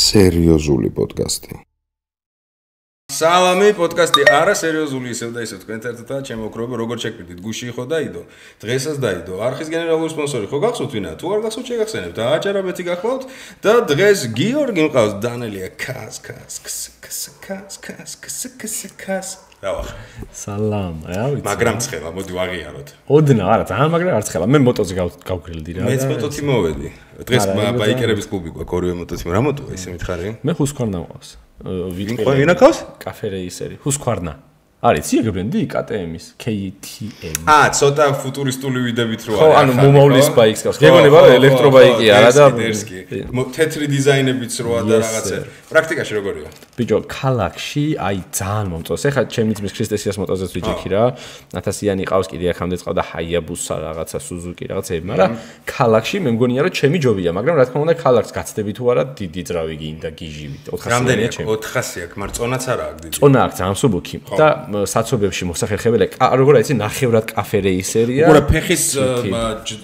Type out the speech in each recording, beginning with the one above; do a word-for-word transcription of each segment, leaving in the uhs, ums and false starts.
სერიოზული პოდკასტი. სალამი, პოდკასტი არა სერიოზული ისევ და ისევ თქვენ ერთადაა ჩემო ოქროება როგორ შეგვიდით გუში ხო დაიდო დღესაც დაიდო არხის გენერალური სპონსორი ხო გახსოვთ ვინა თუ არ გახსოვთ შეგახსენებთ და აჭარაბეთი გახლავთ და დღეს გიორგი მყავს დანელია კას კას კს კს კას კას კს კს კას რავახ სალამ რა ვიცი მაგრამ ცხელა მოდი ვაღიაროთ ოდნა არა ძალიან მაგრამ არ ცხელა მე მოტოზე გავგრილდი რა მეც მოტოთი მოვედი დღეს ბაიკერების კლუბი გვაქვს ორივე მოტოთი რა მოტოა ისე მითხარი მე ხუსქვარნა მყავს ვინყო ვინახავს კაფე რეისერი ხუსქვარნა არის ციე ბრენდი კე ტე ემის კე თი ემ აა ცოტა ფუტურისტული ვიდებით რო არის ხო ანუ მომავლის ბაიკს გავს გეგონება რა ელექტრობაიკი არა და თეთრი დიზაინებიც როა და რაღაცა პრაქტიკაში როგორია ბიჭო ქალაქში აი ძალიან მომწონს ეხლა ჩემი ძმის ქრისტესიას მოტოზეც ვიჯექი რა ათასიანი ყავს კიდე ახამდე წავდა ჰაიაბუსა რაღაცა სუზუკი რაღაცები მაგრამ ქალაქში მე მგონია რომ ჩემი ჯობია მაგრამ რა თქმა უნდა ქალაქს გაცდები თუ არა დიდი ძრავი გინდა გიჟივით ოთხასიანი ჩემი ოთხასი აქვს მაგრამ წონაც არა აქვს დიდი წონა აქვს ძალიან მსუბუქი და საცობებში მოსახერხებელი როგორ არის ნახევრად კაფე რეისერია უბრალოდ ფეხის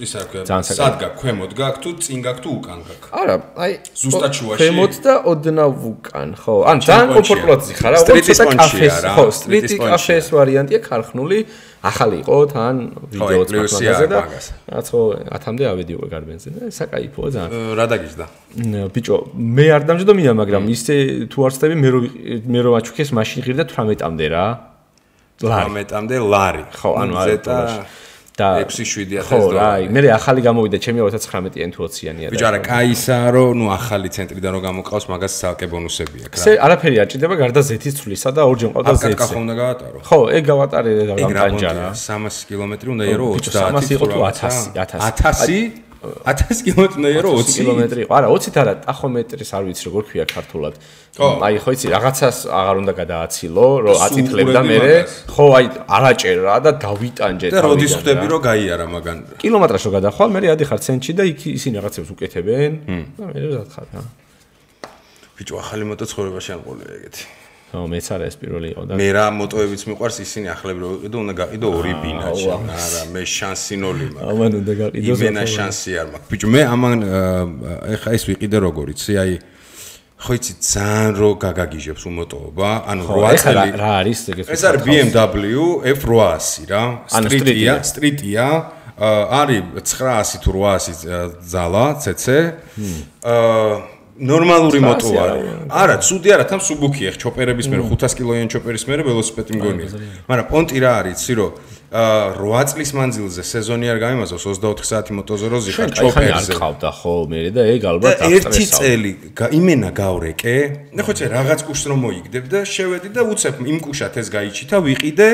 ისა სად გაქვს ქვემოთ გაქვს თუ წინ გაქვს თუ უკან გაქვს არა აი ზუსტად შუაში ქვემოთ და ოდნავ უკან ხო ან ძალიან კომფორტულად ხარ რა უბრალოდ კაფეს ხო სტრიტი კაფეს ვარიანტია ქარხნული ახალი იყო თან ვიდეოც მაგაზე და რაც ხო ათამდე ავედიო გარბენზე და საკაიფოა ძალიან რა დაგიჟდა ბიჭო მე არ დამჯდომია მაგრამ ისე თუ არ ვწდები მე რო მე რო აჩუქეს მაშინ ღირდა თვრამეტამდე რა თვრამეტამდე ლარი ხო ანუ არა და ექვსი შვიდი ათას დოლარი. ხო, რა, მე ახალი გამოვიდა ჩემი ოცდაათი თუ ოციანი არა. ბიჭო, არა, кайსაა რომ ნუ ახალი ცენტრიდან რომ გამოყავს, მაგას ცალკე ბონუსები აქვს რა. ესე არაფერი არ ჭირდება გარდა ზეთის ცვლისა და ორჯერ მყავდა ზეთი. აკაკა ხომ უნდა გავატარო? ხო, ეგ გავატარე და გამტანჯარა. სამასი კილომეტრი უნდა ირო ოცდაათი. სამასი იყო თუ ათასი, ათასი. ათასი? ათასი კილომეტრი უნდა ირო ოცი კილომეტრი იყო. არა, ოცით არა, ტახომეტრის არ ვიცი როგორ ქვია ქართულად. აი ხო იცი, რაღაცას აღარ უნდა გადააცილო, რომ აწითლებდა მე. ხო, აი არაჭერა და დავიტანჯე და როდის ხვდები რომ გაიარა მაგან. კილომეტრაჟს რო გადახვალ, მე ადიხარ ცენტრში და იქ ისინი რაღაცებს უკეთებენ. და მე ვზადხარ რა. ბიჭო, ახალი მოტო ცხოვრებაში არ მყოლია ეგეთი. ხო, მეც არა ეს პირველი იყო და მე რა მოტოებიც მიყვარს ისინი ახლები რო ვიყიდო, უნდა გაყიდო ორი ბინაჩი. არა, მე შანსი ნოლი მაქვს. ამან უნდა გაყიდო. იმენა შანსი არ მაქვს. ბიჭო, მე ამან ეხა ეს ვიყიდე როგორ იცი, აი ხო იცი ძალიან რო გაგაგიჟებს უმოტოობა, ანუ რვა წელი რა არის ეგეთ ეს არის ბი ემ დაბლიუ ეფ რვაასი რა, სტრიტია, სტრიტია, არის ცხრაასი თუ რვაასი ძალა ცეცე. აა ნორმალური მოტო არის. არა, ცუდი არა, თან სუბუქი ახ ჩოპერების მერე ხუთას კილოიანი ჩოპერის მერე ველოსიპედი მგონია. მაგრამ პონტი რა არის, იცი რომ რვა წლის მანძილზე სეზონი არ გამიმაზავს ოცდაოთხი საათი მოტოზე რო ზიხარ ჩოპერზე. არ ყავდა ხო მე და ეგ ალბათ აღსტრესავ. ერთი წელი იმენა გავრეკე. ნახო ცე რაღაც კუშს რომ მოიგდებ და შევედი და უცებ იმ კუშათ ეს გაიჩითა ვიყიდე.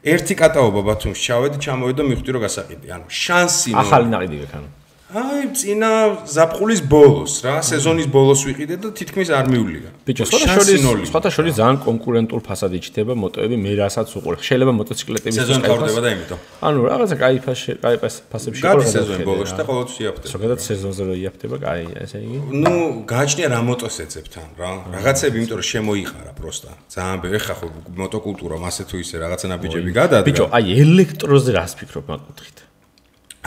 ერთი კატაობა ბათუმში ჩავედი, ჩამოვედი და მივხვდი რომ გასაყიდი. ანუ შანსი ახალი ნაყიდი გქანო. აი, წინა ზაფხულის ბოლოს რა, სეზონის ბოლოს ვიყიდე და თითქმის არ მივლია. ბიჭო, შორის, სხვათა შორის ძალიან კონკურენტულ ფასად იჩნდება მოტოები, მე რასაც უყურებ. შეიძლება მოტოციკლეტების სეზონი ყავდება და იმითო. ანუ რაღაცა кай кай ფასებში ყავდა სეზონის ბოლოში და ყოველთვის იაფტება. ზოგადად სეზონზე რო იაფტება, кай, ესე იგი. ნუ, გააჩნია რა მოტოს ეძებთან რა. რაღაცები იმიტომ რომ შემოიყარა პროსტა. ძალიან ბევრი ხა ხო მოტოკულტურა მასე თუ ისე რაღაცა ნაბიჯები გადადგა. ბიჭო, აი ელექტროზე რას ფიქრობ მაგ-კუთხით?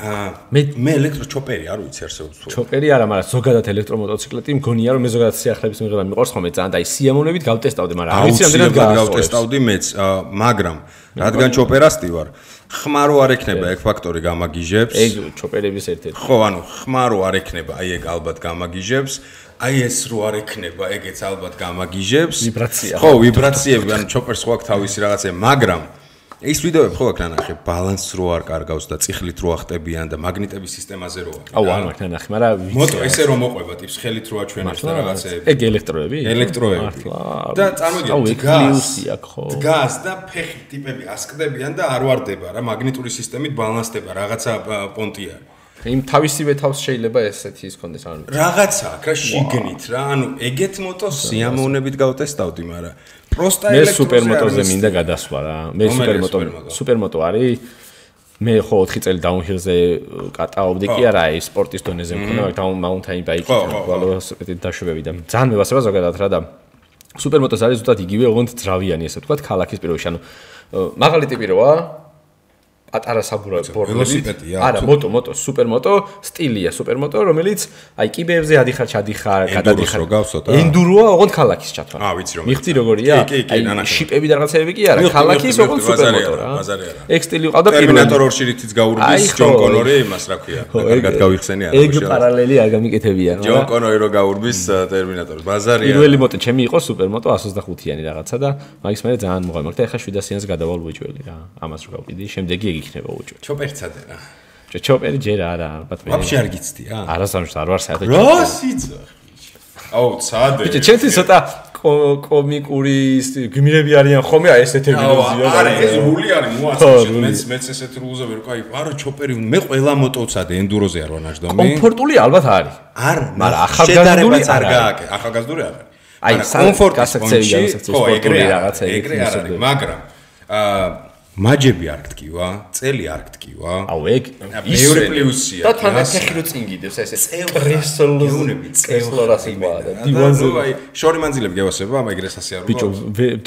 მე მე ელექტრო ჩოპერი არ ვიცი არსებობს თუ ჩოპერი არა მაგრამ ზოგადად ელექტრომოტოციკლეტი მგონია რომ მე ზოგადად სიახლეების მიღება მიყვარს ხოლმე ძალიან და აი სიამოვნებით გავტესტავდი მაგრამ არ ვიცი რამდენად გავტესტავდი მეც მაგრამ რადგან ჩოპერასტი ვარ ხმარო არ ექნება ეგ ფაქტორი გამაგიჟებს ეგ ჩოპერების ერთ-ერთი ხო ანუ ხმარო არ ექნება აი ეგ ალბათ გამაგიჟებს აი ეს რო არ ექნება ეგეც ალბათ გამაგიჟებს ვიბრაცია ხო ვიბრაციები ანუ ჩოპერს ხო აქვს თავისი რაღაცა მაგრამ ეს ვიდეოები ხო აქ ნანახე ბალანსს რო არ კარგავს და წიხლით რო ახტებიან და მაგნიტების სისტემაზე რო აქვს. აუ არ მაქვს ნანახე, მაგრამ მოტო ესე რომ მოყვება ტიპს ხელით რო აჩვენებს და რაღაცეები. ეგ ელექტროები? ელექტროები. და წარმოგიდგენთ გასი აქ ხო. გას და ფეხი ტიპები ასკდებიან და არ ვარდება რა მაგნიტური სისტემით ბალანსდება რაღაცა პონტი არის. იმ თავისივე თავს შეიძლება ესეთი ის კონდეს ანუ რაღაცა აქ რა შიგნით რა ანუ ეგეთ მოტოს სიამოვნებით გავტესტავდი მაგრამ პროსტა ელექტროზე მე სუპერმოტოზე მინდა გადასვლა რა მე სუპერმოტო სუპერმოტო არის მე ხო ოთხი წელი დაუნჰილზე კატაობდი კი არა ის სპორტის დონეზე მქონდა მაგრამ მაუნტაინ ბაიკი ველოსიპედით დაშვებები და ძალიან მევასება ზოგადად რა და სუპერმოტოს არის ზუსტად იგივე ოღონდ ძრავიანი ესე ვთქვათ ქალაქის პირობებში ანუ მაღალი ტიპი როა პატარა საბურავი ველოსიპედია. არა, მოტო, მოტო, სუპერმოტო, სტილია, სუპერმოტო, რომელიც აი კიბეებზე ადიხარ, ჩადიხარ, გადადიხარ. ენდუროა, ოღონდ ქალაქის ჩათვალ. აა, ვიცი რომ. მიხდი როგორია? აი, შიპები და რაღაცეები კი არა, ქალაქის ოღონდ სუპერმოტო რა. ეგ სტილი ყავდა პირველი. ტერმინატორ ორში რითიც გაურბის ჯონ კონორი, იმას რა ქვია. კარგად გავიხსენე არა. ეგ პარალელი არ გამიკეთებია რა. ჯონ კონორი რო გაურბის ტერმინატორს, ბაზარია. პირველი მოტო ჩემი იყო სუპერმოტო εκατს ოცდახუთიანი რაღაცა და მაგის მერე ძალიან მოღალმე და ეხლა შვიდასიანს გადავალ უეჭველი რა. ამას რო გავყიდი, შემდეგი ეგ იქნება უეჭველი. ჩოპერცადე რა. ჩოპერი ჯერ არა, ალბათ მე. ვაფშე არ გიცდია? არასამშ არ ვარ საერთოდ. რა სიძახი. აუ, ცადე. ბიჭო, ჩემთვის ცოტა კომიკური გმირები არიან ხოლმე, აი ესეთი ვილოზია. არა, ეს რული არის, მოაწევს. მეც მეც ესეთ რულზე ვერ ყავი. არა, ჩოპერი, მე ყველა მოტოცადე ენდუროზე არ ვარ ნაჯდომი. კომფორტული ალბათ არის. არ, მაგრამ ახალგაზრდული არ გააკე, ახალგაზრდული არ არის. აი, კომფორტი გასაქცევი, გასაქცევი სპორტული რაღაცა ეგრე არ არის, მაგრამ აა მაჯები არ გტკივა, წელი არ გტკივა. აუ ეგ მეორე პლუსია. და თან ფეხი რო წინ გიდევს, ესე პრესოლოზუნები, წელორასი ყვა და დივანზე. აი, შორი მანძილები გევასება, ამ ეგრეს ასე არ ბიჭო,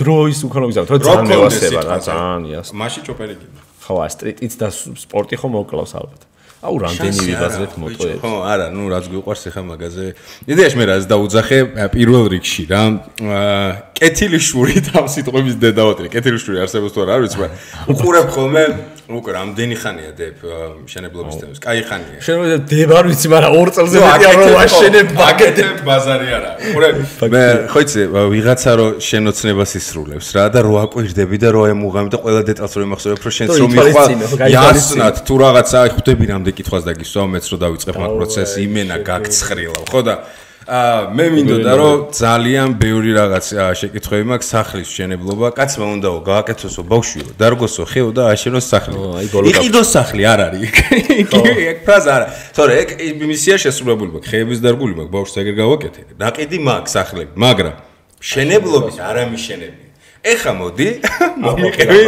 დროის უკანო გზავთ, რა ძალიან მევასება რა, ძალიან იას. მაშინ ჩოპერი გინდა. ხო, სტრიტიც და სპორტი ხო მოკლავს ალბათ. აუ რამდენი ვიბაზრეთ მოტოებს. ხო, არა, ნუ რაც გვიყვარს ეხა მაგაზე. იდეაში მე რაც დაუძახე პირველ რიგში რა. აა კეთილიშური ამ სიტყვების დედაოთრი. კეთილიშური არსებობს თუ არა, არ ვიცი, მაგრამ უყურებ ხოლმე უკვე რამდენი ხანია დებ მშენებლობის თემას. კაი ხანია. შენ დებ არ ვიცი, მაგრამ ორ წელზე მეტი არ ვაშენებ ბაგეტებ ბაზარი არა. უყურებ მე ხო იცი ვიღაცა რო შენოცნებას ისრულებს რა და რო აკვირდები და რო ემუღამი და ყველა დეტალს რო ემახსოვრებ რო შენც რომ მიხვალ იასნათ თუ რაღაცა ხვდები რამდენი კითხვას დაგისვა მეც რო დავიწყებ მაგ პროცესს იმენა გაგცხრილავ ხო და აა მე მინდოდა რომ ძალიან ბევრი რაღაც შეკითხვები მაქვს სახლის მშენებლობა კაცმა უნდაო გააკეთოსო ბავშვიო დარგოსო ხეო და აშენოს სახლი იყიდოს სახლი არ არის ეგ ფრაზა არა თორე ეგ მისია შესრულებული მაქვს ხეების დარგული მაქვს ბავშვს ეგრე გავაკეთე ნაყიდი მაქვს სახლები მაგრამ მშენებლობის არ ამიშენები ეხა მოდი მომიყევი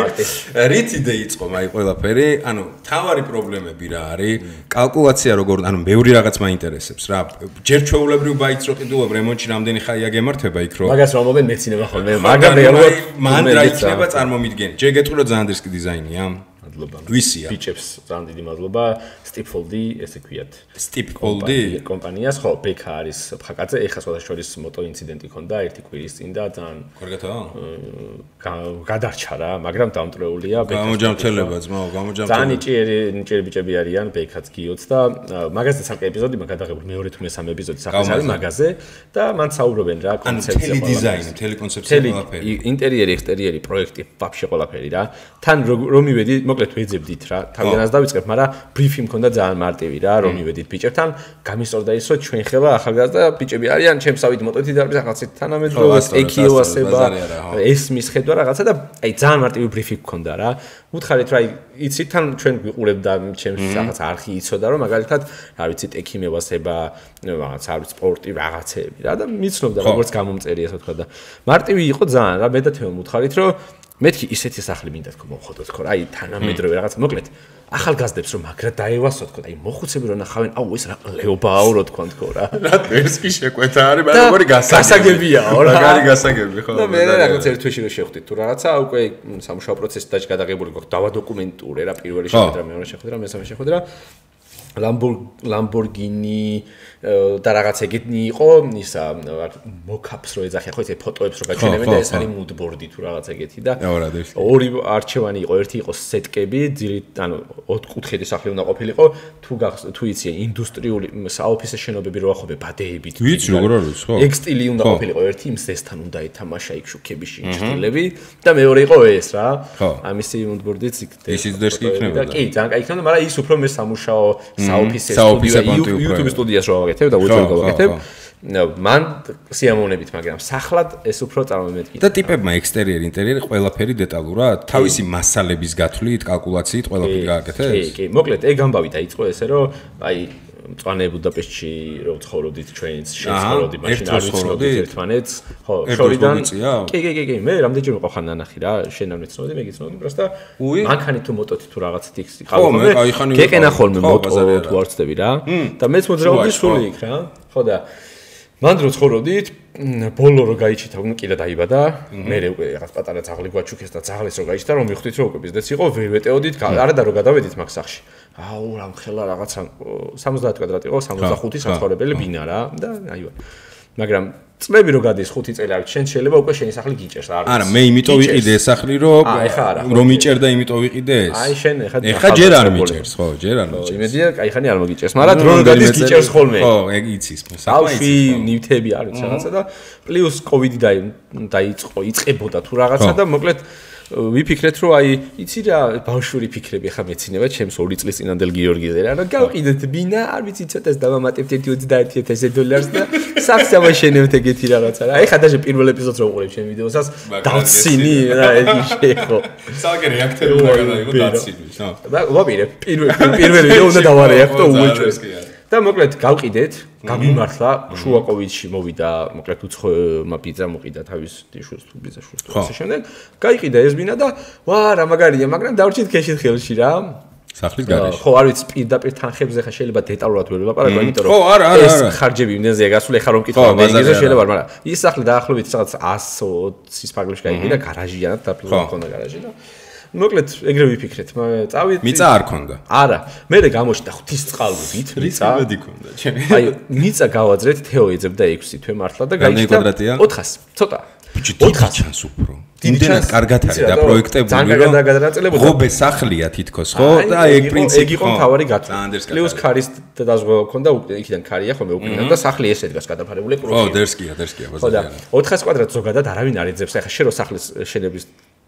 რითიდე იწყო მაი ყველაფერი ანუ თავარი პრობლემები რა არის კალკულაცია როგორ ანუ ბევრი რაღაც მაინტერესებს რა ჯერ ჩვეულებრივ ბაიც რო ყიდულობ რემონტში რამდენი ხაია გემართება იქ რო მაგას რომ მომენ მეცინება ხოლმე მაგრამ რეალურად მან რა იქნება წარმომიდგენი ჯერ გეტყვი რომ ძალიან დისკი დიზაინია მადლობა ვისია ბიჭებს ძალიან დიდი მადლობა სტიპფოლდი ესე ქვიათ სტიპფოლდი კომპანიას ხო ბექა არის ფხაკაძე ეხა სხვა შორის მოტო ინციდენტი ქონდა ერთი კვირის წინ და ძალიან კარგათაა გადარჩა რა მაგრამ დამტრეულია ბექა გამოჯამრთელება ძმაო გამოჯამრთელება ძალიან ნიჭიერი ნიჭიერი ბიჭები არიან ბექაც გიოც და მაგაზე ცალკე ეპიზოდი მაგ გადაღებული მეორე თუ მესამე ეპიზოდი სახლის არის მაგაზე და მან საუბრობენ რა კონცეფცია თელი დიზაინი თელი კონცეფცია ყველაფერი ინტერიერი ექსტერიერი პროექტი ვაფშე ყველაფერი რა თან რომ მივედი მოკლედ ვეძებდით რა თავიანაც დავიწყებ მაგრამ ბრიფი მქონდა ძალიან მარტივი რა რომ მივედით ბიჭებთან გამისწორდა ის რომ ჩვენ ხება ახალგაზრდა ბიჭები არიან ჩემსავით მოტოთი დარბის ახალცით თანამედროვე ეკიო ასება ესმის ხედვა რაღაცა და აი ძალიან მარტივი ბრიფი მქონდა რა უთხარით რა იცით თან ჩვენ გვიყურებ და ჩემს რაღაც არხი იცოდა რომ მაგალითად რა ვიცით ეკი მევასება რაღაც არ ვიცი სპორტი რაღაცეები რა და მიცნობდა როგორც გამომწერი ასე ვთქვა და მარტივი იყო ძალიან რა მე და თემო უთხარით რომ მეთქი ისეთი სახლი მინდა თქო მოხოდოთ ხო აი თანამედროვე რაღაც მოკლედ ახალგაზრდებს რომ მაგრა დაევასოთ თქო აი მოხუცები რომ ნახავენ აუ ეს რა ლეობაო რო თქვა თქო რა რა ვერსკი შეკვეთა არის მაგრამ როგორი გასაგებია რა მაგარი გასაგები ხო და მე რაღაც ერთ თვეში რო შევხვდით თუ რაღაცა უკვე სამუშაო პროცესი დაჭ გადაღებული გვაქვს დავადოკუმენტურე რა პირველი შეხვედრა მეორე შეხვედრა მესამე შეხვედრა ლამბორგინი და რაღაც ეგეთი იყო ისა მოკაპს რო ეძახიან ხო ეს ფოტოებს რო გაჩვენებენ და ეს არის მუდბორდი თუ რაღაც ეგეთი და ორი არჩევანი იყო ერთი იყო სეტკები ძირით ანუ ოთხკუთხედი სახლი უნდა ყოფილიყო თუ თუ იცი ინდუსტრიული საოფისე შენობები რო ახობე ბადეებით ვიცი როგორ არის ხო ეგ სტილი უნდა ყოფილიყო ერთი იმ ზესთან უნდა ეთამაშა იქ შუქები შინჭილები და მეორე იყო ეს რა ამისი მუდბორდიც იქ ისიც დერსკი იქნება და კი ძალიან კაი იქნება მაგრამ ის უფრო მე სამუშაო საოფისე სტუდია YouTube სტუდიას რო გავაკეთებ და უწევ გავაკეთებ მან სიამოვნებით მაგრამ სახლად ეს უფრო წარმომედგინე და ტიპებმა ექსტერიერი ინტერიერი ყველაფერი დეტალურად თავისი მასალების გათვლით კალკულაციით ყველაფერი გააკეთეს კი კი მოკლედ ეგ ამბავი დაიწყო ესე რომ აი მწვანე ბუდაპეშტში რო ცხოვრობდით ჩვენც შეცხოვრობდი მაშინ არ ვიცნობდით ერთმანეთს ხო შორიდან კი კი კი კი მე რამდენჯერ ვიყავ ხან ნანახი რა შენ არ ვიცნობდი მე გიცნობდი პროსტა მანქანი თუ მოტოთი თუ რაღაცით იქ ხალხო გეკენა ხოლმე მოტო თუ არ ვწდები რა და მეც მოძრაობდი სული იქ რა ხო და მან რო ცხოვრობდით, ბოლო რო გაიჩითა, ნუ კიდე დაიბადა, მე უკვე რაღაც პატარა ძაღლი გვაჩუქეს და ძაღლეს რო გაიჩითა, რომ მიხვდით რომ უკვე ბიზნესი იყო, ვერ ვეტეოდით, არა და რო გადავედით მაგ სახში. აუ, რამ ხელა რაღაცა სამოცდაათი კვადრატი იყო, სამოცდახუთი საცხოვრებელი ბინა რა და აივა. მაგრამ წლები რო გადის ხუთი წელი არ შენ შეიძლება უკვე შენი სახლი გიჭერს არ არა მე იმიტომ ვიყიდე ეს სახლი რომ რომ იჭერდა იმიტომ ვიყიდე ეს აი შენ ეხა ეხა ჯერ არ მიჭერს ხო ჯერ არ მიჭერს იმედია კაი ხანი არ მოგიჭერს მაგრამ დრო რო გადის გიჭერს ხოლმე ხო ეგ იცის საყვი ნივთები არის რაღაცა და პლუს კოვიდი დაიწყო იწყებოდა თუ რაღაცა და მოკლედ ვიფიქრეთ რომ აი იცი რა ბავშვური ფიქრები ხა მეცინება ჩემს ორი წლის წინანდელ გიორგიზე რა რომ გავყიდეთ ბინა არ ვიცი ცოტას დავამატებთ ერთი ოცდაერთი ათასი დოლარს და სახს ამაშენებთ ეგეთი რაღაცა რა ეხა დაჟე პირველ ეპიზოდს რო უყურებ ჩემ ვიდეოსაც დავცინი რა ეგ შეხო საერთოდ რეაქტორი უნდა გადაიღო დაცინვის ხო და ვაპირე პირველ პირველ ვიდეო უნდა დავარეაქტო უეჭვეს და მოკლედ გავყიდეთ, გამიმართლა, შუა კოვიდში მოვიდა, მოკლედ უცხომა ბიძა მოყიდა თავის დიშოს თუ ბიძა შუს თუ ასე შემდეგ. გაიყიდა ეს ბინა და ვა რა მაგარია, მაგრამ დავრჩით ქეშით ხელში რა. სახლის გარეშე. ხო, არ ვიცი, პირდაპირ თანხებზე ხა შეიძლება დეტალურად ვერ ვლაპარაკო, იმიტომ რომ ხო, არა, არა, ეს ხარჯები იმდენზეა გასული, ხა რომ მკითხავ მენეჯერზე შეიძლება, მაგრამ ის სახლი დაახლოებით რაღაც εκατს ოცის ფარგლებში გაიყიდა, გარაჟიანად დაფლული მქონდა გარაჟი და მოკლედ ეგრე ვიფიქრეთ, წავით. მიწა არ ქონდა. არა, მე გამოჩნდა ღვთის წყალობით, მიწა. მედი ქონდა, ჩემი. აი, მიწა გავაძრეთ, თეო ეძებდა ექვსი თვე მართლა და გაიჭდა ოთხას, ცოტა. ოთხას ჩანს უფრო. იმდენად კარგად არის და პროექტებული რომ ღობე სახლია თითქოს, ხო? და ეგ პრინციპი ეგ იყო მთავარი გათვლა. პლუს ქარის დაზღვევა ქონდა, იქიდან ქარია ხომ მეუკვირდა და სახლი ესე დგას გადაფარებული კრუჭი. ხო, დერსკია, დერსკია ბაზარია. ოთხას კვადრატს ზოგადად არავინ არ ეძებს, ახლა შე რო სახლის შენების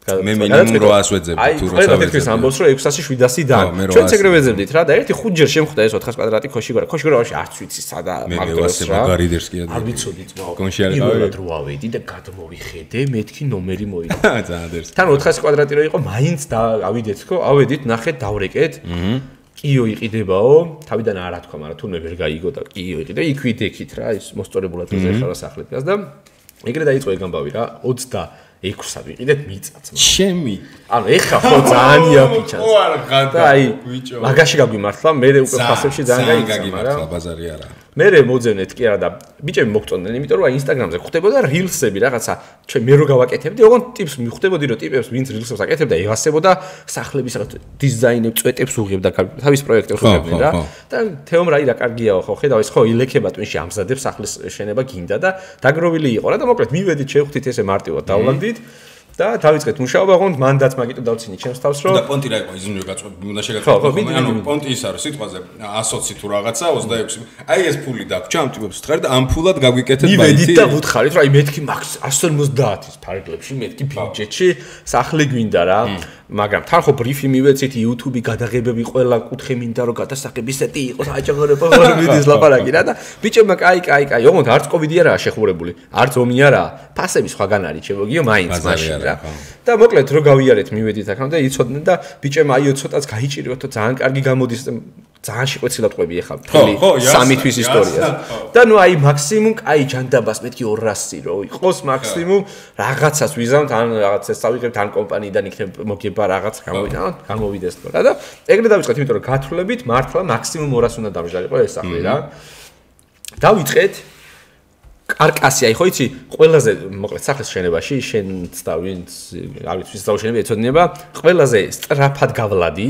მე მინიმუმ რვაას ვეძებდი თუ როცა ვეძებდი. აი, ამბობს რომ ექვსასი შვიდასი და ჩვენც ეგრე ვეძებდით რა და ერთი ხუთჯერ შემხვდა ეს ოთხას კვადრატი ქოშიგორა. ქოშიგორაში არც ვიცი სადა მაგდროს რა. მაგარი დერსკია. არ ვიცოდი ძმაო. კონში არ გავედი. რო ავედი და გადმოვიხედე, მეთქი ნომერი მოიგო. ძალიან დერსკია. თან ოთხასი კვადრატი რო იყო, მაინც და ავიდეთ ხო, ავედით, ნახეთ, დავრეკეთ. აჰა. კიო იყიდებაო, თავიდან არა თქვა, მაგრამ თუნდაც ვერ გაიგო და კიო იყიდე, იქ ვიდექით რა, ის მოსწორებულად ეზერხა სახლი დგას და ეგრე დაიწყო ეგ ამბავი რა, ოცდაექვსად ვიყიდეთ მიწაც. ჩემი. ანუ ეხა ხო ძალიან იაფიჩანს. ხო არ ხადა. აი, მაგაში გაგვიმართლა, მე უკვე ფასებში ძალიან გაიგიმართლა ბაზარი არა. მე მოძებნეთ კი არა და ბიჭები მოგწონდნენ, იმიტომ რომ აი ინსტაგრამზე ხვდებოდა rilsები რაღაცა, ჩვენ მე რო გავაკეთებდი, ოღონდ ტიპს მიხვდებოდი, რომ ტიპებს ვინც rilsებს აკეთებდა, ევასებოდა სახლების რაღაც დიზაინებს, წვეტებს უღებდა თავის პროექტებს უღებდნენ რა. და თეომ რა ირა კარგიაო ხო, ხედავ ეს ხო ილექება twin-ში ამზადებს სახლის შენება გინდა და დაგროვილი იყო რა და მოკლედ მივედით შევხვდით ესე მარტივად დავლაგდით. და დავიწყეთ მუშაობა, ოღონდ მანდაც მაგიტო დავცინი ჩემს თავს რომ და პონტი რა იყო იზმნიო გაწყვეტ უნდა შეგაწყვეტო ანუ პონტი ის არის სიტყვაზე ასოცი თუ რაღაცა ოცდაექვსი აი ეს ფული დაგვრჩა ამ ტიპებს ვთხარი და ამ ფულად გაგვიკეთეთ ბაითი მივედით და ვუთხარით რომ აი მეთქი მაქს εκατს ორმოცდაათის ფარგლებში მეთქი ბიუჯეტში სახლი გვინდა რა მაგრამ თან ხო ბრიფი მივეცით YouTube-ი გადაღებები ყველა კუთხე მინდა რომ გადასახების სეტი იყოს აჭაღრება ვერ მიდის ლაპარაკი რა და ბიჭებმა კაი კაი კაი ოღონდ არც კოვიდი არაა შეხურებული არც ომი არაა ფასები სხვაგან არის შემოგიო მაინც მაშინ რა და მოკლედ რო გავიარეთ მივედით აქამდე იცოდნენ და ბიჭებმა აიო ცოტაც გაიჭირიოთ ძალიან კარგი გამოდის ძალიან შეყვეცილად ყვები ახლა მთელი სამი თვის ისტორიას და ნუ აი მაქსიმუმ კაი ჯანდაბას მეთქი ორასი რო იყოს მაქსიმუმ რაღაცას ვიზამთ ან რაღაცას წავიღებთ ან კომპანიიდან იქნებ მოგება რაღაც გამოვიდა გამოვიდეს თქო რა და ეგრე დავიწყეთ იმიტომ რომ გათვლებით მართლა მაქსიმუმ ორას უნდა დამჟარიყო ეს სახლი რა დავიწყეთ კარკასი აი ხო იცი ყველაზე მოკლედ სახლის შენებაში შენც და ვინც არ ვიცი ვის დაუშენები ეცოდინება ყველაზე სწრაფად გავლადი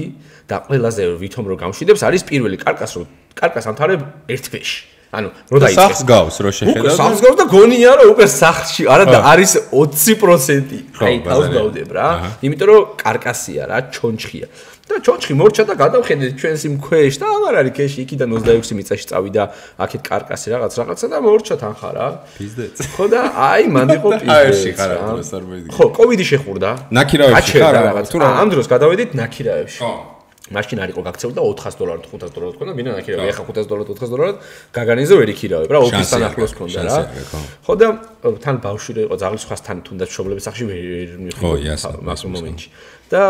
და ყველაზე ვითომ რო გამშვიდებს არის პირველი კარკას რო კარკას ამთავრებ ერთ თვეში ანუ რო დაიწყე სახს გავს რო შეხედავ სახს გავს და გონია რომ უკვე სახლში არა და არის ოცი პროცენტი აი თავს გავდებ რა იმიტომ რომ კარკასია რა ჩონჩხია და ჩონჩხი მორჩა და გადავხედეთ ჩვენს იმ ქვეშ და აღარ არის ქეში იქიდან ოცდაექვსი მიწაში წავიდა აქეთ კარკასი რაღაც რაღაცა და მორჩა თანხა რა პიზდეც ხო და აი მან იყო პიზდეც ხო კოვიდი შეხურდა ნაკირავებში ხარ რაღაც ამ დროს გადავედით ნაკირავებში ხო მაშინ არ იყო გაქცეული და ოთხას დოლარად ხუთას დოლარად ქონდა მინდა ნაკირავი ახლა ხუთას დოლარად ოთხას დოლარად გაგანიზო ვერ იქირავებ რა ოფისთან ახლოს ქონდა რა ხო და თან ბავშვი იყო ზაღლის სხვასთან თუნდაც მშობლების სახში ვერ მიხდოდა მაგ მომენტში და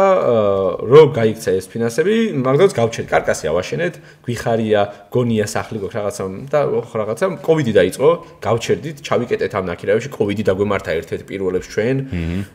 რო გაიქცა ეს ფინანსები, მაგდროც გავჩერდ, კარკასი ავაშენეთ, გვიხარია, გონია სახლი გვაქვს რაღაცა და რაღაცა კოვიდი დაიწყო, გავჩერდით, ჩავიკეტეთ ამ ნაკირავებში, კოვიდი დაგვემართა ერთ-ერთ პირველებს ჩვენ,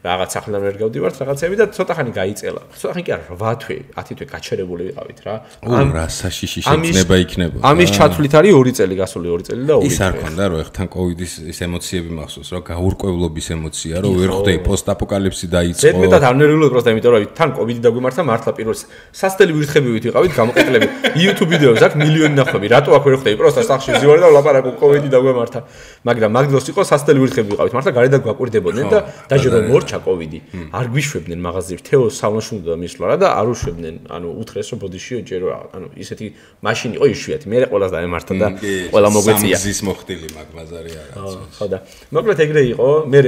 რაღაც სახლიდან ვერ გავდივართ, რაღაცები და ცოტა ხანი გაიწელა. ცოტა ხანი კი არა, რვა თვე, ათი თვე გაჩერებული ვიყავით რა. ამ რა საშიში შეძნება იქნება. ამის ჩათვლით არის ორი წელი, გასული ორი წელი და ორი ის არ ქონდა რომ ეხთან კოვიდის ის ემოციები მახსოვს, რა გაურკვევლობის ემოცია, რომ ვერ ხვდები პოსტაპოკალიფსი დაიწყო. ზედმეტად არ ნერვიულად პროსტა, იმიტომ რომ თან კოვიდი დაგვემართა მართლა პირველ სასტელი ვირთხებივით ვიყავით გამოყენლები. YouTube ვიდეოებს აქვს მილიონი ნახვები. რატო აქ ვერ ხვდები? პროსტა სახში ვზივარ და ვლაპარაკო კოვიდი დაგვემართა. მაგრამ მაგდროს იყო სასტელი ვირთხები ვიყავით. მართლა გარედან გვაკვირდებოდნენ და დაჟე რომ მორჩა კოვიდი. არ გვიშვებდნენ მაღაზიებში. თეო სალონში უნდა მისვლა რა და არ უშვებდნენ. ანუ უთხრეს რომ ბოდიში ჯერო ანუ ისეთი მაშინი იყო იშვიათი. მე ყველას დაემართა და ყველა მოგვეწია. სამგზის მოხდილი მაგ ბაზარი არა. ხო და მოკლედ ეგრე იყო. მე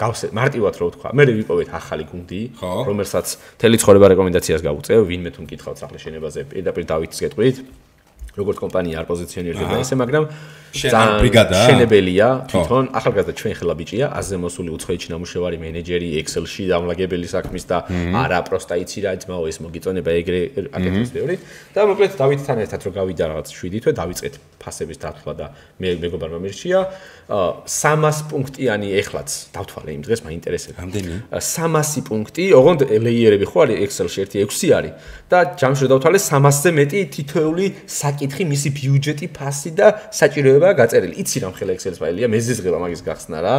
გავსე მარტივად რო ვთქვა. მე ვიპოვეთ ახალი გუნდი, რომელსაც თელი ცხოვრება რეკომენდაციას გავუწევ, ვინმე თუ მკითხავთ სახლის შენებაზე, პირდაპირ დავითს გეტყვით. როგორც კომპანია არ პოზიციონირდება ესე, მაგრამ ძალიან ბრიგადაა. შენებელია, თვითონ ახალგაზრდა ჩვენ ხელა ბიჭია, აზე მოსული უცხოეთში ნამუშევარი მენეჯერი, Excel-ში დამლაგებელი საქმის და არა პროსტა იცი რა ძმაო ეს მოგიწონება ეგრე აკეთებს ბევრი. და მოკლედ დავითთან ერთად რო გავიდა რაღაც შვიდი თვე დავიწყეთ ფასების დათვლა და მე მეგობარმა მირჩია სამას პუნქტიანი ეხლაც დავთვალე იმ დღეს მაინტერესებს. რამდენი? სამასი პუნქტი, ოღონდ ლეიერები ხო არის Excel-ში ერთი ექვსი არის და ჯამში დავთვალე სამასზე მეტი თითოეული საკითხი, მისი ბიუჯეტი, ფასი და საჭიროებაა გაწერილი. იცი რამ ხელა Excel-ის ფაილია, მეზიზღება მაგის გახსნა რა.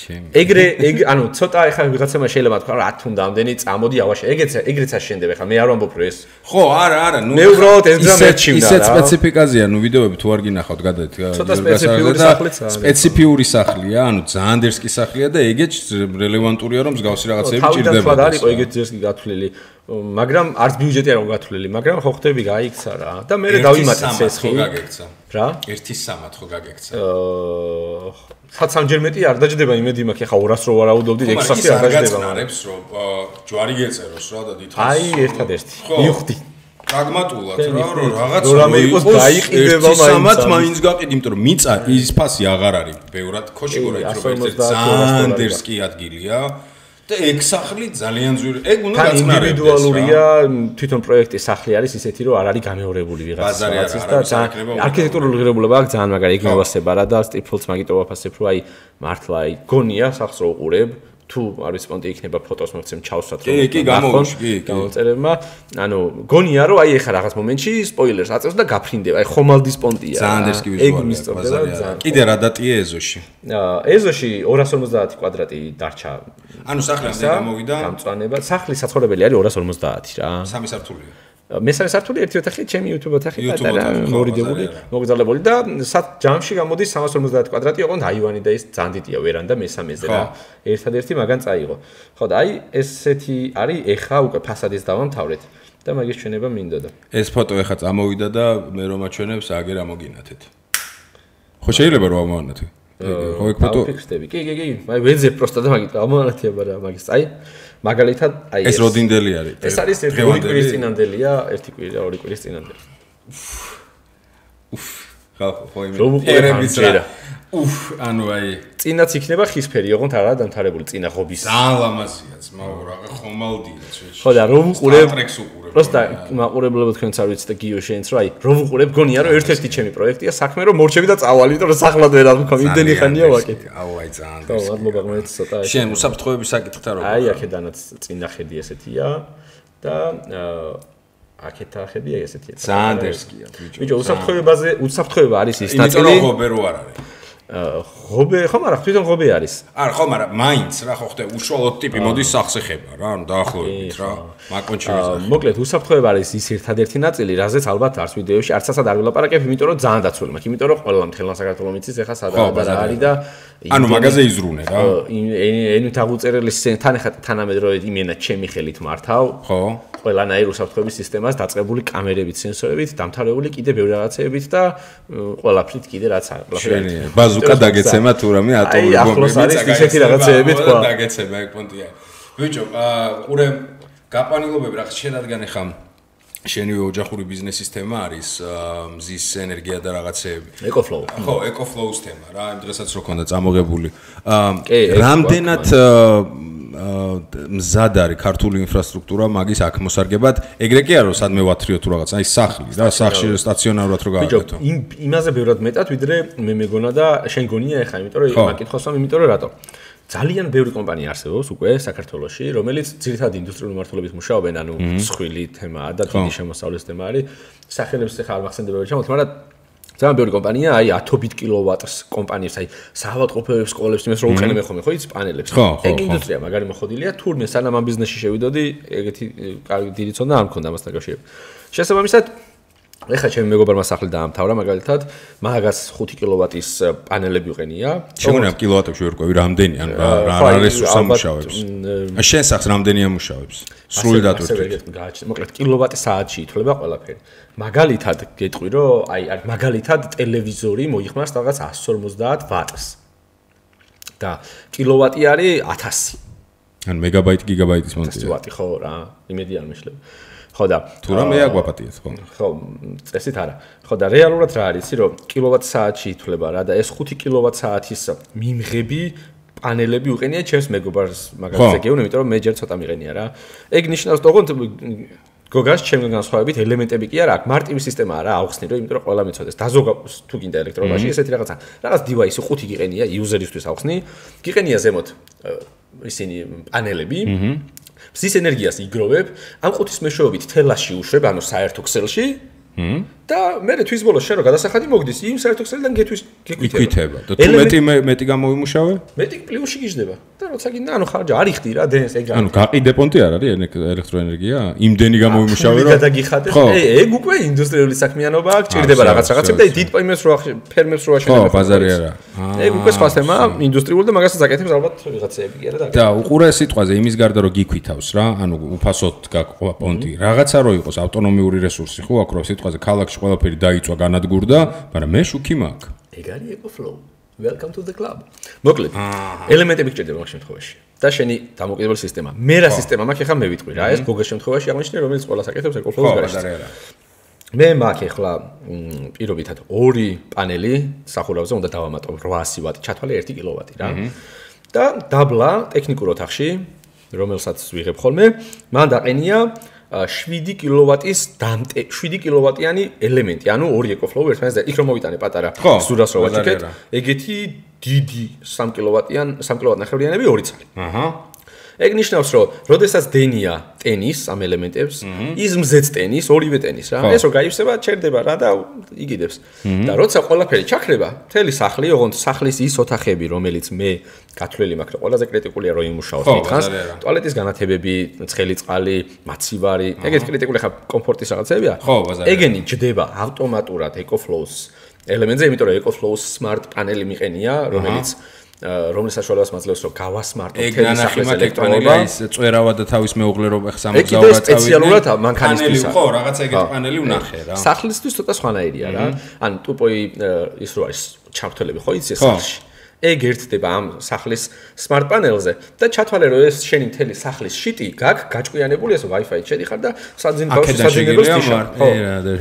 ეგრე ეგ ანუ ცოტა ეხა ვიღაცამა შეიძლება თქვა რა თუნდა ამდენი წამოდი ავაშე ეგეც ეგრეც აშენდება ხა მე არ ვამბობ რომ ეს ხო არა არა ნუ მე უბრალოდ ეს გზა მეჩივდა რა ისეთ სპეციფიკაზია ნუ ვიდეოები თუ არ გინახავთ გადაეთ ცოტა სპეციფიური სახლია სპეციფიური სახლია ანუ ძალიან დერსკი სახლია და ეგეც რელევანტურია რომ მსგავსი რაღაცები ჭირდება თავიდან არის ყო ეგეც დერსკი გათვლილი მაგრამ არც ბიუჯეტი არ გათვლილი მაგრამ ხო ხდები გაიქცა რა და მე დავიმატე ცესხი რა ერთი სამად ხო გაგექცა აა საცამჯერმეტი არ დაждდება იმედი მაქვს ახლა ორას რო ვარაუდობდი ექვსასი არ დაждდება მაგრამ რომ ჯვარი გეწეროს რა და დიდხანს აი ერთადერთი მივხვდი პრაგმატულად რა რომ რაღაც რამე იყოს დაიყიდება მაინც სამად მაინც გაყიდი იმიტომ რომ მიწა ის ფასი აღარ არის ბევრად ქოშიგორა ის რომ ერთ ძალიან დერსკი ადგილია და ეგ სახლი ძალიან ძვირი. ეგ უნდა გაწნარებდეს. ინდივიდუალურია, თვითონ პროექტის სახლი არის ისეთი, რომ არ არის გამეორებული ვიღაცის და არქიტექტურული ღირებულება აქვს ძალიან მაგარი ეგ მოვასება რა და სტიფოლს მაგიტო ვაფასებ, რომ აი მართლა აი გონია სახლს რო უყურებ, თუ არის პონტი იქნება ფოტოს მოგცემ ჩავსვათ რომ კი კი გამოვიში კი კი გამოწერებმა ანუ გონია რომ აი ეხა რაღაც მომენტში სპოილერს აწევს და გაფრინდება აი ხომალდის პონტია ძალიან დერსკი ვიზუალია კიდე რა დატია ეზოში ეზოში ორას ორმოცდაათი კვადრატი დარჩა ანუ სახლი ამდენ გამოვიდა გამწვანება სახლი საცხოვრებელი არის ორას ორმოცდაათი რა სამი სართულია მესამე სართული ერთი ოთახი ჩემი YouTube ოთახი პატარა მორიდებული მოგზალებული და ჯამში გამოდის სამას ორმოცდაათი კვადრატი ოღონდ აივანი და ის ძალიან დიდია ვერანდა მესამეზე რა ერთადერთი მაგან წაიღო ხო და აი ესეთი არის ეხა უკვე ფასადის დავამთავრეთ და მაგის ჩვენება მინდოდა ეს ფოტო ეხა წამოვიდა და მე რომ აჩვენებს აგერ ამოგინათეთ ხო შეიძლება რომ ამოვანათე ხო ეგ ფოტო ფიქსდები კი კი კი აი ვეძებ პროსტა და მაგით ამოვანათია მაგრამ მაგის აი მაგალითად აი ეს როდინდელი არის ეს არის ერთი ორი კვირის წინანდელია ერთი კვირა ორი კვირის წინანდელი უფ ხა ხო იმე ერების რა უფ ანუ აი წინაც იქნება ხისფერი ოღონდ არა დამთავრებული წინა ღობის ძალიან ლამაზია ძმაო რა ხომალდია ჩვენში ხო და რომ უყურებ პროსტა მაყურებლებო თქვენც არ ვიცით და გიო შენც რა აი რომ უყურებ გონია რომ ერთ-ერთი ჩემი პროექტია საქმე რომ მორჩები და წავალი იმიტომ რომ სახლად ვერ ამქო იმდენი ხანია ვაკეთე აუ აი ძალიან ხო მადლობა მეც ცოტა შენ უსაფრთხოების საკითხთა როგორ აი აქედანაც წინა ხედი ესეთია და აქეთა ხედი ესეთია ძალიან დერსკია ბიჭო ბიჭო უსაფრთხოებაზე უსაფრთხოება არის ის ნაწილი იმიტომ რომ ღობე რო არ არის ღობე ხო მაგრამ თვითონ ღობე არის არა ხო მაგრამ მაინც რა ხო ხდება უშუალოდ ტიპი მოდის სახზე ხება რა ანუ დაახლოებით რა მაკონჩი ვიზახი მოკლედ უსაფრთხოება არის ის ერთადერთი ნაწილი რაზეც ალბათ არც ვიდეოში არც ასად არ ვილაპარაკებ იმიტომ რომ ძალიან დაცული მაქვს იმიტომ რომ ყველა მთელ საქართველოს მიცის ეხა სადაა რა არის და ანუ მაგაზე იზრუნე რა ენით აღუწერელი თან ეხა თანამედროვე იმენა ჩემი ხელით მართავ ხო ყველანაირ უსაფრთხოების სისტემას დაწყებული კამერებით, სენსორებით, დამთავრებული კიდე ბევრი რაღაცეებით და ყველაფრით კიდე რაც არის. ბაზუკა დაგეცემა თუ რამე ატომური ბომბი. აი ახლოს არის ისეთი რაღაცეები თქვა. დაგეცემა ეგ პონტია. ბიჭო, ყურე გაყვანილობები რა შენადგან ეხა შენივე ოჯახური ბიზნესის თემა არის მზის ენერგია და რაღაცეები. ეკოფლოუ. ხო, ეკოფლოუს თემა რა, იმ დღესაც რო ქონდა წამოღებული. რამდენად მზად არის ქართული ინფრასტრუქტურა მაგის აქ მოსარგებად. ეგრე კი არა, სადმე ვათრიო თუ რაღაც, აი სახლი და სახლში სტაციონარულად რო გავაკეთო. იმ იმაზე ბევრად მეტად ვიდრე მე მეგონა და შენ გონია ეხა, იმიტომ რომ მაგითხოს ამ იმიტომ რომ რატო? ძალიან ბევრი კომპანია არსებობს უკვე საქართველოში, რომელიც ძირითადად ინდუსტრიული მმართველობით მუშაობენ, ანუ მსხვილი თემაა და დიდი შემოსავლის თემა არის. სახელებს ეხა არ მახსენდება რა ჩამოთ, მაგრამ ძალიან ბევრი კომპანია, აი ათობით კილოვატს კომპანიებს, აი საავადმყოფოებს, სკოლებს, იმას რო უყენებენ ხოლმე, ხო იცი პანელებს. ეგ ინდუსტრია მაგარი მოხდილია, თურმე სანამ ამ ბიზნესში შევიდოდი, ეგეთი კარგი დიდი ცოდნა არ მქონდა ამასთან კავშირებით. შესაბამისად, ეხლა ჩემი მეგობარმა სახლი დაამთავრა, მაგალითად, მაგას ხუთი კილოვატის პანელები უყენია. შეგონა კილოვატებში ვერ ყვევი რამდენი, ან რა რა რესურს ამუშავებს. აი შენ სახლს რამდენი ამუშავებს? სრული დატვირთვით. მოკლედ კილოვატი საათში ითვლება ყველაფერი. მაგალითად გეტყვი რომ აი მაგალითად ტელევიზორი მოიხმარს რაღაც εκατს ორმოცდაათ ვატს. და კილოვატი არის ათასი. ან მეგაბაიტი გიგაბაიტის მონტაჟი. ვატი ხო რა, იმედი არ მეშლება. ხო და თუ რა მე აგვაპატიეთ ხო? ხო, წესით არა. ხო და რეალურად რა არის, რომ კილოვატ საათში ითვლება რა და ეს ხუთი კილოვატ საათის მიმღები პანელები უყენია ჩემს მეგობარს მაგალითად გეუბნები, იმიტომ რომ მე ჯერ ცოტა მიყენია რა. ეგ ნიშნავს თქო გოგას ჩემგან განსხვავებით ელემენტები კი არა, აქ მარტივი სისტემა არა აუხსნი რომ იმიტომ რომ ყველა მიცოდეს. დაზოგა თუ გინდა ელექტრონიკაში ესეთი რაღაცა. რაღაც დივაისი ხუთი გიყენია იუზერისთვის აუხსნი. გიყენია ზემოთ ისინი პანელები. მზის ენერგიას იგროვებ, ამ ხუთის მეშვეობით თელაში უშვებ, ანუ საერთო ქსელში. და მე თვის ბოლოს შენ რო გადასახადი მოგდის, იმ საერთო ქსელიდან გეთვის გეკვითება. და თუ მეტი მეტი გამოვიმუშავე? მეტი პლუსში გიждდება. და როცა გინდა, ანუ ხარჯა არ იხდი რა, დენს ეგ. ანუ გაყიდე პონტი არ არის ელექტროენერგია? იმდენი გამოვიმუშავე რომ გადაგიხადე. ეგ უკვე ინდუსტრიული საქმიანობა აქ ჭირდება რაღაც რაღაცები და დიდ პაიმებს რო ფერმებს რო აშენებენ. ხო, ბაზარი არა. ეგ უკვე სხვა თემაა, ინდუსტრიული და მაგასაც აკეთებს ალბათ ვიღაცები კი არა და. და უყურე სიტყვაზე იმის გარდა რომ გიქვითავს რა, ანუ უფასოდ გაყვა პონტი. რაღაცა რო იყოს ავტონომიური რესურსი ხო აქ რო სიტყვაზე ქალაქში ყველაფერი დაიწვა განადგურდა, მაგრამ მე შუქი მაქვს. ეგ არის EcoFlow. Welcome to the club. მოკლედ, ელემენტები გჭირდება მაგ შემთხვევაში. და შენი დამოკიდებული სისტემა. მე რა სისტემა მაქვს, ახლა მე ვიტყვი რა, ეს გოგოს შემთხვევაში აღნიშნე, რომელიც ყველას აკეთებს EcoFlow-ს გარშემო. მე მაქვს ახლა პირობითად ორი პანელი სახურავზე უნდა დავამატო რვაასი ვატი, ჩათვალე ერთი კილოვატი რა. და დაბლა ტექნიკურ ოთახში, რომელსაც ვიღებ ხოლმე, მან დაყენია შვიდი კილოვატის დამტე შვიდი კილოვატიანი ელემენტი, ანუ ორი EcoFlow ერთმანეთს და იქ რომ მოვიტანე პატარა სურას რო ვაჭიქეთ, ეგეთი დიდი სამი კილოვატიან სამი კილოვატნახევრიანები ორი ცალი. აჰა. ეგ ნიშნავს, რომ როდესაც დენია ტენის ამ ელემენტებს, ის მზეც ტენის, ორივე ტენის რა. ეს რო გაივსება, ჩერდება რა და იგიდებს. და როცა ყველაფერი ჩაქრება, მთელი სახლი, ოღონდ სახლის ის ოთახები, რომელიც მე გათვლილი მაქვს, რომ ყველაზე კრიტიკულია რომ იმუშაოს მითხანს, ტუალეტის განათებები, ცხელი წყალი, მაცივარი, ეგეთ კრიტიკული ხა კომფორტის რაღაცებია. ეგენი ჯდება ავტომატურად EcoFlow-ს ელემენტზე, იმიტომ რომ EcoFlow-ს smart პანელი მიყენია, რომელიც რომლის საშუალებას მაძლევს რომ გავასმარტო მთელი სახლის ელექტრონიკა ის წვერავა და თავის მეუღლე რომ ხსამოცდაორი წავიდნენ. ეგ სპეციალურად მანქანისთვის ხო, რაღაცა ეგეთი პანელი ვნახე რა. სახლისთვის ცოტა სხვანაირია რა. ან ტუპოი ის რო არის ჩართულები ხო იცი სახლში. ეგ ერთდება ამ სახლის smart პანელზე და ჩათვალე რომ ეს შენი მთელი სახლის შიტი გაქვს გაჭკვიანებული ეს Wi-Fi-ით შედიხარ და საძინ ბავშვი საძინებელს თიშა. ხო,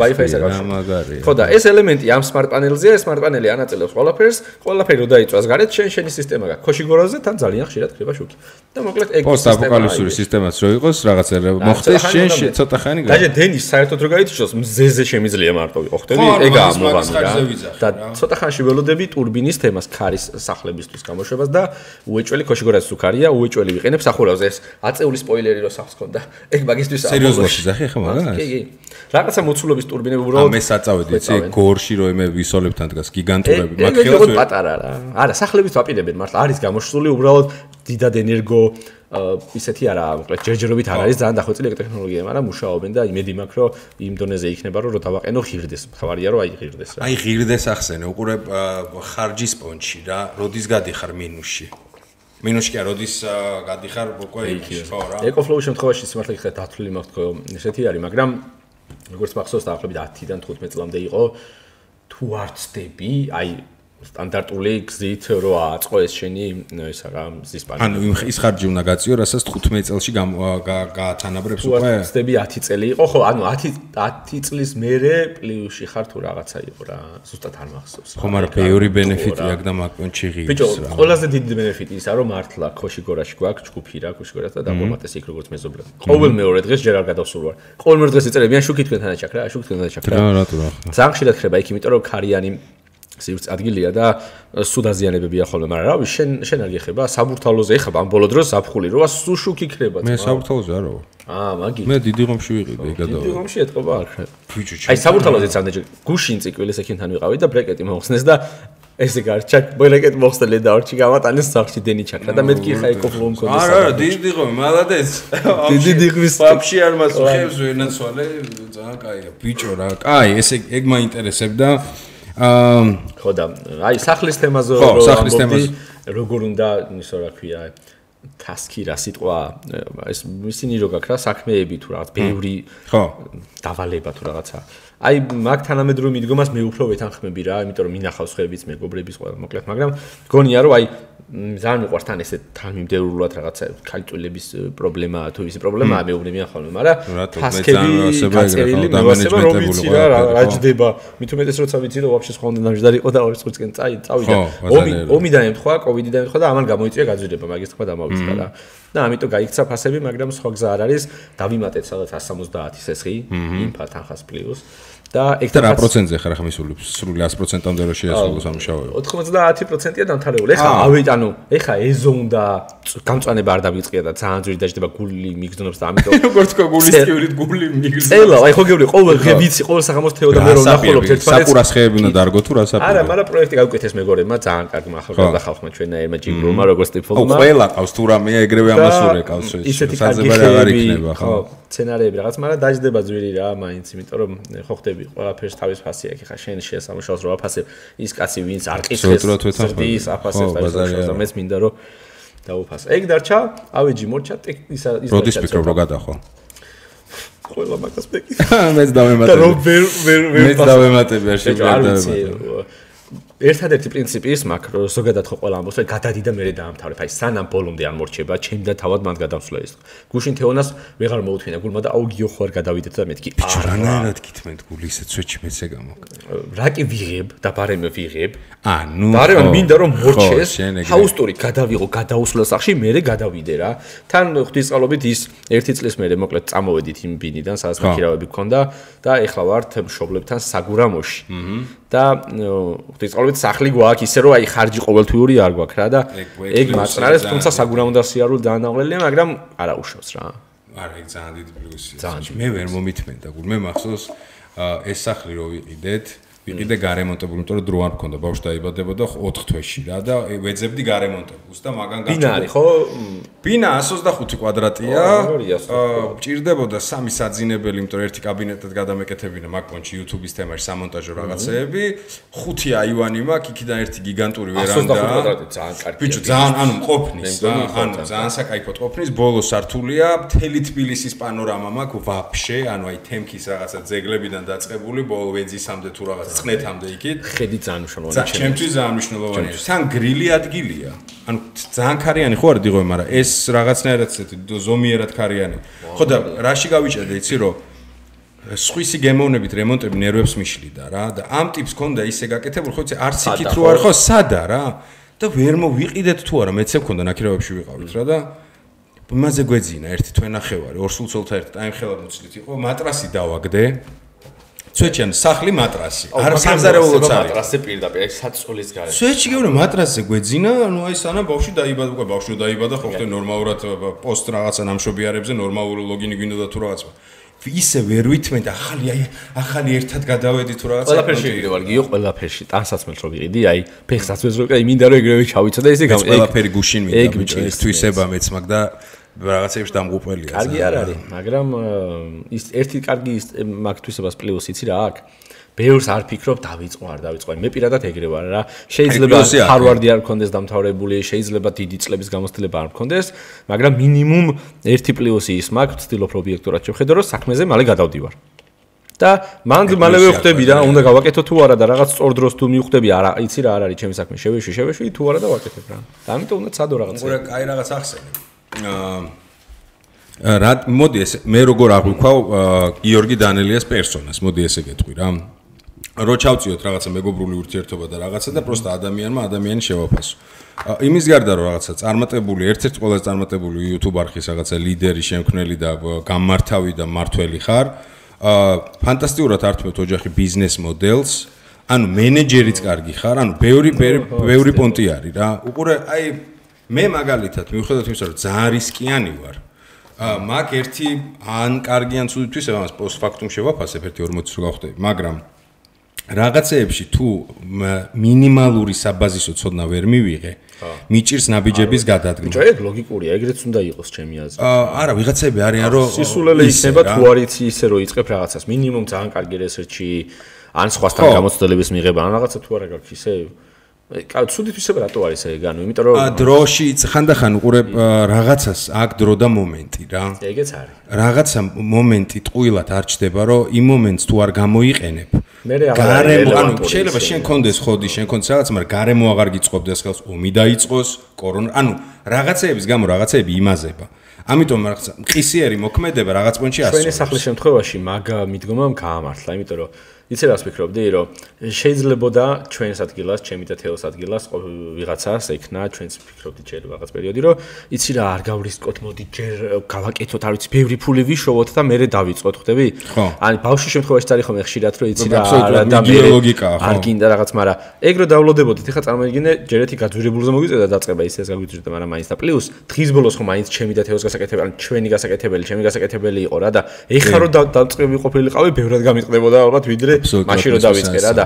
Wi-Fi-ს არის. ხო და ეს ელემენტი ამ smart პანელზეა, smart პანელი ანაწილებს ყველაფერს, ყველაფერი რო დაიწვას გარეთ, შენ შენი სისტემა გაქვს. ქოშიგორაზე თან ძალიან ხშირად ხდება შუქი. და მოკლედ ეგ პოსტაპოკალიფსური სისტემაც რო იყოს, რაღაცა მოხდეს შენ ცოტა ხანი გა. და დენის საერთოდ რო გაითიშოს, მზეზე შემიძლია მარტო ვიყო ხდები, ეგაა მოვამი რა. და ცოტა ხანში ველოდები ტურბინის თემას ქარის სახლებისთვის გამოშვებას და უეჭველი ქოშიგორაზის უკარია, უეჭველი ვიყენებ სახურავზე ეს აწეული სპოილერი რო სახს ქონდა. ეგ მაგისტვის სერიოზულად შეზახი ახლა მაგას? კი, კი. რაღაცა მოცულობის ტურბინები უბრალოდ ამე საწავედი, იცი, გორში რო ემე ვისოლებთან დგას გიგანტურები, მათ ხელს ვერ პატარა რა. არა, სახლების ვაპირებენ მართლა არის გამოშლული უბრალოდ დიდად ენერგო ისეთი არა, მოკლედ ჯერჯერობით არ არის ძალიან დახვეწილი ეგ ტექნოლოგია, მაგრამ მუშაობენ და იმედი მაქვს რომ იმ დონეზე იქნება რომ დავაყენო ღირდეს. თავარია რომ აი ღირდეს რა. აი ღირდეს ახსენე, უყურე ხარჯის პონჩი რა, როდის გადიხარ მინუსში? მინუსში კი როდის გადიხარ უკვე იქში, ხო რა. EcoFlow-ის შემთხვევაში სიმართლე გითხრათ დათვლილი მაქვს თქო, ესეთი არის, მაგრამ როგორც მახსოვს დაახლოებით ათიდან თხუთმეტ წლამდე იყო თუ არ ცდები, აი სტანდარტული გზით რო აწყო ეს შენი ისა რა მზის პანელი. ანუ ის ხარჯი უნდა გაწიო, რასაც თხუთმეტ წელში გაათანაბრებს უკვე. ხდები ათი წელი იყო, ხო, ანუ ათი წლის მერე პლუსში ხარ თუ რაღაცა იყო რა, ზუსტად არ მახსოვს. ხო, მაგრამ ბევრი ბენეფიტი აქვს და მაგონჩი ღირს. ბიჭო, ყველაზე დიდი ბენეფიტი ისა რომ მართლა ქოშიგორაში გვაქვს ჯგუფი რა, ქოშიგორას და დაგომატეს იქ როგორც მეზობლები. ყოველ მეორე დღეს ჯერ არ გადავსულ ვარ. ყოველ მეორე დღეს იწერებიან შუქი თქვენთან აჩაქ რა, შუქი თქვენთან აჩაქ რა. რა რატო რა. ძალიან ხშირად ხდება იქ, იმიტომ რომ ქარიანი სივრცე ადგილია და სუდაზიანებებია ხოლმე, მაგრამ რავი, შენ შენ არ გეხება საბურთალოზე ეხება ამ ბოლო დროს ზაფხული როა სუ შუქი ქრება. მე საბურთალოზე არა ვარ. აა, მაგი. მე დიდი ღომში ვიყიდე, გადავა. დიდი ღომში ეთყობა არ ხარ. აი საბურთალოზეც ამდენჯერ გუშინ წიკვილის ექიმთან ვიყავი და ბრეკეტი მოხსნეს და ესე გარჩა ბრეკეტი მოხსნელი და ორჩი გამატანეს სახში დენი ჩაქრა და მეთქი ხა ეკოფლო მქონდეს. არა, არა, დიდი ღომი, მალადეს. დიდი დიღმის ვაფშე არ მასხებს ვენაცვალე, ძალიან კაია. ბიჭო რა, კაი, ესე ეგ მაინტერესებდა. აა ხო და აი სახლის თემაზე რო სახლის თემაზე როგორ უნდა ისო რა ქვია task-ი რა სიტყვა ეს ისინი რო გაქვს რა საქმეები თუ რაღაც ბევრი ხო დავალება თუ რაღაცა აი მაგ თანამედროვე მიდგომას მე უფრო ვეთანხმები რა იმიტომ რომ მინახავს ხებიც მეგობრების ყველა მოკლედ მაგრამ გონია რომ აი ძალიან მიყვარს თან ესე თანმიმდევრულად რაღაცა ქალწულების პრობლემაა თუ ისი პრობლემაა მეუბნებიან ხოლმე მაგრამ task-ები გაწერილი და მენეჯმენტებული რა რა ჯდება მით უმეტეს როცა ვიცი რომ ვაფშე სხვა უნდა დამჯდარი იყო და ორი წუთკენ წავიდა ომი ომიდან ემთხვა კოვიდიდან ემთხვა და ამან გამოიწვია გაძვირება მაგის თქმა დამავიწყდა რა და ამიტომ გაიქცა ფასები მაგრამ სხვა გზა არ არის დავიმატეთ სადაც εκατს სამოცდაათი სესხი ინფა თანხას პლუს და ეგ რა პროცენტზე ხარ ახლა მისულებს სრული ათი პროცენტამდე რო შეასრულოს სამუშაოები ოთხმოცდაათი პროცენტია დამთავრებული ეხლა ავით ანუ ეხლა ეზო უნდა გამწვანება არ დავიწყია და ძალიან ძვირი დაждდება გული მიგზნობს და ამიტომ როგორც თქვა გულის თეორიით გული მიგზნობს წელა აი ხო გეუბნები ყოველ დღე ვიცი ყოველ საღამოს თეო და მე რომ ნახულობ ერთმანეთს საკურას ხეები უნდა დარგო თუ რა საფუძველი არა მაგრამ პროექტი გავუკეთეს მეგობრებმა ძალიან კარგი ახალგაზრდა ხალხმა ჩვენაერმა ჯიგრომა როგორც ტიპოლმა ო ყველა ყავს თუ რამეა ეგრევე ამასურე ყავს საძებარი აღარ იქნება ხო სცენარები რაღაც მაგრამ დაждდება ძვირი რა მაინც იმიტომ რომ ხო ხდები ყველაფერს თავის ფასი აქვს ხა შენ შეასამუშავოს რა აფასებ ის კაცი ვინც არ ყისხეს ზრდის აფასებს და მეც მინდა რომ დაუფასო ეგ დარჩა ავეჯი მორჩა ისა ის როდის ფიქრობ რომ გადახო ყველა მაგას მეკი მეც დავემატებ და რომ ვერ ვერ ვერ მეც დავემატებ არ შეგვიძლია ერთადერთი პრინციპი ის მაქვს რომ ზოგადად ხო ყველა ამბობს რომ გადადი და მერე დაამთავრებ აი სანამ ბოლომდე არ მორჩება ჩემი და თავად მან გადავსვლა ის გუშინ თეონას ვეღარ მოუთმინა გულმა და აუ გიო ხო არ გადავიდეთ და მეთქი ბიჭო რანაირად გითმენთ გული ისე ცვეჩი მეც ეგ ამოკლე რა კი ვიღებ და ბარემ ვიღებ ანუ ბარემ მინდა რომ მორჩეს ჰაუსტური გადავიღო გადაუსვლა სახში მერე გადავიდე რა თან ღვთისწყალობით ის ერთი წლის მერე მოკლედ წამოვედით იმ ბინიდან სადაც მაქირავები გქონდა და ეხლა ვართ მშობლებთან საგურამოში და ღვთისწყალობით სახლი გვაქვს ისე რომ აი ხარჯი ყოველთვიური არ გვაქვს რა და ეგ მაწნარეს თუმცა საგურამო და სიარული დაანაღლელია მაგრამ არა უშავს რა არა ეგ ძალიან დიდი პლუსია მე ვერ მომითმენდა გულ მე მახსოვს ეს სახლი რო ვიყიდეთ ვიყიდე გარემონტებული იმიტომ რომ დრო არ მქონდა ბავშვი დაიბადებოდა ოთხ თვეში რა და ვეძებდი გარემონტებულს და მაგან გაჩვენე ბინა არის ხო ბინა εκατს ოცდახუთი კვადრატია ჭირდებოდა სამი საძინებელი იმიტომ რომ ერთი კაბინეტად გადამეკეთებინა მაგ პონჩი YouTube-ის თემაში სამონტაჟო რაღაცეები ხუთი აივანი მაქვს იქიდან ერთი გიგანტური ვერანდა εκατს ოცდახუთი კვადრატი ძალიან კარგი ბიჭო ძალიან ანუ მყოფნის რა ანუ ძალიან საკაიფო მყოფნის ბოლო სართულია მთელი თბილისის პანორამა მაქვს ვაფშე ანუ აი თემქის რაღაცა ძეგლებიდან დაწყებული ბოლო ვეძისამდე თუ რაღაც წნეთამდე იქით ხედი ძალიან მნიშვნელოვანია ჩემთვის ძალიან მნიშვნელოვანია თან გრილი ადგილია ანუ ძალიან ქარიანი ხო არ დიღო მაგრამ ეს რაღაცნაირად ესეთი ზომიერად ქარიანი ხო და რაში გავიჭედე იცი რომ სხვისი გემოვნებით რემონტები ნერვებს მიშლიდა რა და ამ ტიპს ქონდა ისე გაკეთებული ხო იცი არც იქით რო არ ხო სადა რა და ვერ მოვიყიდეთ თუ არა მეცე მქონდა ნაკირავებში ვიყავით რა და იმაზე გვეძინა ერთი თვენახევარი ორსულცოლთა ერთი ტაიმხელად მოცლით იყო მატრასი დავაგდე სვეჩიან სახლი მატრასი არ სამზარეულოც არის მატრასზე პირდაპირ ეს საწოლის გარეშე სვეჩი გეუბნე მატრასზე გვეძინა ანუ აი სანამ ბავშვი დაიბადა უკვე ბავშვი დაიბადა ხო ხდე ნორმალურად პოსტ რაღაცა ნამშობიარებზე ნორმალური ლოგინი გვინდოდა თუ რაღაცა ისე ვერ ვითმენთ ახალი აი ახალი ერთად გადავედი თუ რაღაცა ყველაფერში ვიყიდე ვარ გიო ყველაფერში ტანსაცმელს რო ვიყიდი აი ფეხსაცმელს რო აი მინდა რომ ეგრევე ჩავიცო და ესე გამო ყველაფერი გუშინ მინდა ბიჭო ეს თვისება მეც მაგ და რაღაცეებში დამღუპველია. კარგი არ არის, მაგრამ ის ერთი კარგი მაგ თვისებას პლუს იცი რა აქვს. ბევრს არ ფიქრობ დავიწყო არ დავიწყო. მე პირადად ეგრე ვარ რა. შეიძლება ჰარვარდი არ მქონდეს დამთავრებული, შეიძლება დიდი წლების გამოცდილება არ მქონდეს, მაგრამ მინიმუმ ერთი პლუსი ის მაქვს, ვცდილობ ობიექტურად შევხედო, რომ საქმეზე მალე გადავდივარ. და მანდ მალევე ხვდები რა, უნდა გავაკეთო თუ არა და რაღაც სწორ დროს თუ მივხვდები, არა, იცი რა არ არის ჩემი საქმე, შევეშვი, შევეშვი თუ არა და ვაკეთებ რა. და ამიტომ უნდა ცადო რაღაცა. უყურე, კაი რაღაც ახსენე. აა რა მოდი ეს მე როგორ აღვიქვავ გიორგი დანელიას პერსონას, მოდი ესე გეტყვი რა. რო ჩავწიოთ რაღაცა მეგობრული ურთიერთობა და რაღაცა და პროსტა ადამიანმა ადამიანი შევაფასო. იმის გარდა რომ რაღაცა წარმატებული, ერთ-ერთი ყველაზე წარმატებული YouTube არხის რაღაცა ლიდერი, შემქმნელი და გამმართავი და მართველი ხარ. აა ფანტასტიკურად ართმევთ ოჯახი ბიზნეს მოდელს. ანუ მენეჯერიც კარგი ხარ, ანუ ბევრი ბევრი პონტი არის რა. უყურე, აი მე მაგალითად მიუხედავად იმისა, რომ ძალიან რისკიანი ვარ. აა მაგ ერთი ან კარგი ან ცუდი თვის ამას პოსტფაქტუმ შევაფასებ ერთი ორმოცი რო გავხდები, მაგრამ რაღაცეებში თუ მინიმალური საბაზისო ცოდნა ვერ მივიღე, მიჭირს ნაბიჯების გადადგმა. ბიჭო, ეგ ლოგიკურია, ეგრეც უნდა იყოს ჩემი აზრით. არა, ვიღაცები არიან რომ სისულელე იქნება თუ არ იცი ისე რომ იწყებ რაღაცას, მინიმუმ ძალიან კარგი რესერჩი, ან სხვასთან გამოცდილების მიღება, ან რაღაცა თუ არა გაქვს ისე კაი, ცუდი თვისება რატო არის ეგ? ანუ იმიტომ რომ დროში ხანდახან უყურე რაღაცას აქ დრო და მომენტი რა. ეგეც არის. რაღაცა მომენტი ტყუილად არ ჩდება, რომ იმ მომენტს თუ არ გამოიყენებ. მე რა გარემო, ანუ შეიძლება შენ კონდეს ხოდი, შენ კონდეს რაღაც, მაგრამ გარემო აღარ გიწყობდეს ხელს, ომი დაიწყოს, კორონა, ანუ რაღაცეების გამო რაღაცეები იმაზება. ამიტომ რაღაცა მყისიერი მოქმედება რაღაც პონჩი ასწორებს. ჩვენი სახლის შემთხვევაში მაგ მიდგომამ გაამართლა, იმიტომ რომ იცი რას ვფიქრობდი, რომ შეიძლებოდა ჩვენს ადგილას, ჩემი და თეოს ადგილას ვიღაცას ექნა, ჩვენს ვფიქრობდი ჯერ რაღაც პერიოდი, რომ იცი რა არ გავრისკოთ, მოდი ჯერ გავაკეთოთ, არ ვიცი, ბევრი ფული ვიშოვოთ და მერე დავიწყოთ, ხვდები? ანუ ბავშვის შემთხვევაში არის ხომ ხშირად, რომ იცი რა და მერე არ გინდა რაღაც, მაგრამ ეგ რო დავლოდებოდით, ეხლა წარმოიდგინე, ჯერ ერთი გაძვირებულზე მოგვიწევდა დაწყება ისე ეს გაგვიწევდა, მაგრამ მაინც და პლუს დღის ბოლოს ხომ მაინც ჩემი და თეოს გასაკეთებელი, ან ჩვენი გასაკეთებელი, ჩემი გასაკეთებელი იყო რა და ეხლა რო დაწყები ყოფილიყავი, ბევრად გამიყდებოდა ალბათ ვიდრე მაშინ რო დავიწყე რა და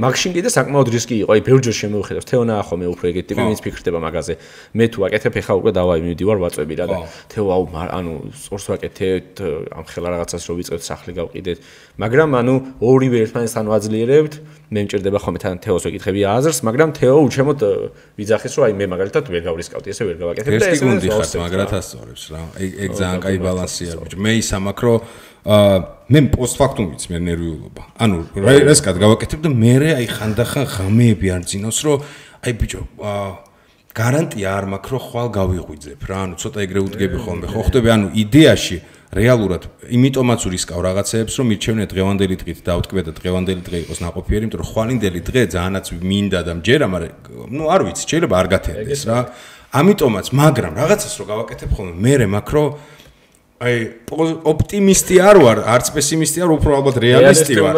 მაგშინ კიდე საკმაოდ რისკი იყო. აი ბევრჯერ შემოვიხედავს თეონა ახო მე უფრო ეგეთი ტიპი ვინც ფიქრდება მაგაზე. მე თუ აკეთებ ეხა უკვე დავაი მივდივარ ვაწვევი რა და თეო აუ ანუ სწორს ვაკეთებთ ამ ხელა რაღაცას რო ვიწყებთ სახლი გავყიდეთ. მაგრამ ანუ ორივე ერთმანეთთან ვაძლიერებთ. მე მჭირდება ხოლმე თან თეოს ვეკითხები აზრს, მაგრამ თეო უჩემოდ ვიძახის რომ აი მე მაგალითად ვერ გავრისკავდი, ესე ვერ გავაკეთებ და ესე გუნდიხარ მაგრად ასწორებს რა. ეგ ეგ ძალიან კაი ბალანსია ბიჭო. მე ის ამაკრო აა მე პოსტფაქტუმ ვიცი მე ნერვიულობა. ანუ რესკად გავაკეთებ და მე აი ხანდახან ღამეები არ ძინავს რომ აი ბიჭო აა გარანტია არ მაქვს რომ ხვალ გავიღვიძებ რა. ანუ ცოტა ეგრე უდგები ხოლმე. ხო ხვდები ანუ იდეაში რეალურად იმიტომაც ურისკავ რაღაცეებს რომ მირჩევნია დღევანდელი დღით დავტკბე და დღევანდელი დღე იყოს ნაყოფიერი, იმიტომ რომ ხვალინდელი დღე ძალიანაც მინდა და მჯერა, მაგრამ ნუ არ ვიცი, შეიძლება არ გათენდეს რა. ამიტომაც, მაგრამ რაღაცას რო გავაკეთებ ხოლმე, მე მაქრო აი ოპტიმისტი არ ვარ, არც პესიმისტი არ, უფრო ალბათ რეალისტი ვარ.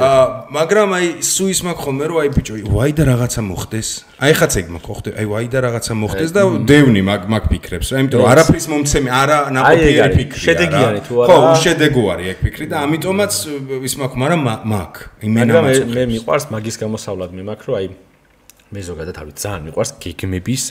აა მაგრამ აი სუის მაქვს ხოლმე რომ აი ბიჭო, ვაი და რაღაცა მოხდეს. აი ხაც ეგ მაქვს, ხო ხდება, აი ვაი და რაღაცა მოხდეს და დევნი მაგ მაგ ფიქრებს რა, იმიტომ რომ არაფრის მომცემი, არა ნაყოფიერი ფიქრია. შედეგიანი თუ არა. ხო, უშედეგოარი ეგ ფიქრი და ამიტომაც ის მაქვს, მაგრამ მაქვს. იმენა მაქვს. მე მიყვარს მაგის გამოსავლად, მე მაქვს რომ აი მე ზოგადად არ ვიცი, ძალიან მიყვარს გეგმების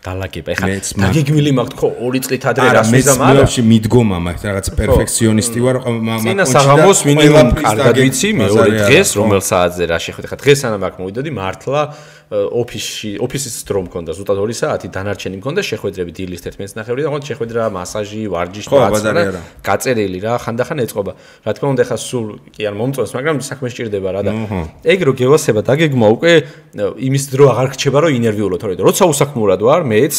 დალაგება. ეხლა დაგეგმილი მაქვს ხო ორი წლით ადრე რას ვიზამ არა. მე მიდგომა მაქვს რაღაც პერფექციონისტი ვარ, მაგრამ წინა საღამოს მინიმუმ კარგად ვიცი მეორე დღეს რომელ საათზე რა შეხვდით. ეხლა დღეს სანამ აქ მოვიდოდი მართლა ოფისში ოფისის დრო მქონდა ზუსტად ორი საათი დანარჩენი მქონდა შეხვედრები დილის ერთმეტს ნახევრი და ხომ შეხვედრა მასაჟი ვარჯიში და გაწერილი რა ხანდახან ეწყობა. რა თქმა უნდა ეხლა სულ კი არ მომწონს, მაგრამ საქმე სჭირდება რა და ეგ რო გევასება დაგეგმა უკვე იმის დრო აღარ რჩება რომ ინერვიულო თორე როცა უსაქმურად ვარ მეც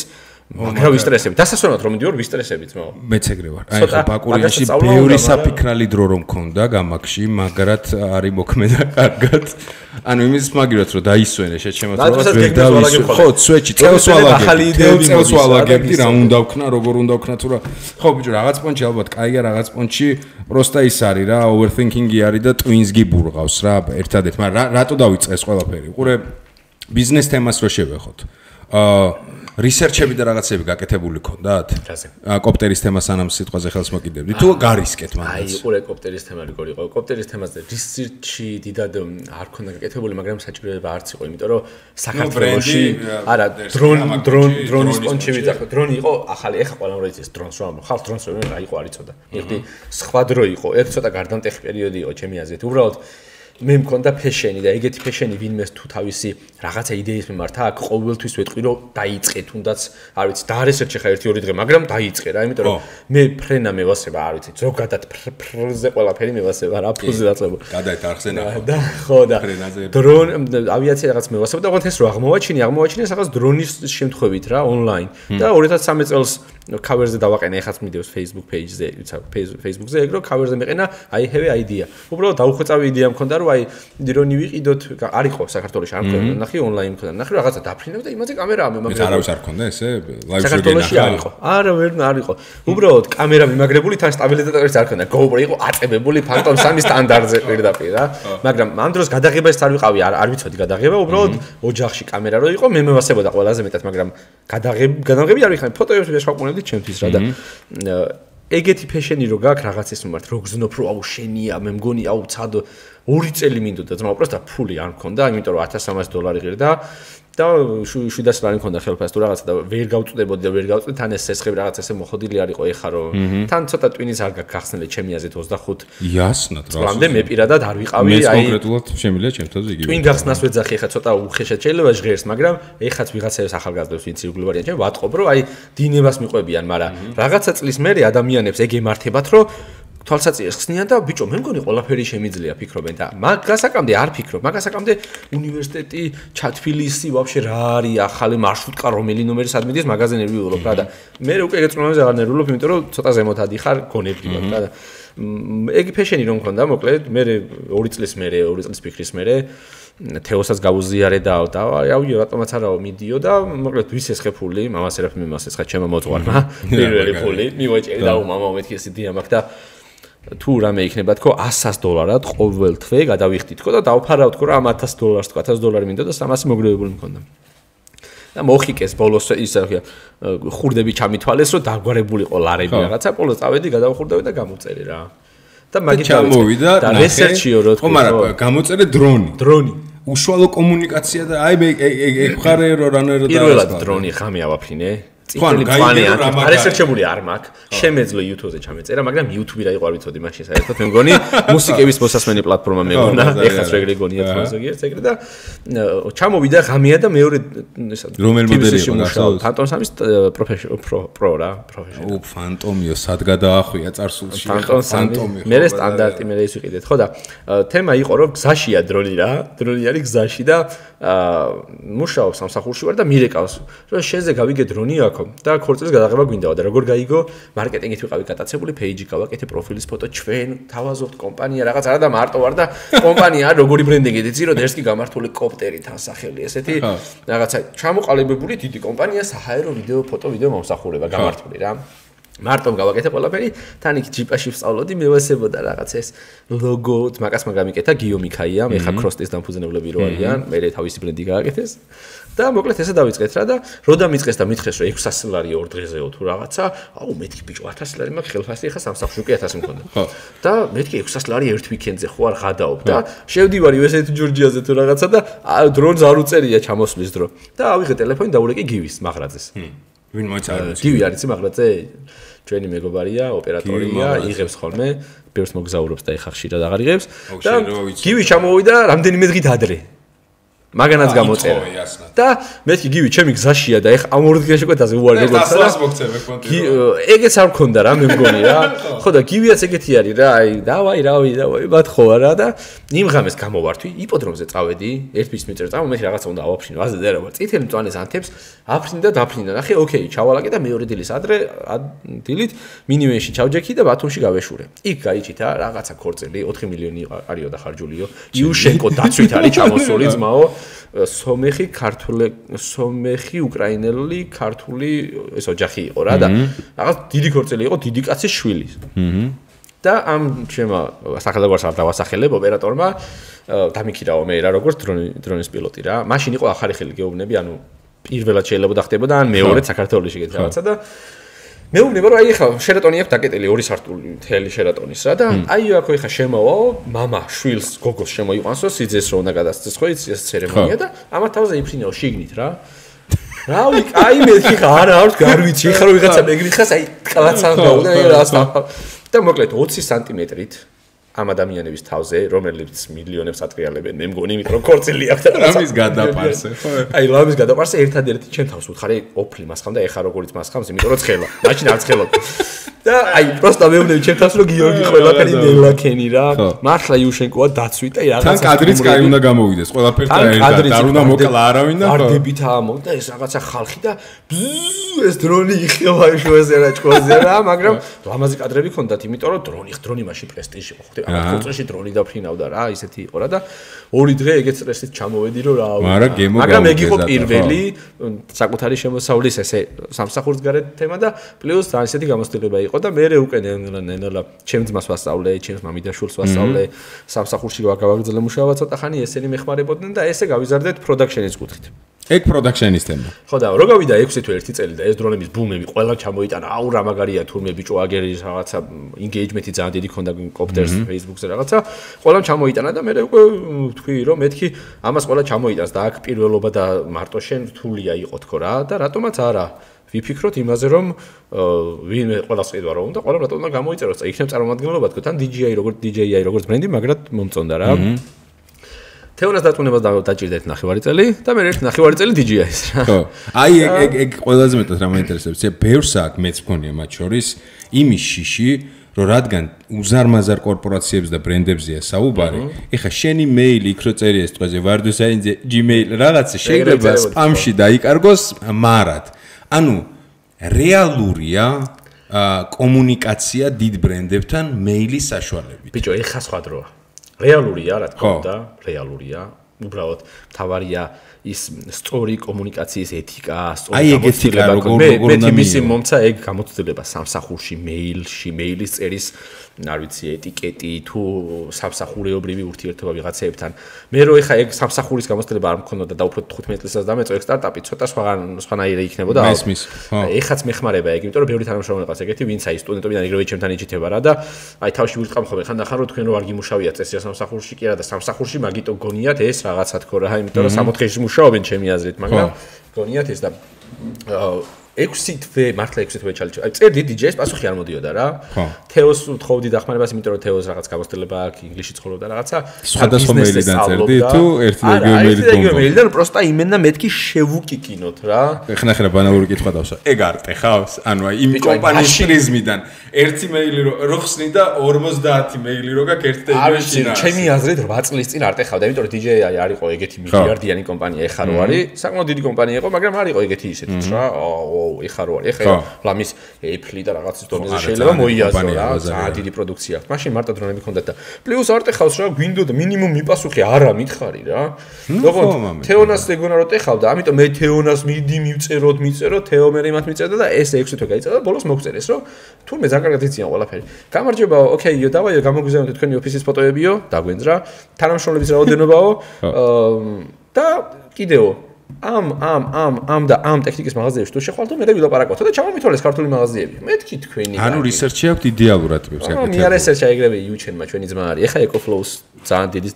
მაგრამ ვისტრესები. დასასვენად რომ მიდივარ ვისტრესებით მო. მეც ეგრე ვარ. აი ხო ბაკურიაში ბევრი საფიქრალი დრო რომ მქონდა გამაგში, მაგრად არის მოქმედა კარგად. ანუ იმის მაგიროთ რომ დაისვენე შეჩემოთრობას ვერ დავისვენ. ხო, სვეჩი წელს ვალაგებდი. წელს ვალაგებდი რა უნდა ვქნა, როგორ უნდა ვქნა თუ რა. ხო ბიჭო, რაღაც პონჩი ალბათ კაია, რაღაც პონჩი პროსტა ის არის რა, overthinking-ი არის და twins გიბურღავს რა, ერთადერთ. მაგრამ რატო დავიწყე ეს ყველაფერი? უყურე ბიზნეს თემას რო შევეხოთ. აა რისერჩები და რაღაცები გაკეთებული ქონდათ? კოპტერის თემას ანამ სიტყვაზე ხელს მოკიდებდი. თუ გარისკეთ მაგას. აი, უყურე კოპტერის თემა როგორ იყო? კოპტერის თემაზე რისერჩი დიდად არ ქონდა გაკეთებული, მაგრამ საჭიროება არც იყო, იმიტომ რომ საქართველოში არა დრონ დრონ დრონის პონჩი ვიძახო. დრონი იყო ახალი, ეხა ყველამ რო იცის დრონს რომ ხალხ დრონს რომ აიყო არ იცოდა. ეხლა სხვა დრო იყო, ერთ ცოტა გარდამტეხი პერიოდი იყო ჩემი აზრით. უბრალოდ მე მქონდა ფეშენი და ეგეთი ფეშენი ვინმეს თუ თავისი რაღაცა იდეის მიმართ აქ ყოველთვის ვეთყვი რომ დაიწყე თუნდაც არ ვიცი დაარესერჩე ხა ერთი ორი დღე მაგრამ დაიწყე რა იმიტომ რომ მე ფრენა მევასება არ ვიცი ზოგადად ფრზე ყველაფერი მევასება რა ფუზე დაწყება გადაეთ არხზენა და ხო და დრონ ავიაცია რაღაც მევასება და ყოველთვის რო აღმოვაჩინე აღმოვაჩინე რაღაც დრონის შემთხვევით რა ონლაინ და ორი ათას სამი წელს cover-ზე დავაყენე ეხაც მიდევს Facebook page-ზე იცი Facebook-ზე ეგ რო cover-ზე მეყენა I have an idea უბრალოდ დაუხვეწავი იდეა მქონდა რომ აი დრონი ვიყიდოთ არ იყო საქართველოში არ მქონდა ნახე ონლაინ მქონდა ნახე რაღაცა დაფრინებ და იმაზე კამერაა მემაგრებული არავის არ მქონდა ესე live საქართველოში არ იყო არა ვერ არ იყო უბრალოდ კამერა მიმაგრებული თან სტაბილიზატორიც არ მქონდა GoPro იყო აწებებული Phantom სამი სტანდარტზე პირდაპირ რა მაგრამ ამ დროს გადაღებაც არ ვიყავი არ არ ვიცოდი გადაღება უბრალოდ ოჯახში კამერა რო იყო მე მევასებოდა ყველაზე მეტად მაგრამ გადაღებ გადაღები არ ვიხარ ფოტოებს ვეშაყუნებდი ჩემთვის რა და ეგეთი ფეშენი რო გაქვს რაღაცის მიმართ რო გზნობ რომ აუ შენია მე მგონი აუ ცადო ორი წელი მინდოდა ძმა უბრალოდ ფული არ მქონდა იმიტომ რომ ათას სამას დოლარი ღირდა და შვიდას ლარი მქონდა ხელფასი თუ რაღაცა და ვერ გავწვდებოდი და ვერ გავწვდი თან ეს სესხები რაღაც ესე მოხოდილი არ იყო ეხა რომ თან ცოტა ტვინის არ გაქვს გახსნილი ჩემი აზრით ოცდახუთ იასნად რა წლამდე მე პირადად არ ვიყავი აი მე კონკრეტულად შემიძლია ჩემთვისაც იგივე ტვინ გახსნას ვეძახი ეხა ცოტა უხეშად შეიძლება ჟღერს მაგრამ ეხაც ვიღაცებს ახალგაზრდებს ვინც ირგვლივ არიან ჩემ ვატყობ რომ აი დინებას მიყვებიან მაგრამ რაღაცა წლის მერე ადამიანებს ეგ ემართებათ რომ თვალსაწინეს ხსნიან და ბიჭო მე მგონი ყველაფერი შემიძლია ფიქრობენ და მაგასაკამდე არ ფიქრობ მაგასაკამდე უნივერსიტეტი ჩათბილისი ვაფშე რა არის ახალი მარშრუტკა რომელი ნომერი სად მიდის მაგაზინები ვიღულობ რა და მე უკვე ეგ წრომაზე აღარ ნერვულობ იმიტომ რომ ცოტა ზემოთ ადიხარ გონებრივად რა და ეგ ფეშენი რომ მქონდა მოკლედ მე ორი წლის მერე ორი წლის ფიქრის მერე თეოსაც გავუზიარე და აუ რატომაც არაო მიდიო და მოკლედ ვის ესხე ფული მამას ერაფ მიმას ესხა ჩემო მოწვარმა პირველი ფული მივაჭერი და მამაო მეთქი ეს იდეა მაქვს და თუ რამე იქნება თქო ას დოლარად ყოველ თვე გადავიხდი თქო და დავფარავ თქო რა ათას დოლარს თქო ათას დოლარი მინდოდა და სამასი მოგროვებული მქონდა და მოხიკეს ბოლოს ისა ხურდები ჩამითვალეს რომ დაგვარებულიყო ლარები რაღაცა ბოლოს წავედი გადავხურდავი და გამოწერე რა და მაგით ჩამოვიდა და რესერჩიო რო თქო მაგრამ გამოწერე დრონი დრონი უშუალო კომუნიკაცია და აი მე ეგ ხარე რო რანაირად პირველად დრონი ხამე ავაფრინე წითელი პლანი არ ესერჩებული არ მაქვს შემეძლო YouTube-ზე ჩამეწერა მაგრამ YouTube-ი რა იყო არ ვიცოდი მაშინ საერთოდ მე მგონი მუსიკების მოსასმენი პლატფორმა მეგონა ეხაც რეგრე გონია თუ ზოგიერთ ეგრე და ჩამოვიდა ღამეა და მეორე ესა რომელ მოდელი იყო გახსოვს Phantom სამის პრო რა პროფესიონალი ო Phantom-იო სად გადაახვია წარსულში Phantom-ი მე სტანდარტი მე ის ვიყიდეთ ხო და თემა იყო რომ გზაშია დრონი რა დრონი არის გზაში და მუშაობს სამსახურში ვარ და მირეკავს რომ შენზე გავიგე დრონი აქ და ქორწილის გადაღება გვინდაო და როგორ გაიგო მარკეტინგით ვიყავი გატაცებული პეიჯი გავაკეთე პროფილის ფოტო ჩვენ თავაზობთ კომპანია რაღაც არა და მარტო ვარ და კომპანია როგორი ბრენდინგით იცი რომ ერთს კი გამართული კოპტერი თან სახელი ესეთი რაღაცა ჩამოყალიბებული დიდი კომპანია საჰაერო ვიდეო ფოტო ვიდეო მომსახურება გამართული რა მარტომ გავაკეთე ყველაფერი თან იქ ჯიპაში ვსწავლოდი მევასებოდა რაღაც ეს ლოგო მაგას მაგამიკეთა გიო მიქაია მე ხარ ქროსტის დამფუძნებლები რო არიან მე თავისი ბრენდი გააკეთეს და მოკლედ ესე დავიწყეთ რა და რო დამიწყეს და მითხეს რომ ექვსასი ლარი ორ დღეზეო თუ რაღაცა აუ მეთქი ბიჭო ათასი ლარი მაქვს ხელფასი ხა სამსახურში უკვე ათასი მქონდა და მეთქი ექვსასი ლარი ერთ ვიკენდზე ხო არ ღადაობ და შევდივარი ესეთი ჯორჯიაზე თუ რაღაცა და დრონს არ უწერია ჩამოსვლის დრო და ავიღე ტელეფონი და ურეკი გივის მაღრაძეს ვინ მოიწარებს გივი არის მაღრაძე ჩვენი მეგობარია ოპერატორია იღებს ხოლმე ბევრს მოგზაურობს და ეხა ხშირად აღარ იღებს და გივი ჩამოვიდა რამდენიმე დღით ადრე მაგანაც გამოწერა და მეთქი გივი ჩემი გზაშია და ეხა ამ ორ დღეში კვეთაზე უარი როგორც და ეგეც არ მქონდა რა მე მგონი რა ხო და გივიაც ეგეთი არის რა აი დავაი რავი დავაი ბათხო რა და იმ ღამეს გამოვართვი იპოდრომზე წავედი ერთ bis მეტრ წავ მე რაღაცა უნდა ავაფრინო აზე და რა წითელი მწვანეს ანთებს აფრინდა და დაფრინდა ნახე ოკეი ჩავალაკე და მეორე დილის ადრე დილით მინივენში ჩავჯექი და ბათუმში გავეშურე იქ გაიჭითა რაღაცა ქორწილი ოთხი მილიონი არიო და ხარჯულიო იუშენკო დაცვით არის ჩამოსული ძმაო სომეხი ქართული სომეხი უკრაინელი ქართული ეს ოჯახი იყო რა და რაღაც დიდი ქორწილი იყო დიდი კაცის შვილი და ამ ჩემო სახელმწიფოს არ დავასახელებ ოპერატორმა დამიქირაო მე რა როგორც დრონი დრონის პილოტი რა მაშინ იყო ახალი ხელი გეუბნები ანუ პირველად შეიძლება დახტებოდა ან მეორედ საქართველოში ეგეთ რაღაცა და მეუბნება რომ აი ხა შერატონი აქვს დაკეტილი ორი სართული მთელი შერატონის რა და აი აქ ხა შემოვა მამა შვილს გოგოს შემოიყვანსო სიძეს რო უნდა გადასცეს ხო იცი ეს ცერემონია და ამათ თავზე იფრინეო შიგნით რა რავი აი მეთქი ხა არა არ გარვიცი ხა რო ვიღაცა მეგრიხას აი კლაცან გაუდა რას და მოკლედ ოცი სანტიმეტრით ამ ადამიანების თავზე, რომელიც მილიონებს ატრიალებენ, მე მგონი, იმიტომ რომ ქორწილი აქვს და ლამის გადაპარსე, ხო? აი, ლამის გადაპარსე ერთადერთი ჩემ თავს უთხარი, ოფლი მასხამ და ეხა როგორიც მასხამს, იმიტომ რომ ცხელა. მაშინ არ ცხელობ. და აი, პროსტა მეუბნები ჩემ თავს რომ გიორგი ყველაფერი ნელაქენი რა. მართლა იუშენკოა დაცვით და რაღაცა. თან კადრიც კაი უნდა გამოვიდეს, ყველაფერთან ერთად. არ უნდა მოკლა არავინ და ვარდებით ამო და ეს რაღაცა ხალხი და ეს დრონი იხევა შუაზე რა ჭკოზე რა, მაგრამ ლამაზი კადრები ქონდათ, იმიტომ რომ დრონი დრონი მაშინ პრესტიჟი ხო ხდება. ამ კონცერტში დრონი დაფრინავდა რა, ისეთი იყო რა და ორი დღე ეგეც სტრესით ჩამოვედი რომ რა. მაგრამ ეგ იყო პირველი საკუთარი შემოსავლის ესე სამსახურის გარეთ თემა და პლუს ძალიან ისეთი გამოცდილება იყო და მე უკვე ნელა ჩემ ძმას ვასწავლე, ჩემს მამიდაშვილს ვასწავლე, სამსახურში გავაგრძელე მუშაობა ცოტა ხანი, ესენი მეხმარებოდნენ და ესე გავიზარდეთ პროდაქშენის კუთხით. ეგ პროდაქშენის თემა. ხო და რო გავიდა ექვსი თუ ერთი წელი და ეს დრონების ბუმები ყველა ჩამოიტანა, აუ რა მაგარია თურმე ბიჭო აგერი რაღაცა ინგეიჯმენტი ძალიან დიდი ქონდა კოპტერს Facebook-ზე რაღაცა, ყველამ ჩამოიტანა და მე უკვე ვთქვი რომ მეთქი ამას ყველა ჩამოიტანს და აქ პირველობა და მარტო შენ რთულია იყო თქო რა და რატომაც არა ვიფიქროთ იმაზე რომ ვინმე ყველას ყიდვა რომ და ყველა რატომ უნდა გამოიწეროს და იქნებ წარმომადგენლობა თქო თან დი ჯეი აი როგორც დი ჯეი აი როგორც ბრენდი მაგრად მომწონდა რა. თეონას დაწუნებას დაჭირდა ერთი ნახევარი წელი და მე ერთი ნახევარი წელი დი ჯეი აის რა. ხო. აი ეგ ეგ ეგ ყველაზე მეტად რა მაინტერესებს, ე ბევრს აქ მეც მქონია მათ შორის იმის შიში რომ რადგან უზარმაზარ კორპორაციებს და ბრენდებზეა საუბარი, ეხა შენი მეილი იქ რო წერია ეს თვეზე ვარდუსაინზე Gmail რაღაცა შეიძლება სპამში დაიკარგოს მარად. ანუ რეალურია კომუნიკაცია დიდ ბრენდებთან მეილის საშუალებით. ბიჭო, ეხა სხვა დროა. რეალურია, რა თქმა უნდა, რეალურია. უბრალოდ თავარია ის სწორი კომუნიკაციის ეთიკა, სწორი გამოცდილება. მე მე მისი მომცა ეგ გამოცდილება სამსახურში, მეილში, მეილის წერის, არ ვიცი, ეტიკეტი თუ სამსახურეობრივი ურთიერთობა ვიღაცეებთან. მე რო ეხა ეგ სამსახურის გამოცდილება არ მქონოდა და უფრო თხუთმეტ წელსაც დამეწო ეგ სტარტაპი, ცოტა სხვაგან სხვანაირი იქნებოდა. მესმის. ხო. ეხაც მეხმარება ეგ, იმიტომ რომ ბევრი თანამშრომელი ყავს ეგეთი, ვინც აი სტუდენტობიდან იგივე ჩემთან იჭითება რა და აი თავში ვიწყამ ხოლმე ხანდახან რომ თქვენ რო არ გიმუშავიათ წესია სამსახურში კი არა და სამსახურში მაგიტო გონიათ ეს რაღაცა თქო რა, იმიტომ რომ სამოთხეში მუშაობენ ჩემი აზრით, მაგრამ გონიათ ეს და ექვსი თვე მართლა ექვსი თვე ჩალიჩა. აი წერდი დი ჯეის პასუხი არ მოდიოდა რა. თეოს ვთხოვდი დახმარებას, იმიტომ რომ თეოს რაღაც გამოცდილება აქვს, ინგლისში ცხოვრობდა რაღაცა. სხვადასხვა მეილიდან წერდი თუ ერთი და იგივე მეილით გონდა. არა, მეილიდან პროსტა იმენა მეთქი შევუკიკინოთ რა. ეხლა ხერა ბანალური კითხვა დავსვა. ეგ არტე ხავს? ანუ აი იმ კომპანიის პრიზმიდან ერთი მეილი რო ხსნი და ორმოცდაათი მეილი რო გაქვს ერთ და იგივე შინა. ჩემი აზრით რვა წლის წინ არტე ხავდა, იმიტომ რომ დი ჯეი აი არ იყო ეგეთი მილიარდიანი კომპანია, ეხა რო არის, საკმაოდ დიდი კომპანია იყო, მაგრამ არ იყო ეგეთი ისეთიც რა. ეხა რო არის, ეხა ლამის Apple და რაღაცის დონეზე შეიძლება მოიაზრო რა, ძალიან დიდი პროდუქცია აქვს. მაშინ მარტო დრონები ჰქონდათ და პლუს არტე ხავს რა, გვინდოდა მინიმუმ მიპასუხე არა მითხარი რა. როგორც თეონას ეგონა რო ტეხავდა, ამიტომ მე თეონას მიდი მივწეროთ, მიწეროთ, თეო მე იმათ მიწერდა და ეს ექვსი თვე გაიწედა და ბოლოს მოგწერეს რომ თურმე ძალიან კარგად იციან ყველაფერი. გამარჯობა, ოკეიო, დავაიო, გამოგვიზარდეთ თქვენი ოფისის ფოტოებიო, დაგვენძრა, თანამშრომლების რაოდენობაო და კიდეო ამ ამ ამ ამ და ამ ტექნიკის მაღაზიებში თუ შეხვალთ მე ვილაპარაკოთ და ჩამომითვალეს ქართული მაღაზიები. მეთქი თქვენი. ანუ რისერჩი აქვს იდეალურად ტიპს აკეთებს. მე რისერჩი აიგრები იუჩენმა ჩვენი ძმა არის. ეხა ეკოფლოუს ძალიან დიდი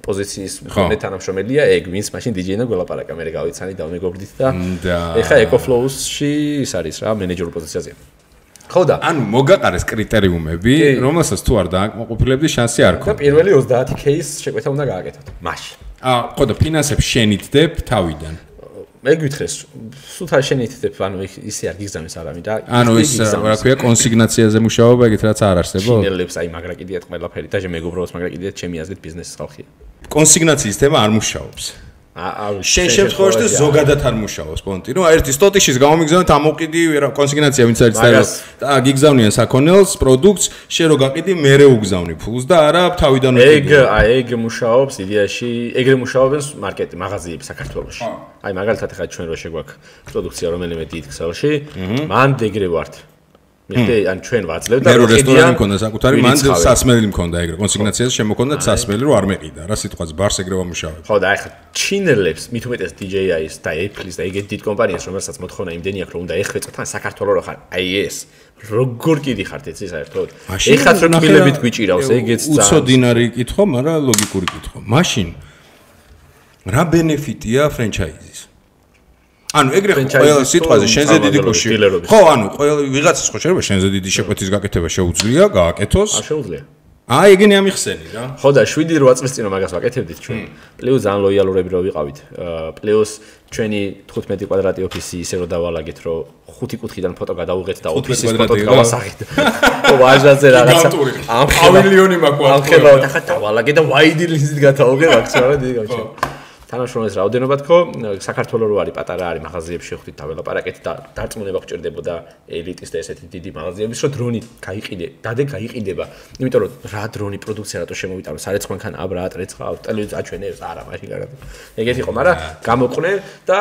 პოზიციის მქონე თანამშრომელია, ეგ ვინც მაშინ დი ჯეი-ნა გველაპარაკა, მე გავიცანი და მეგობრდით და ეხა ეკოფლოუსში ის არის რა, მენეჯერ პოზიციაზე. ხო და ანუ მოგაყარეს კრიტერიუმები, რომელსაც თუ არ დააკმაყოფილებდი შანსი არ ქონდა. და პირველი ოცდაათი кейს შეკვეთა უნდა გააკეთოთ. მაშინ. აა, ხო და ფინანსებს შენითდებ თავიდან. მე გვითხრეს, სულთან შენითდებ, ანუ ისე არ გიგზავნის არავინ და ანუ ის რა ქვია კონსიგნაციაზე მუშაობა, ეგეთ რაც არ არსებობს. შინელებს აი მაგრა კიდიათ ყველაფერი და მეგობრებს მაგრამ კიდიათ ჩემი აზრით ბიზნესის ხალხია. კონსიგნაციის თემა არ მუშაობს. აა შენ შემთხვევაში ზოგადად არ მუშაობს პონტი. ნუ ერთი სტოტიშის გამომიგზავნეთ ამოყიდი კონსიგნაცია ვინც არის წერილს და გიგზავნიან საქონელს, პროდუქტს, შენ რო გაყიდი, მერე უგზავნი ფულს და არა თავიდან უყიდი. ეგ აი ეგ მუშაობს იდეაში, ეგრე მუშაობენ მარკეტი, მაღაზიები საქართველოში. აი მაგალითად ხა ჩვენ რო შეგვაქვს პროდუქცია რომელიმე დიდ ქსელში, მან ეგრე ვართ. მე ან ჩვენ ვაძლევ და მე რო რესტორანი მქონდა საკუთარი, მან სასმელი მქონდა ეგრე. კონსიგნაციაზე შემოქონდა სასმელი რო არ მეყიდა. რა სიტყვაზე ბარს ეგრე ვამუშავებ. ხო და აი ხა ჩინელებს მით უმეტეს დი ჯეი აის და Apple-ის და ეგეთ დიდ კომპანიას რომელსაც მოთხოვნა იმდენი აქვს რომ უნდა ეხვეწოთ თან საქართველოს რო ხარ. აი ეს როგორ კიდი ხართ ეცი საერთოდ. ეხაც რო კილებით გვიჭირავს ეგეც ძალიან. უცოდინარი კითხვა, მაგრამ ლოგიკური კითხვა. მაშინ რა ბენეფიტია ფრენჩაიზის? ანუ ეგრე ყველა სიტყვაზე შენზე დიდი კუში. ხო, ანუ ყველა ვიღაცას ხო შეიძლება შენზე დიდი შეკვეთის გაკეთება შეუძლია, გააკეთოს. არ შეუძლია. აი ეგენი ამიხსენი რა. ხო და შვიდი რვა წლის წინ მაგას ვაკეთებდით ჩვენ. პლუს ძალიან ლოიალურები რო ვიყავით. პლუს ჩვენი თხუთმეტი კვადრატი ოფისი ისე რომ დავალაგეთ, რომ ხუთი კუთხიდან ფოტო გადავუღეთ და ოფისის ფოტო გავასახით. ო ვაჟაზე რაღაცა. ამ პავილიონი მაქვს. ამ ხელავთ ახლა დავალაგე და ვაიდი ლინზით გავთავგე მაქსიმალურად დიდი გავჩა. თანაშრომლის რაოდენობა თქო, საქართველოს რო არის პატარა არის მაღაზიებში ხვდით დაველაპარაკეთ და დარწმუნება გჭირდებოდა ელიტის და ესეთი დიდი მაღაზიების, რომ დრონი გაიყიდე, დადე გაიყიდება. იმიტომ რომ რა დრონი პროდუქცია რატო შემოვიტანო, სარეც მანქან აბრა ატრეცხავს, ტელევიზორ აჩვენებს, არა, მაშინ კარგად. ეგეთი ხო, მაგრამ გამოყვნე და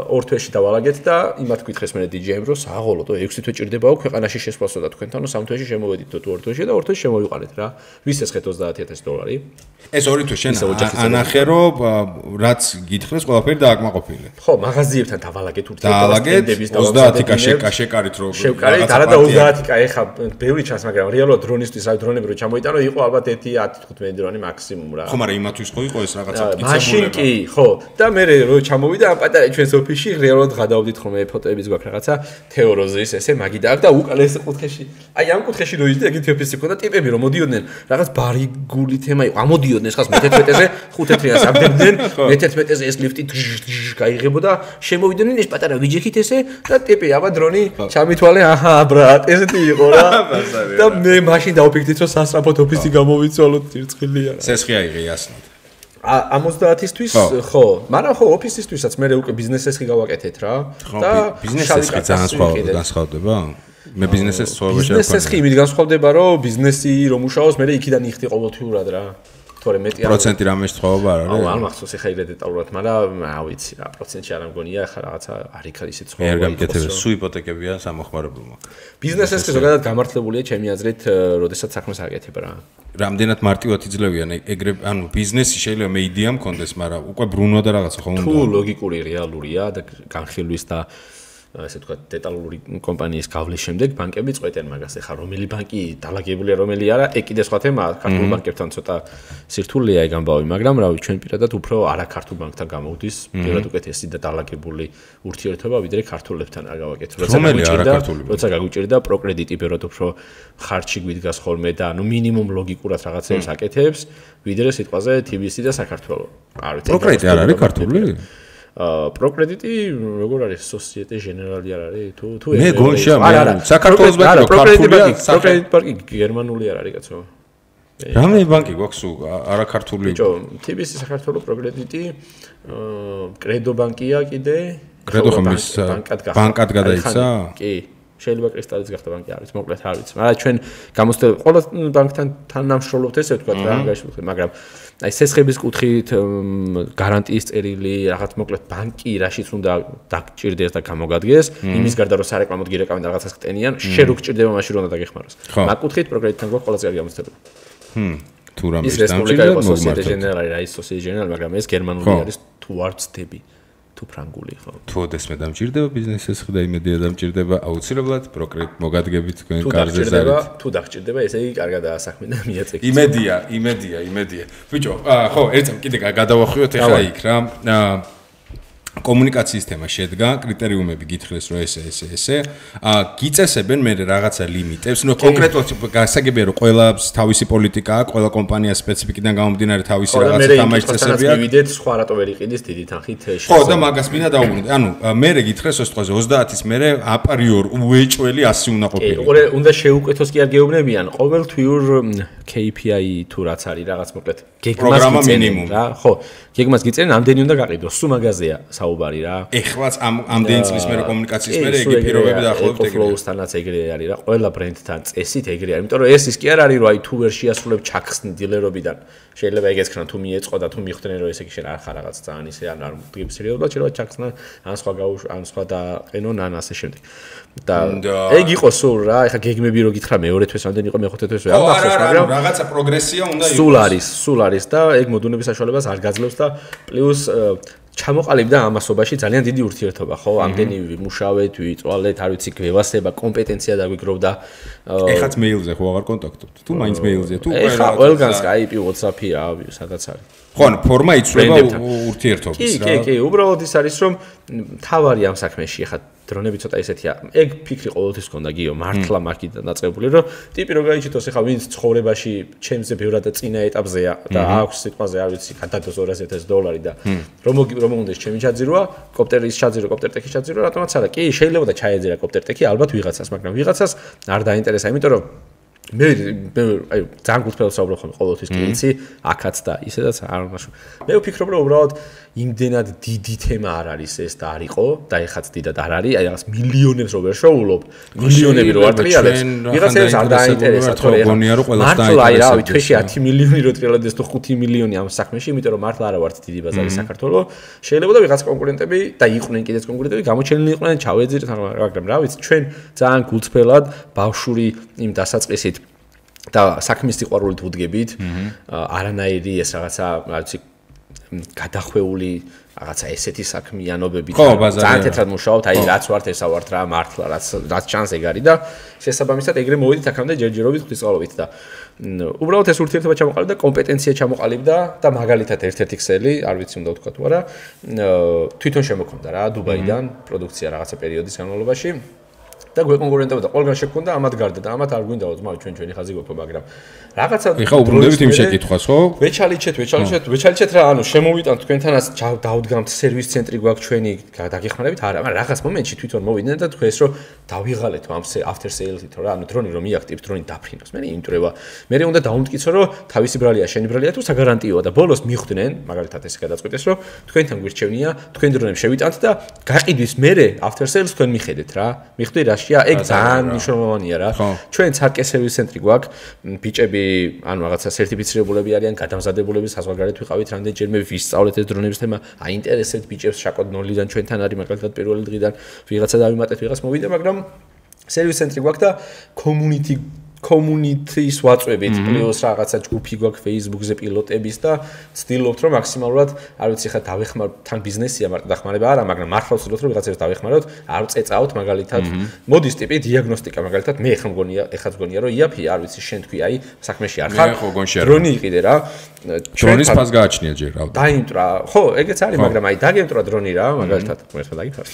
ორ თვეში დავალაგეთ და იმათ გითხეს მე დიჯეიმ რომ საღოლო და ექვსი თვე ჭირდებაო ქვეყანაში შესვლასო და თქვენთან სამ თვეში შემოვედით თუ ორ თვეში და ორ თვეში შემოვიყარეთ რა. ვის ესხეთ ოცდაათი ათასი დოლარი? ეს ორი თვე შენ ანახე რომ რაც გითხრეს ყველაფერი დააკმაყოფილე. ხო, მაღაზიებთან დავალაგეთ ურთიერთობებს და ოცდაათი კაშეკა შეკარით რომ შევკარით, არა და ოცდაათი კა ეხა ბევრი ჩანს, მაგრამ რეალურად დრონისთვის რა დრონები რო ჩამოიტანო, იყო ალბათ ერთი ათი თხუთმეტი დრონი მაქსიმუმ რა. ხო, მაგრამ იმათვის ხო იყო ეს რაღაცა მკიცებულება. მაშინ კი, ხო. და მე რო ჩამოვიდა ამ პატარა ჩვენს ოფისში, რეალურად გადავდით ხოლმე ფოტოების გვაქვს რაღაცა თეოროზის ესე მაგი და აქ და უკან ეს კუთხეში. აი ამ კუთხეში რო იჯდა ეგეთი ოფისი ქონდა ტიპები რომ მოდიოდნენ, რაღაც ბარიგული თემა იყო. ამოდიოდნენ ხას მეთერთმეტეზე ხუთეთრიანს აბდებდნენ. მეთერთმეტეზე ეს ლიფტი გაიღებოდა, შემოვიდნენ ეს პატარა ვიჯექით ესე და ტიპი აბა დრონი ჩამითვალე, აჰა, ბრატ, ესეთი იყო რა. და მე მაშინ დავფიქრდით, რომ სასწრაფოდ ოფისი გამოვიცვალოთ ჭირცხილია. სესხი აიღე ასნად. ამოცდაათისთვის ხო, მაგრამ ხო ოფისისთვისაც მე უკვე ბიზნეს ესხი გავაკეთეთ რა. და ბიზნეს ესხი ძალიან სხვა განსხვავდება. მე ბიზნესის ცხოვრებაში ბიზნეს ესხი იმით განსხვავდება, რომ ბიზნესი რომ მუშაობს, მე იქიდან იხდი ყოველთვიურად რა. თორე მეტი პროცენტი რამე შეხოვა არა რა. აუ, არ მახსოვს ეხა იგრე დეტალურად, მაგრამ ავიცი რა, პროცენტი არ ამგონია, ხა რაღაცა არ იქ არის ისეთ ცხოვრება. მე არ გამიკეთებ, სუ იპოთეკებია სამოხმარებელმა. ბიზნეს ესხი ზოგადად გამართლებულია ჩემი აზრით, როდესაც საქმეს აკეთებ რა. რამდენად მარტივად იძლევიან ეგრე, ანუ ბიზნესი შეიძლება მე იდეა მქონდეს, მაგრამ უკვე ბრუნვა და რაღაცა ხო უნდა. თუ ლოგიკური რეალურია და განხილვის და ასე თქვა დეტალური კომპანიის გავლის შემდეგ ბანკები წვეტენ მაგას. ეხა რომელი ბანკი დალაგებულია, რომელი არა, ეგ კიდე სხვა თემაა. ქართულ ბანკებთან ცოტა სირთულეა ეგ ამბავი, მაგრამ რავი, ჩვენ პირადად უფრო არა ქართულ ბანკთან გამოვდის, პირადად უკეთესი და დალაგებული ურთიერთობა ვიდრე ქართულებთან არ გავაკეთე. როცა გაგვიჭირდა პროკრედიტი პირადად უფრო ხარჯი გვიდგას ხოლმე და ანუ მინიმუმ ლოგიკურად რაღაცებს აკეთებს, ვიდრე სიტყვაზე თი ბი ესი და საქართველო. არ ვიცი. პროკრედიტი არ არის ქართული? აა პროკრედიტი როგორ არის სოციეტე ჟენერალი არ არის თუ თუ მე გონშა მე საქართველოს ბანკი ქართულია პროკრედიტ ბანკი გერმანული არ არის კაცო რამე ბანკი გვაქვს არა ქართული ბიჭო თი ბი ესი საქართველოს პროკრედიტი აა კრედო ბანკია კიდე კრედო ხმის ბანკად გადაიცა კი შეიძლება კრისტალიც გახდა ბანკი არის მოკლედ არ ვიცი მაგრამ ჩვენ გამოსდევ ყველა ბანკთან თანამშრომლობთ ესე ვთქვა რა გაშუქე მაგრამ აი სესხების კუთხით გარანტიის წერილი რაღაც მოკლედ ბანკი რაშიც უნდა დაგჭირდეს და გამოგადგეს იმის გარდა რომ სარეკლამოდ გირეკავენ და რაღაცას ხტენიან შენ რო გჭირდება მაშინ რომ უნდა დაგეხმაროს მაგ კუთხით პროგრამიდან გვაქვს ყველაზე კარგი გამოცდილება ჰმ თუ რამე ის რესპუბლიკა იყო სოციეტე ჟენერალი რა ის სოციეტე ჟენერალი მაგრამ ეს გერმანული არის თუ არ ვწდები თუ ფრანგული ხო თუ ოდესმე დამჭირდება ბიზნესის ხდა იმედია დამჭირდება აუცილებლად პროგრამ მოგადგებით თქვენ კარზე ზარით თუ დაგჭირდება ესე იგი კარგადაა საქმე და მიაწეკით იმედია იმედია იმედია ბიჭო ხო ერთს კიდე გადავახვიოთ ეხლა იქ რა კომუნიკაციის თემა შედგა კრიტერიუმები გითხრეს რომ ესე ესე ესე ა გიწესებენ მე რაღაცა ლიმიტებს ნუ კონკრეტულად გასაგებია რომ ყველას თავისი პოლიტიკა აქვს ყველა კომპანია სპეციფიკიდან გამომდინარე თავისი რაღაცა თამაში წესები აქვს მივიდეთ სხვა რატო ვერ იყიდეს დიდი თანხით ხო და მაგას მინდა დავუბრუნდე ანუ მე გითხრეს ოს თვაზე ოცდაათის მერე აპრიორ უეჭველი ასი უნდა ყოფილიყო უყურე უნდა შეუკეთოს კი არ გეუბნებიან ყოველთვიურ კეი პი აი თუ რაც არის რაღაც მოკლედ გეგმას მინიმუმ რა ხო გეგმას გიწერენ ამდენი უნდა გაყიდოს სულ მაგაზეა საუბარი რა ეხლაც ამ ამდენი წლის მერე კომუნიკაციის მერე იგი პირობები დაახლოებით ეგრე ფლოუსთანაც ეგრე არის რა ყველა ბრენდთან წესით ეგრე არის იმიტომ რომ ეს ის კი არ არის რომ აი თუ ვერ შეასრულებ ჩაქსნ დილერობიდან შეიძლება ეგეც ქნა თუ მიეწყო და თუ მიხვდნენ რომ ესე იგი შენ არ ხარ რაღაც ძალიან ისე ან არ მდგები სერიოზულად შეიძლება ჩაქსნა ან სხვა გაუშ ან სხვა დაყენონ ან ასე შემდეგ და ეგ იყო სულ რა ეხა გეგმები რო გითხრა მეორე თვეს ამდენი იყო მეხუთე თვეს ვერ მახსოვს მაგრამ რაღაცა პროგრესია უნდა იყოს სულ არის სულ არის და ეგ მოდუნების საშუალებას არ გაძლევს და პლუს ჩამოყალიბდა ამასობაში ძალიან დიდი ურთიერთობა, ხო? ამდენი ვიმუშავეთ, ვიწვალეთ, არ ვიცი, გვევასება, კომპეტენცია დაგვიგროვდა. ეხაც მეილზე ხო აღარ კონტაქტობთ? თუ მაინც მეილზე, თუ ყველა ეხა ყველგან Skype, WhatsApp-ი, რა, სადაც არის. ხო, ანუ ფორმა იცვლება ურთიერთობის რა. კი, კი, კი, უბრალოდ ის არის, რომ თავარი ამ საქმეში ეხა დრონები ცოტა ესეთია. ეგ ფიქრი ყოველთვის გქონდა გიო, მართლა მაგიდან დაწყებული, რომ ტიპი რო გაიჩიტოს ეხა ვინც ცხოვრებაში ჩემზე ბევრად წინა ეტაპზეა და აქვს სიტყვაზე არ ვიცი, გადადოს ორასი ათასი დოლარი და რომ რომ უნდა ჩემი ჩაძიროა, კოპტერის ჩაძირო, კოპტერტექის ჩაძირო, რატომაც არა. კი, შეიძლება და ჩაეძირა კოპტერტექი ალბათ ვიღაცას, მაგრამ ვიღაცას არ დაინტერესა, იმიტომ რომ მე აი ძალიან გულწრფელად საუბრობ ხოლმე ყოველთვის კლინცი, აქაც და ისედაც არ უნდა. მე ვფიქრობ რომ უბრალოდ იმდენად დიდი თემა არ არის ეს და არ იყო და ეხაც დიდად არ არის, აი რაღაც მილიონებს რო ვერ შოულობ, მილიონები რო არ ტრიალებს, ვიღაცას არ დაინტერესა, თორე გონია რომ ყველას დაინტერესებს. აი რავი, თვეში ათი მილიონი რო ტრიალდეს თუ ხუთი მილიონი ამ საქმეში, იმიტომ რომ მართლა არა ვართ დიდი ბაზარი საქართველოს. შეიძლება და ვიღაც კონკურენტები და იყვნენ კიდეც კონკურენტები, გამოჩენილი იყვნენ, ჩავეძირეთ, მაგრამ რა ვიცი, ჩვენ ძალიან გულწრფელად ბავშვური იმ დასაწყისით და საქმის სიყვარულით ვუდგებით, არანაირი ეს რაღაცა, რა ვიცი, გადახვეული რაღაცა ესეთი საქმიანობებით ძალიან თეთრად მუშაობთ, აი რაც ვართ ესა ვართ რა, მართლა რაც რაც ჩანს ეგ არის და შესაბამისად ეგრე მოვიდით აქამდე ჯერჯერობით ღვთისმსწავლობით და უბრალოდ ეს ურთიერთობა ჩამოყალიბდა, კომპეტენცია ჩამოყალიბდა და მაგალითად ერთ-ერთი ქსელი, არ ვიცი უნდა ვთქვა თუ არა, თვითონ შემოქმდა რა დუბაიდან პროდუქცია რაღაცა პერიოდის განმავლობაში. და გვეკონკურენტებოდა, ყველგან შეგვქონდა ამათ გარდა და ამათ არ გვინდაო ძმა ჩვენ ჩვენი ხაზი გვაქვს, მაგრამ რაღაცა ეხა უბრუნდებით იმ შეკითხვას, ხო? ვეჩალიჩეთ, ვეჩალიჩეთ, ვეჩალიჩეთ რა, ანუ შემოვიტანთ თქვენთანაც დავდგამთ სერვის ცენტრი გვაქვს ჩვენი, დაგეხმარებით, არა, მაგრამ რაღაც მომენტში თვითონ მოვიდნენ და თქვენს რომ დავიღალეთ ამ after sales-ით, რა, ანუ დრონი რომ მიაქტივებს, დრონი დაფრინოს, მე იმტრევა. მე უნდა დაუმტკიცო, რომ თავისი ბრალია, შენი ბრალია თუ საგარანტიოა და ბოლოს მიხვდნენ, მაგალითად ეს გადაწყვიტეს, რომ თქვენთან გვირჩევნია, თქვენ დრონებს შევიტანთ და გაყიდვის მერე after sales თქვენ მიხედეთ რა. მიხვდი რა ეგ ძალიან მნიშვნელოვანია რა. ჩვენ ცარკე სერვის ცენტრი გვაქვს, ბიჭები, ანუ რაღაცა სერტიფიცირებულები არიან, გადამზადებულები, საზღვარგარეთ ვიყავით რამდენჯერმე ვისწავლეთ ეს დრონების თემა, აინტერესებთ ბიჭებს შაკოდ ნოლიდან ჩვენთან არის მაგალითად პირველი დღიდან ვიღაცა დავიმატეთ, ვიღაც მოვიდა, მაგრამ სერვის ცენტრი გვაქვს და community community-ის ვაწვევით, პლუს რაღაცა ჯგუფი გვაქვს Facebook-ზე პილოტების და ვცდილობთ რომ მაქსიმალურად, არ ვიცი ხა დავეხმარ თან ბიზნესია, მარტო დახმარება არა, მაგრამ მართლა ვცდილობთ რომ ვიღაცებს დავეხმაროთ, არ წეწავთ მაგალითად. მოდის ტიპი დიაგნოსტიკა მაგალითად, მე ხომ გონია, ეხაც გონია რომ იაფი, არ ვიცი, შენ თქვი, აი, საქმეში არ ხარ. დრონი იყიდე რა. დრონის ფას გააჩნია ჯერ, რავდა. დაიმტრა. ხო, ეგეც არის, მაგრამ აი დაგემტრა დრონი რა, მაგალითად, მერე დაგიფარ.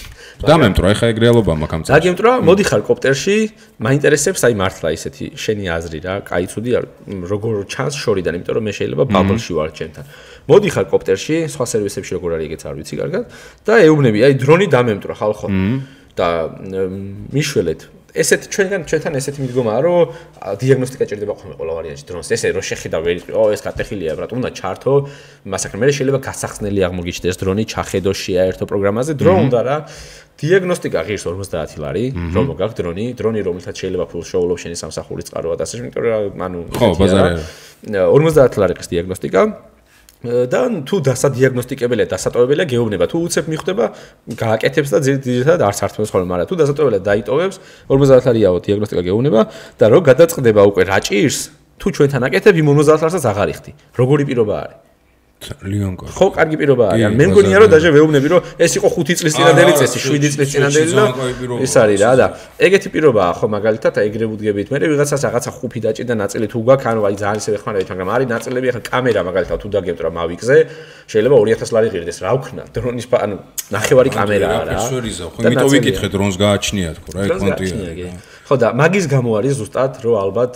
დამემტრა, ეხა ეგ რეალობა მაქვს ამ წელს. დაგემტრა, მოდიხარ კოპტერში, მაინტერესებს აი მართლა ისეთი შენი აზრი რა, კაი ცუდი არ როგორ ჩანს შორიდან, იმიტომ რომ მე შეიძლება ბაბლში ვარ ჩემთან. მოდიხარ კოპტერში, სხვა სერვისებში როგორ არის ეგეც არ ვიცი კარგად და ეუბნები, აი დრონი დამემტრა ხალხო. და მიშველეთ ესეთ ჩვენგან ჩვენთან ესეთი მიდგომაა, რომ დიაგნოსტიკა ჭირდება ხოლმე ყველა ვარიანტში დრონს. ესე რომ შეხედა ვერ იყო, ეს გატეხილია, ბრატ, უნდა ჩართო, მასაკრე მე შეიძლება გასახსნელი აღმოგიჩნდეს დრონი, ჩახედო შეაერთო პროგრამაზე, დრო უნდა რა. დიაგნოსტიკა ღირს ორმოცდაათი ლარი, რომ მოგაქვს დრონი, დრონი რომელსაც შეიძლება ფულს შოულობ შენი სამსახურის წყარო და ასე შემდეგ, ანუ ხო, ბაზარი. ორმოცდაათი ლარი ყის დიაგნოსტიკა. და თუ დასადიაგნოსტიკებელია, დასატოვებელია, გეუბნება, თუ უცებ მიხვდება, გააკეთებს და ძირითადად არც ართმევს ხოლმე, მაგრამ თუ დასატოვებელია დაიტოვებს, ორმოცდაათი ლარიაო დიაგნოსტიკა გეუბნება და რო გადაწყდება უკვე რა ჭირს, თუ ჩვენთან აკეთებ, იმ ორმოცდაათი ლარსაც აღარ იხდი. როგორი პირობა არის? ძალიან კარგი. ხო, კარგი პირობა არის. მე მგონია რომ დაჟე ვეუბნები რომ ეს იყო ხუთი წლის წინანდელი წესი, შვიდი წლის წინანდელი და ეს არის რა და ეგეთი პირობაა ხო მაგალითად ეგრე ვუდგებით. მე ვიღაცას რაღაცა ხუფი დაჭირდა ნაწილი თუ გაქვს, ანუ აი ძალიან ისე ვეხმარებით, მაგრამ არის ნაწილები ახლა კამერა მაგალითად თუ დაგემტრა მავიკზე, შეიძლება ორი ათასი ლარი ღირდეს, რა ვქნა? დრონის ანუ ნახევარი კამერაა რა. ხო, იმიტომ ვიკითხე დრონს გააჩნია თქო რა, ეგ კონტია. ხო და მაგის გამო არის ზუსტად რომ ალბათ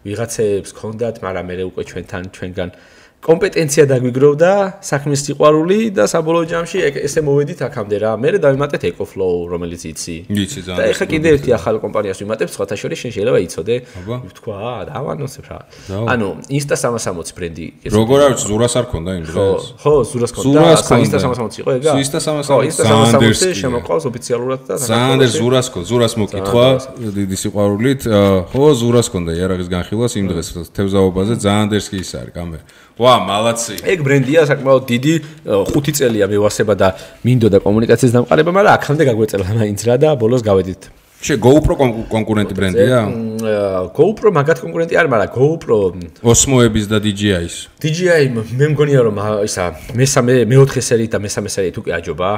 ვიღაცებს ქონდათ, მაგრამ მე უკვე ჩვენთან ჩვენგან კომპეტენცია დაგვიგროვდა, საქმის სიყვარული და საბოლოო ჯამში ესე მოვედით აქამდე რა. მე დავიმატეთ EcoFlow, რომელიც იცი. იცი ძალიან. და ეხლა კიდე ერთი ახალი კომპანიას ვიმატებ, სხვათა შორის შენ შეიძლება იცოდე. ვთქვა, დავანონსებ რა. ანუ Insta სამას ოცდაათი ბრენდი. როგორ არის ზურას არ ქონდა იმ დროს? ხო, ზურას ქონდა. Insta სამას ოცდაათი იყო ეგა? Insta სამას ოცდაათი შემოყავს ოფიციალურად და ზანდერ ზურას ქონდა, ზურას მოკითხვა დიდი სიყვარულით. ხო, ზურას ქონდა იარაღის განხილვას იმ დღეს თევზაობაზე ზანდერს კი ის არის კამერა. ვა, მალაცი. ეგ ბრენდია საკმაოდ დიდი, ხუთი წელია მევასება და მინდოდა კომუნიკაციის დამყარება, მაგრამ აქამდე გაგვეწელა მაინც რა და ბოლოს გავედით. შე GoPro კონკურენტი ბრენდია? GoPro მაგათ კონკურენტი არ, მაგრამ GoPro Osmo-ების და D J I-ის. D J I მე მგონია რომ ისა მესამე მეოთხე სერიით და მესამე სერიით უკვე აჯობა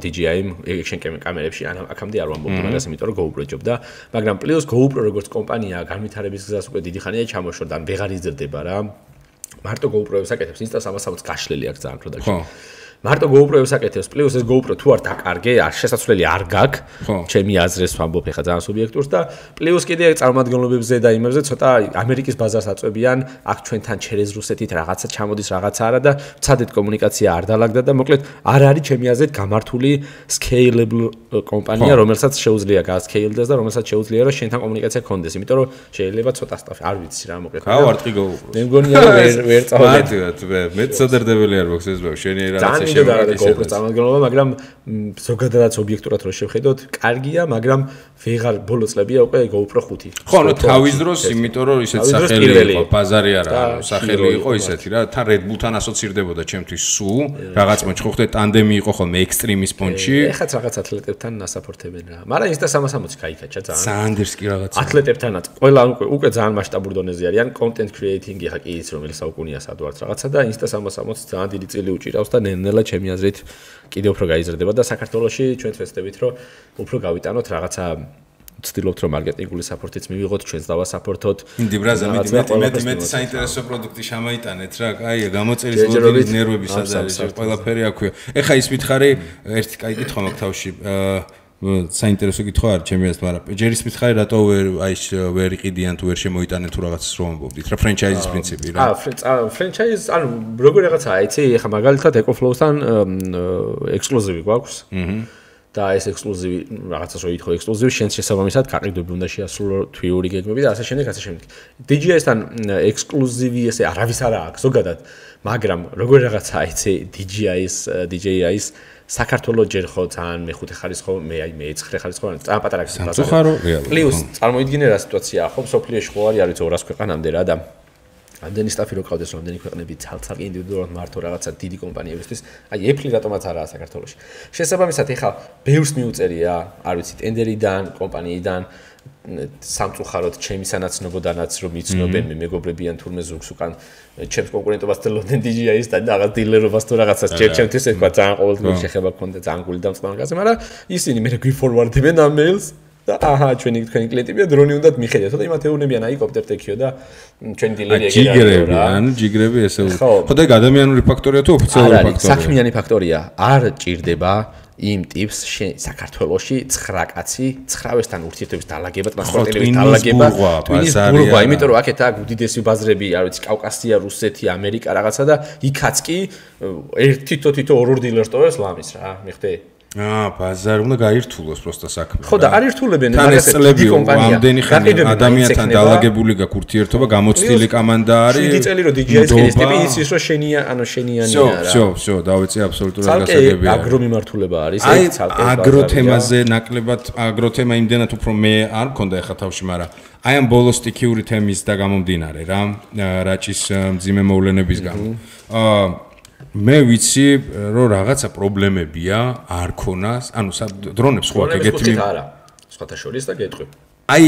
D J I action კამერებში, ან აქამდე არ ვამბობდი მაგას, იმიტომ რომ GoPro ჯობდა, მაგრამ პლუს GoPro როგორც კომპანია განვითარების გზას უკვე დიდი ხანია ჩამოშორდა, ან ვეღარ იზრდება რა. მარტო GoPro-ებს აკეთებს, Insta სამას ოცდაათი გაშლილი აქვს ძალიან პროდუქტი. მარტო GoPro-ებს აკეთებს, პლუს ეს GoPro თუ არ დაკარგე, არ შესაძლებელი არ გაქვს, ჩემი აზრს ვამბობ ხა ძალიან სუბიექტურს და პლუს კიდე წარმომადგენლობებზე და იმებზე ცოტა ამერიკის ბაზარს აწვევიან, აქ ჩვენთან ჩერეზ რუსეთით რაღაცა ჩამოდის რაღაცა არა და ცადეთ კომუნიკაცია არ დაალაგდა და მოკლედ არ არის ჩემი აზრით გამართული scalable კომპანია, რომელსაც შეუძლია გასკეილდეს და რომელსაც შეუძლია რომ შენთან კომუნიკაცია გქონდეს, იმიტომ რომ შეიძლება ცოტა სტაფი არ ვიცი რა მოკლედ. გავარტყი GoPro. მე მგონია რომ ვერ ვერ წავედი. მე ცოდერდებელი არ მაქვს ეს შენი რაღაცა GoPro წარმომადგენლობა, მაგრამ ზოგადადაც ობიექტურად რო შევხედოთ, კარგია, მაგრამ ვეღარ ბოლო წლებია უკვე GoPro ხუთი. ხო, ნუ თავის დროს, იმიტომ რომ ისეთ სახელი იყო, ბაზარი არა, სახელი იყო ისეთი რა, თან Red Bull-თან ასოცირდებოდა ჩემთვის სუ, რაღაც მოჩხოხდე ტანდემი იყო ხოლმე Extreme-ის პონჩი. ეხაც რაღაც ათლეტებთან ასაფორთებენ რა. მაგრამ ის და სამას სამოცი кайკაჩა ძალიან. სანდერს კი რაღაცა. ათლეტებთანაც ყველა უკვე უკვე ძალიან მასშტაბურ დონეზე არიან, content creating-ი ხა კი ის რომელიც საუკუნეა სადვარც რაღაცა და ინსტა სამას სამოცი ძალიან დიდი წილი უჭირავს და ნელ-ნელა ჩემი აზრით კიდევ უფრო გაიზრდება და საქართველოში ჩვენ ვეცდებით რომ უფრო გავიტანოთ რაღაცა ვცდილობთ რომ მარკეტინგული საფორთიც მივიღოთ ჩვენს დავასაფორთოთ. ინდი ბრაზა მეტი მეტი მეტი საინტერესო პროდუქტი შემოიტანეთ რა. კაია, გამოწერის ლოდინგის ნერვები სად არის, ყველაფერი აქვია. ეხა ის მითხარი ერთი კაი კითხვა მაქვს თავში. საინტერესო კითხვა არის ჩემი აზრით, მაგრამ ჯერ ის მითხარი რატო ვერ აი ვერ იყიდიან თუ ვერ შემოიტანენ თუ რაღაცას რომ ამბობდით რა ფრენჩაიზის პრინციპი რა. აა ფრენჩაიზ ანუ როგორ რაღაცაა, იცი, ეხა მაგალითად EcoFlow-თან ექსკლუზივი გვაქვს. აჰა. და ეს ექსკლუზივი რაღაცას რო ითხოვ ექსკლუზივი შენს შესაბამისად გაყიდვები უნდა შეასრულო თვიური გეგმები და ასე შემდეგ ასე შემდეგ. დი ჯი აის-თან ექსკლუზივი ესე არავის არა აქვს ზოგადად, მაგრამ როგორ რაღაცაა იცი დი ჯი აის დი ჯი აის საქართველოს ჯერ ხო ძალიან მეხუთე ხარისხო მე აი მეცხრე ხარისხო ძალიან პატარა გზაა. სამწუხარო რეალურად. პლუს წარმოიდგინე რა სიტუაციაა ხო სოფლიოში ხო არის არის ორას ქვეყანამდე რა და ამდენი სტაფი რო ყავდეს რამდენი ქვეყნები ცალ-ცალკე ინდივიდუალურად მართო რაღაცა დიდი კომპანიებისთვის აი Apple-ი რატომაც არაა საქართველოში შესაბამისად ეხლა ბევრს მიუწერია არ ვიცი ტენდერიდან კომპანიიდან სამწუხაროდ ჩემი სანაცნობოდანაც რომ იცნობენ მე მეგობრებიან თურმე ზურგს უკან ჩემს კონკურენტობას თელოდენ დი ჯი აის და რაღაც დილერობას თუ რაღაცას ჯერ ჩემთვის ეთქვა ძალიან ყოველდღიური შეხება გქონდა ძალიან გული დამწყმარგაზე მაგრამ ისინი მე გვიფორვარდებენ ამ მეილს და აჰა ჩვენი თქვენი კლიენტებია დრონი უნდათ მიხედათ და იმათ ეუბნებიან აი კოპტერტექიო და ჩვენი დილერი ეგრე რა ანუ ჯიგრები ესე ხო და ადამიანური ფაქტორია თუ ოფიციალური ფაქტორია საქმიანი ფაქტორია არ ჭირდება იმ ტიპს საქართველოში ცხრა კაცი ცხრავესთან ურთიერთობის დაალაგება ტრანსპორტირების დაალაგება ტვინის ბურღვა იმიტომ რომ აქეთ აქვს უდიდესი ბაზრები არ ვიცი კავკასია რუსეთი ამერიკა რაღაცა და იქაც კი ერთ თითო თითო ორ-ორ დილერს ტოვებს ლამის რა მიხვდე აა ბაზარი უნდა გაირთულოს პროსტა საქმე. ხო და არ ირთულებენ მაგას დიდი კომპანია. ამდენი ხანი ადამიანთან დაალაგებული გაქვს ურთიერთობა, გამოცდილი კომანდა არის. დიდი წელი რომ დი ჯი აის ეს ტიპი იცის რომ შენია, ანუ შენიანია რა. всё, всё, დავეცე აბსოლუტურად გასაგებია. აგრო მიმართულება არის, ეს ცალკე აგრო თემაზე ნაკლებად აგრო თემა იმდენად უფრო მე არ მქონდა ახლა თავში, მაგრამ აი ამ ბოლოს სტიქიური თემის და გამომდინარე რა, რაჭის მძიმე მოვლენების გამო. აა მე ვიცი რომ რაღაცა პრობლემებია არ ქონას, ანუ დრონებს ხო აქ ეგეთი არა, სხვათა შორის და გეტყვი. აი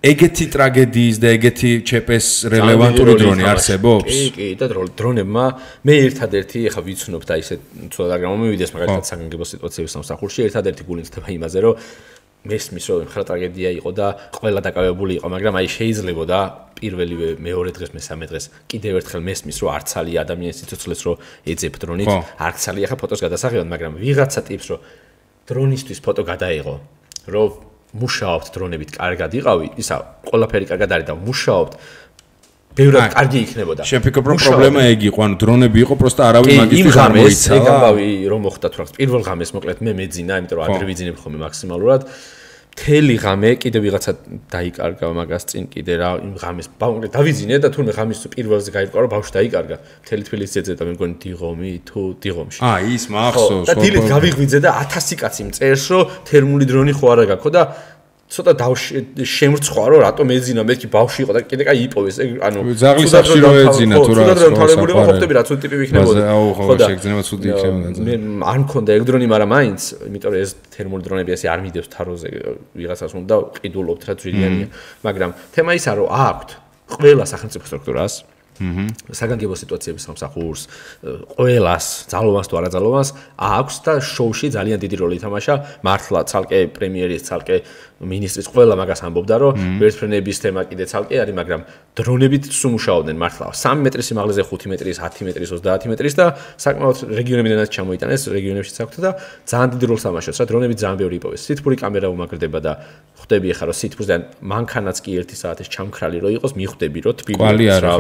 ეგეთი ტრაგედიის და ეგეთი ჩეპეს რელევანტური დრონი არსებობს? კი, კი, და დრონებმა მე ერთადერთი ეხა ვიცნობ და ისე ცოტა და გამომივიდეს მაგალითად საგანგებო სიტუაციების სამსახურში, ერთადერთი გული მცდება იმაზე რომ მესმის რომ ხრა ტრაგედია იყო და ყველა დაკავებული იყო, მაგრამ აი შეიძლება და პირველივე მეორე დღეს მესამე დღეს კიდევ ერთხელ მესმის რომ არცალია ადამიანის სიცოცხლეს რომ ეძებ დრონით, არცალია ხა ფოტოს გადასაღებად, მაგრამ ვიღაცა ტიპს რომ დრონისთვის ფოტო გადაიღო, რომ მუშაობთ დრონებით კარგად იყავი, ისა ყველაფერი კარგად არის და მუშაობთ ბევრად კარგი იქნებოდა. შეფიქრობ რომ პრობლემა ეგ იყო, ანუ დრონები იყო, პროსტა არავინ მაგისთვის არ მოიცა. ეგ ამბავი რომ მოხდა თუ რაღაც პირველ ღამეს მოკლედ მე მეძინა, იმიტომ რომ ადრე ვიძინებ ხოლმე მაქსიმალურად. თელი ღამე კიდე ვიღაცა დაიკარგა მაგას წინ კიდე რა იმ ღამეს ბავშვი დავიძინე და თურმე ღამის პირველზე გაიყარა რომ ბავშვი დაიკარგა. მთელი თბილისი ეძებდა მე მგონი დიღომი თუ დიღომში. აა ის მახსოვს. და დილით გავიღვიძე და ათასი კაცი მწერს რომ თერმული დრონი ხო არა გაქვს და ცოტა შემრცხვა რომ რატომ ეძინა მეთქი ბავშვი იყო და კიდე კაი იპოვეს ანუ ზაღლის სახში რო ეძინა თუ რა თვალებული იყო ყოფტები რა ცუდი ტიპი იქნებოდა ხო და შეგძნება ცუდი იქნებოდა მე არ მქონდა ეგ დრონი მაგრამ მაინც იმიტომ რომ ეს თერმული დრონები ასე არ მიდევს თაროზე ვიღაცას უნდა და ყიდულობთ რა ძვირიანია მაგრამ თემა ისა რომ აქვთ ყველა სახელმწიფო სტრუქტურას საგანგებო სიტუაციების სამსახურს, ყველას, ძალოვანს თუ არაძალოვანს აქვს და შოუში ძალიან დიდი როლი ითამაშა. მართლა ცალკე პრემიერის, ცალკე მინისტრის ყველა მაგას ამბობდა, რომ ვერტფრენების თემა კიდე ცალკე არის, მაგრამ დრონებით სუმუშაობდნენ მართლა სამი მეტრის სიმაღლეზე, ხუთი მეტრის, ათი მეტრის, ოცდაათი მეტრის და საკმაოდ რეგიონებიდანაც ჩამოიტანეს, რეგიონებშიც აქვთ და ძალიან დიდი როლს თამაშობს, რა დრონებით ძალიან ბევრი იპოვეს. სითბური კამერა უმაგრდება და ხვდები ახლა რომ სითბურიდან მანქანაც კი ერთი საათის ჩამქრალი რო იყოს, მიხვდები რომ თბილი რა.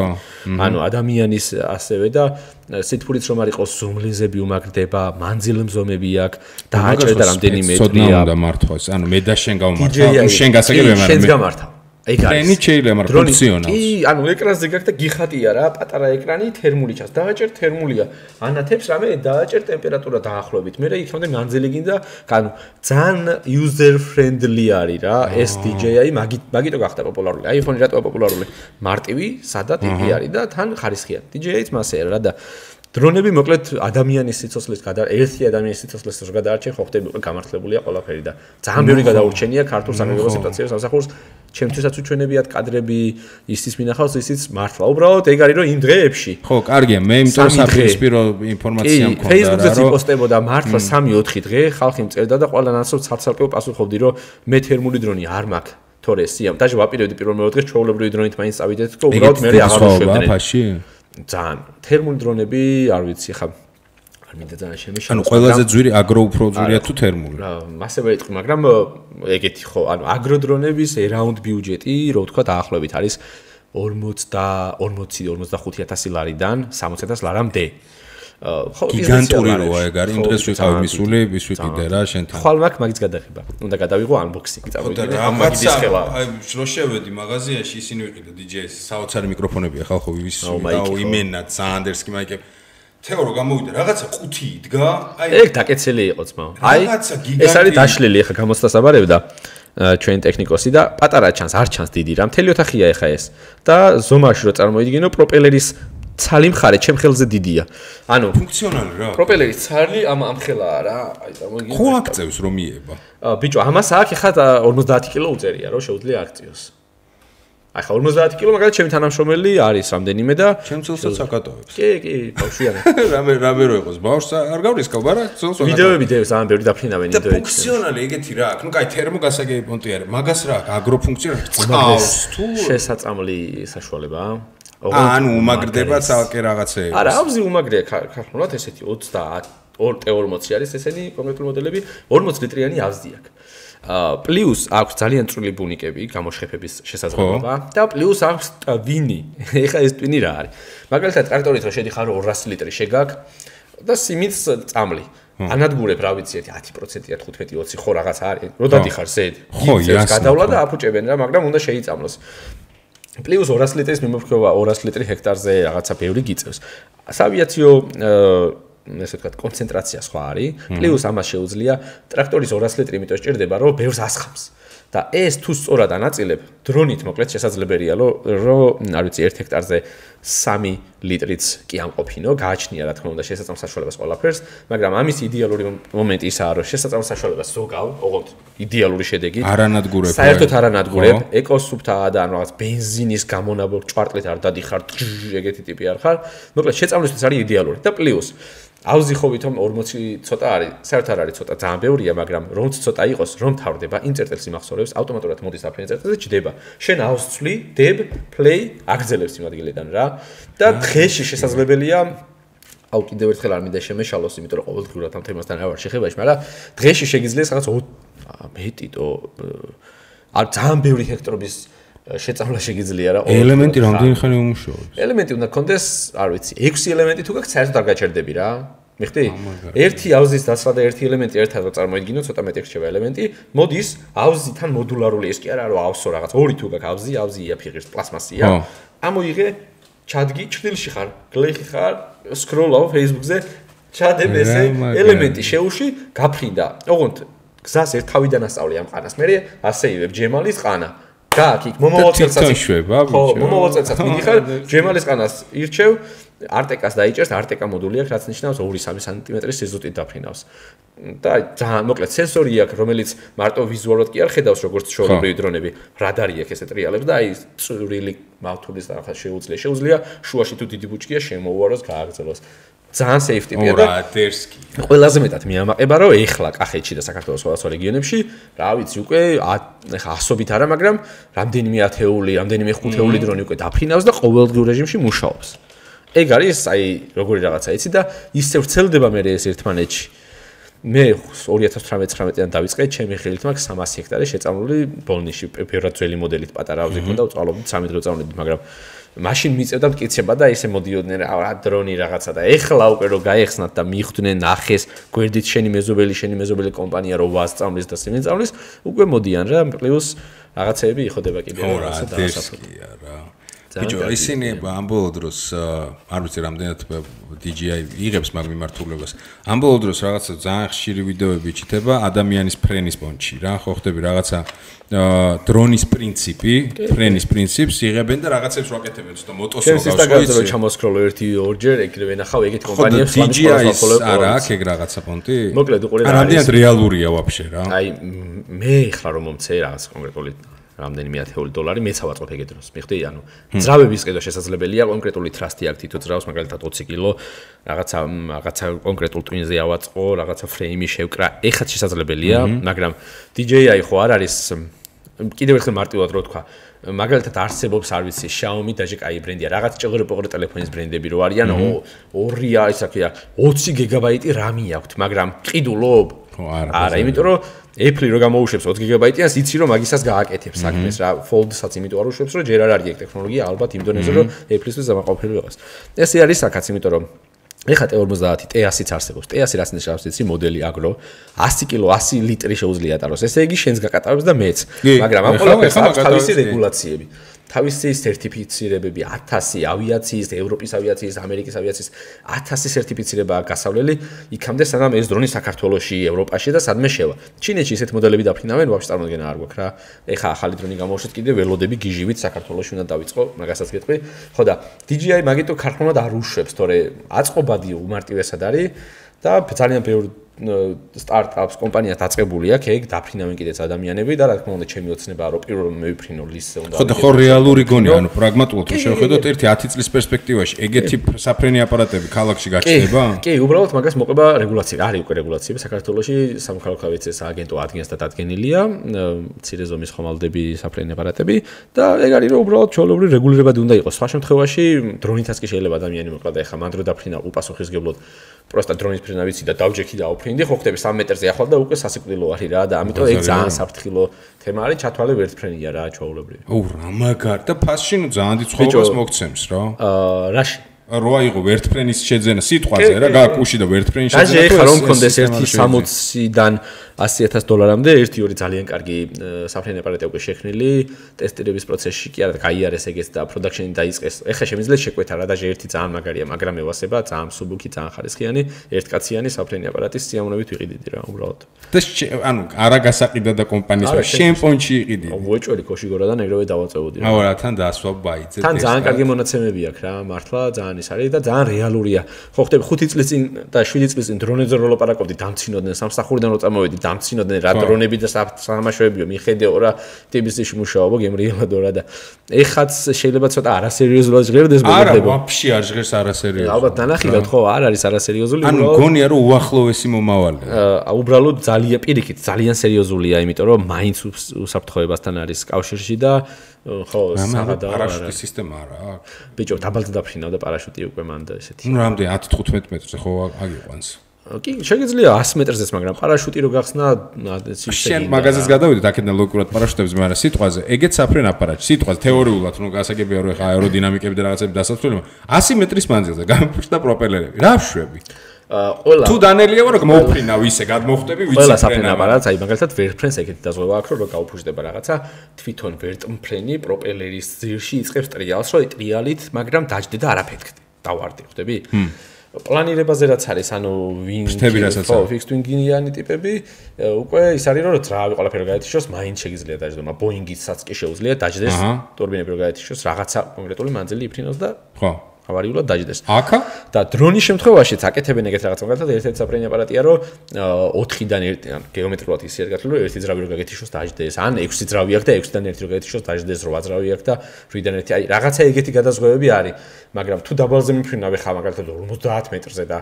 ანუ ადამიანის ასევე და სითბურიც რომ არ იყოს ზუმლინზები უმაგრდება, მანძილმზომები აქვს და აჭერდა რამდენიმე მეტრია. ცოტა უნდა მართვას. ანუ მე და შენ გავმართავ, თუ შენ გასაგებია მაგრამ შენს გამართავ. ეგ არის. ტრენი შეიძლება, მაგრამ ფუნქციონალს. კი, ანუ ეკრანზე გაქვს და გიხატია რა, პატარა ეკრანი, თერმული ჩანს. დააჭერ თერმულია. ანათებს რამე დააჭერ ტემპერატურა დაახლოებით. მე რა იქამდე მანძილი გინდა, ანუ ძალიან user friendly არის რა, ეს დი ჯეი აი, მაგით მაგიტო გახდა პოპულარული. iPhone-ი რატოა პოპულარული? მარტივი, სადა ტიპი არის და თან ხარისხიანი. დი ჯეი აიც მასეა რა და დრონები მოკლედ ადამიანის სიცოცხლის გადა ერთი ადამიანის სიცოცხლის რო გადაარჩენ, ხო ხდები გამართლებულია ყველაფერი და ძალიან ბევრი გადაურჩენია ქართულ საგანგებო სიტუაციებს სამსახურს. ჩემთვისაც უჩვენებიათ კადრები, ისიც მინახავს, ისიც მართლა. უბრალოდ ეგ არის რომ იმ დღეებში. ხო, კარგია, მე იმიტომ საფრთხისპირო ინფორმაცია მქონდა რა, რომ Facebook-ზე იპოსტებოდა მართლა სამი ოთხი დღე, ხალხი მწერდა და ყველანაირად ცალ-ცალკე პასუხობდი, რომ მე თერმული დრონი არ მაქვს. თორე სიამ, დაჟე ვაპირებდი პირველ მეორე დღეს ჩვეულებრივი დრონით მაინც წავიდეთ და უბრალოდ მე აღარ ვშვებდნენ. ძალიან თერმული დრონები, არ ვიცი, ხა არ მინდა ძალიან შემეშალოს. ანუ ყველაზე ძვირი აგრო უფრო ძვირია თუ თერმული? რა, მასევე იტყვი, მაგრამ ეგეთი ხო, ანუ აგრო დრონების around ბიუჯეტი, რო ვთქვა, დაახლოებით არის ორმოცი ორმოცდახუთი ათასი ლარიდან სამოცი ათას ლარამდე. ხო, გიგანტური როა ეგ არის, იმ დღეს ვიყავი მისული, ვის ვიყიდე რა, შენთან. ხვალ მაქვს მაგის გადაღება. უნდა გადავიღო unboxing-ი, წავიდე. ამ მაგის ხელა. აი, რო შევედი მაღაზიაში, ისინი ვიყიდე დი ჯეის, საოცარი მიკროფონებია ხალხო, ვის ვიყავ, იმენა, ზანდერსკი მაიკები. თეო რო გამოვიდა, რაღაცა ყუთი იდგა, აი ეგ დაკეცილი იყო ძმა. აი, ეს არის დაშლილი, ახლა გამოსტასაბარებდა ჩვენ ტექნიკოსი და პატარა ჩანს, არ ჩანს დიდი რა, მთელი ოთახია ახლა ეს. და ზომაში რო წარმოიდგინო, პროპელერის ცალი მხარე ჩემ ხელზე დიდია. ანუ ფუნქციონალი რა. პროპელერის ცალი ამ ამ ხელაა რა. აი წარმოიდგინე. ხო აქწევს რომ მიება. ბიჭო, ამას აქ ახლა ორმოცდაათი კილო უწერია, რომ შეუძლია აქციოს. აი ხა ორმოცდაათი კილო მაგალითად ჩემი თანამშრომელი არის რამდენიმე და ჩემ ცოლსაც აკატოებს. კი, კი, ბავშვიანი. რამე რამე რო იყოს, ბავშვს არ გავრისკავ, არა? ცოლს აკატოებს. ვიდეოები დევს, ძალიან ბევრი დაფრინავენ ვიდეოები. და ფუნქციონალი ეგეთი რა აქვს. ნუ კაი, თერმოგასაგები პონტი არის. მაგას რა აქვს? აგრო ფუნქციონალი წყავს თუ შესაწამლი საშუალებაა. ანუ უმაგრდება ცალკე რაღაცეები. არა, აუზი უმაგრია ქართულად ესეთი ოცდაათი ორმოცი არის ესენი კონკრეტული მოდელები, ორმოცი ლიტრიანი ავზი აქვს. აა პლუს აქვს ძალიან წვრილი ბუნიკები, გამოშხეფების შესაძლებლობა და პლუს აქვს ტვინი. ეხა ეს ტვინი რა არის? მაგალითად, ტრაქტორით რო შედიხარ ორასი ლიტრი შეგაკ და სიმინდს წამლი. ანადგურებ რა ვიცი ათი პროცენტია თხუთმეტი ოცი ხო რაღაც არის. რო დადიხარ ზედ. ხო, იასნა. გადავლა და აფუჭებენ რა, მაგრამ უნდა შეიწამლოს. პლუს ორასი ლიტრის მიმოქცევა ორასი ლიტრი ჰექტარზე რაღაცა ბევრი გიწევს. სავიაციო ესე ვთქვათ კონცენტრაცია სხვა არის. პლუს ამას შეუძლია ტრაქტორის ორასი ლიტრი იმიტომ სჭირდება რომ ბევრს ასხამს. და ეს თუ სწორად ანაწილებ, დრონით მოკლედ შესაძლებელია რომ არ ვიცი ერთ ჰექტარზე სამი ლიტრიც კი ამყოფინო, გააჩნია რა თქმა უნდა შესაძლო საშუალებას ყველაფერს, მაგრამ ამის იდეალური მომენტი ისაა რომ შესაძლო საშუალებას ზოგავ, ოღონდ იდეალური შედეგით არანადგურებ. საერთოდ არანადგურებ, ეკოსუფთაა და ანუ რაღაც ბენზინის გამონაბოლ ჭვარტლით არ დადიხარ, ეგეთი ტიპი არ ხარ. მოკლედ შეწამლისთვის არის იდეალური და პლუს ავზი ხო ვითომ ორმოცი ცოტა არის, საერთოდ არ არის ცოტა, ძალიან ბევრია, მაგრამ რომც ცოტა იყოს, რომ თავდება, იმ წერტილს იმახსოვრებს, ავტომატურად მოდის აფრენ წერტილზე ჯდება. შენ აუს ცვლი, დებ, play, აგრძელებს იმ ადგილიდან რა. და დღეში შესაძლებელია, აუ კიდევ ერთხელ არ მინდა შემეშალოს, იმიტომ რომ ყოველდღიურად ამ თემასთან არ ვარ შეხებაში, მაგრამ დღეში შეგიძლიათ რაღაც მეტიტო არ ძალიან ბევრი ჰექტრობის შეწამლა შეგიძლია რა. ელემენტი რამდენი ხანი უმუშაობს? ელემენტი უნდა კონდეს, არ ვიცი, ექვსი ელემენტი თუ გაქვს, საერთოდ არ გაჩერდები რა. მიხდი? ერთი ავზის დაცვა და ერთი ელემენტი ერთად რო წარმოიდგინო, ცოტა მეტი რჩება ელემენტი. მოდის ავზიდან მოდულარული ეს კი არა, რომ ავსო რაღაც. ორი თუ გაქვს ავზი, ავზი იაფიღებს, პლასმასია. ამოიღე, ჩადგი, ჩრდილში ხარ, გლეხი ხარ, სკროლავ Facebook-ზე, ჩადებ ესე ელემენტი შეუში, გაფრინდა. ოღონდ გზას ერთ თავიდან ასწავლე ამ ყანას. მე ასეივებ ჯემალის ყანა. გააკ იქ მომავალ წელსაც იშვება ხო მომავალ წელსაც მიდიხარ ჯემალის ყანას ირჩევ არტეკას დაიჭერს, არტეკა მოდული აქვს, რაც ნიშნავს ორი სამი სანტიმეტრის სიზუსტით დაფრინავს. და ძალიან მოკლედ სენსორი აქვს, რომელიც მარტო ვიზუალურად კი არ ხედავს, როგორც ჩვეულებრივი დრონები, რადარი აქვს ესე ტრიალებს და აი წვრილი მავთულის რაღაც შეუძლია. შეუძლია შუაში თუ დიდი ბუჩქია შემოუაროს, გააგრძელოს. ძალიან safe ტიპია და რადერსკი. ყველაზე მეტად მიამაყება, რომ ეხლა კახეთში და საქართველოს სხვადასხვა რეგიონებში, რა ვიცი, უკვე ეხლა ასობით არა, მაგრამ რამდენიმე ათეული, რამდენიმე ხუთეული დრონი უკვე დაფრინავს და ყოველდღიურ რეჟიმში მუშაობს. ეგ არის აი როგორი რაღაცა იცი და ისე ვრცელდება მე ეს ერთმანეთში. მე ორი ათას თვრამეტ-ცხრამეტიდან დავიწყე, ჩემი ხელით მაქვს სამასი ჰექტარი შეწამლული ბოლნიში, ბევრად ძველი მოდელით პატარა ავზი ქონდა, ვწვალობდი სამი დღე ვწავლობდი, მაგრამ მაშინ მიწევდა მტკიცება და ისე მოდიოდნენ რა დრონი რაღაცა და ეხლა უკვე რო გაეხსნათ და მიხვდნენ ნახეს გვერდით შენი მეზობელი შენი მეზობელი კომპანია რო ვასწავლის და სიმიწავლის უკვე მოდიან რა პლუს რაღაცეები იხოდება კიდე რაღაცა დაასაფრთხია რა ბიჭო ისინი ამ ბოლო დროს არ ვიცი რამდენად დი ჯი აი იღებს მაგ მიმართულებას ამ ბოლო დროს რაღაცა ძალიან ხშირი ვიდეოები ჩითება ადამიანის ფრენის პონჩი რა ხო ხდები რაღაცა დრონის პრინციპი ფრენის პრინციპს იღებენ და რაღაცებს ვაკეთებენ ცოტა მოტოს რო გავსვი ის და ჩამოსკროლო ერთი ორჯერ ეგრე ვენახავ ეგეთი კომპანიებს დი ჯი აის არა აქ ეგ რაღაცა პონტი მოკლედ უყურე რა რამდენად რეალურია ვაფშე რა აი მე ხლა რომ მომცე რაღაც კონკრეტული რამდენიმე ათეული დოლარი მეც ავაწყობ ეგეთ დროს. მიხდი, ანუ ძრავების ყიდვა შესაძლებელია, კონკრეტული ტრასტი აქ თითო ძრავს, მაგალითად ოცი კილო, რაღაცა რაღაცა კონკრეტულ ტვინზე ავაწყო, რაღაცა ფრეიმი შევკრა, ეხაც შესაძლებელია, მაგრამ დი ჯეი აი ხო არ არის კიდევ ერთხელ მარტივად რო თქვა. მაგალითად არსებობს არ ვიცი Xiaomi დაჟე კაი ბრენდია, რაღაც ჭეღრე-პოღრე ტელეფონის ბრენდები რო არიან, ორი ისე ქვია, ოცი გიგაბაიტი რამი აქვთ, მაგრამ ყიდულობ? არა, არა, იმიტომ რომ Apple რო გამოუშვებს ოცი გიგაბაიტიანს, იცი რომ მაგისას გააკეთებს საქმეს რა, Fold-საც იმიტომ არ უშვებს, რომ ჯერ არ არის ეგ ტექნოლოგია, ალბათ იმ დონეზე რომ Apple-ისთვის დამაყოლებელი იყოს. ესე არის საკაც, იმიტომ რომ ეხლა ტე ორმოცდაათი ტე ასიც არსებობს. ტე ასი რას ნიშნავს, იცი, მოდელი აგრო, ასი კილო, ასი ლიტრი შეუძლია ატაროს. ესე იგი შენს გაკატარებს და მეც. მაგრამ ამ ყველაფერს აქვს თავისი რეგულაციები. თავისი სერტიფიცირებები ათასი ავიაციის, ევროპის ავიაციის, ამერიკის ავიაციის ათასი სერტიფიცირება გასავლელი, იქამდე სანამ ეს დრონი საქართველოში, ევროპაში და სადმე შევა. ჩინეთში ესეთ მოდელები დაფრინავენ, ვაფშე წარმოგენა არ გვაქვს რა. ეხა ახალი დრონი გამოუშვეთ კიდე ველოდები გიჟივით საქართველოში უნდა დავიწყო, მაგასაც გეტყვი. ხო და დი ჯი აი მაგიტო ქარხნულად არ უშვებს, თორე აწყობადი უმარტივესად არის და ძალიან ბევრი სტარტაპს კომპანიას დაწყებული აქვს, ეგ დაფრინავენ კიდეც ადამიანები და რა თქმა უნდა ჩემი ოცნებაა რომ პირველ მევიფრინო ლისზე უნდა. ხო და ხო რეალური გონია, ანუ პრაგმატულად რომ შევხედოთ ერთი ათი წლის პერსპექტივაში, ეგეთი საფრენი აპარატები ქალაქში გაჩნდება? კი, უბრალოდ მაგას მოყვება რეგულაცია. არის უკვე რეგულაციები საქართველოში, სამოქალაქო ავიაციის სააგენტო ადგენს და დადგენილია, მცირე ზომის ხომალდები, საფრენი აპარატები და ეგ არის რომ უბრალოდ ჩვეულებრივი რეგულირებადი უნდა იყოს. სხვა შემთხვევაში დრონითაც კი შეიძლება ადამიანი მოკლა და ეხა მან დრო დაფრინა უპასუხისგებლად პროსტა დრონის ფრენა ვიცი და დავჯექი და აუფრინდი, ხო ხდები სამი მეტრზე ახლა და უკვე სასიკვდილო არის რა და ამიტომ ეგ ძალიან საფრთხილო თემა არის, ჩათვალე ვერტფრენია რა ჩვეულებრივი. ოუ რა მაგარ და ფასში ნუ ძალიან დიდ ცხოვრებას მოგცემს რა. აა რაში რო აიღო ვერტფრენის შეძენა სიტყვაზე რა გააკუში და ვერტფრენის შეძენა. დაჟე ეხლა რომ მქონდეს ერთი სამოციდან ასი ათას დოლარამდე ერთი ორი ძალიან კარგი საფრენი აპარატი უკვე შექმნილი ტესტირების პროცესში კი არა გაიარეს ეგეც და პროდაქშენი დაიწყეს. ეხლა შემიძლია შეკვეთა რა დაჟე ერთი ძალიან მაგარია, მაგრამ ევასება ძალიან მსუბუქი, ძალიან ხარისხიანი, ერთკაციანი საფრენი აპარატის სიამოვნებით ვიყიდიდი რა უბრალოდ. და ანუ არა გასაყიდა და კომპანიის შენ პონჩი იყიდი. ვეჭველი ქოშიგორადან ეგრევე დავაწევოდი რა. აუ რა თან დაასვა ბაიძე. თან ძალიან კარგი მონაცემები აქვს რა, მართლა ძალიან ის არის და ძალიან რეალურია. ხო ხდები ხუთი წლის წინ და შვიდი წლის წინ დრონებზე რო ლაპარაკობდი, დამცინოდნენ სამსახურიდან რო წამოვედი, დამცინოდნენ რა დრონები და სამაშოებიო, მიხედეო რა ტიბისში მუშაობო, გემრიელადო რა და ეხაც შეიძლება ცოტა არასერიოზულად ჟღერდეს მოგდება. არა, ვაფშე არ ჟღერს არასერიოზულად. ალბათ ნანახილად ხო არ არის არასერიოზული, ანუ გონია რომ უახლოესი მომავალია. აა უბრალოდ ძალიან პირიქით, ძალიან სერიოზულია, იმიტომ რომ მაინც უსაფრთხოებასთან არის კავშირში და ხო, საღადა პარაშუტის სისტემა არა აქვს. ბიჭო, დაბალზე დაფრინავ და პარაშუტი უკვე მან და ესეთი. ნუ რამდენი ათი თხუთმეტი მეტრზე ხო აგიყვანს. კი, შეგიძლია ასი მეტრზეც, მაგრამ პარაშუტი რო გახსნა, შენ მაგაზეს გადავიდეთ აქედან ლოგიკურად პარაშუტებს, მაგრამ სიტყვაზე, ეგეც საფრენ აპარატი, სიტყვაზე თეორიულად, ნუ გასაგებია რომ ეხა აეროდინამიკები და რაღაცები დასაცვლელი, ასი მეტრის მანძილზე გამოფრჩა პროპელერები. რა შვები? ყველა თუ დანელია რომ მოუფრინავ ისე გადმოხტები ვიცი ყველა საფრენ აპარატს, აი მაგალითად ვერტფრენს ეგეთი დაზღვევა აქვს, რომ გაუფრჩდება რაღაცა, თვითონ ვერტმფრენი პროპელერის ძირში იწყებს ტრიალს, რომ ტრიალით, მაგრამ დაждდე და არაფეთქდე. დავარდი, ხვდები? პლანირებაზე რაც არის, ანუ ვინგი, ხო, ფიქსდ ვინგიანი ტიპები, უკვე ის არის რომ ძრავი ყველაფერი გაეთიშოს, მაინც შეიძლება დაждდე, მაგრამ ბოინგისაც კი შეუძლია დაждდეს, ტურბინები რო გაეთიშოს, რაღაცა კონკრეტული მანძილი იფრინოს და ხო ავარიულად დაждდეს. აკა და დრონის შემთხვევაშიც აკეთებენ ეგეთ რაღაც მაგალითად ერთ-ერთი საფრენი აპარატია რომ ოთხიდან ერთი ან გეომეტრიულად ისე გათვლილი რომ ერთი ძრავი რო გაგეთიშოს დაждდეს ან ექვსი ძრავი აქვს და ექვსიდან ერთი რო გაგეთიშოს დაждდეს რვა ძრავი აქვს და რვიდან ერთი აი რაღაცა ეგეთი გადაზღვევები არის მაგრამ თუ დაბალზე მიფრინავ ხა მაგალითად ორმოცდაათ მეტრზე და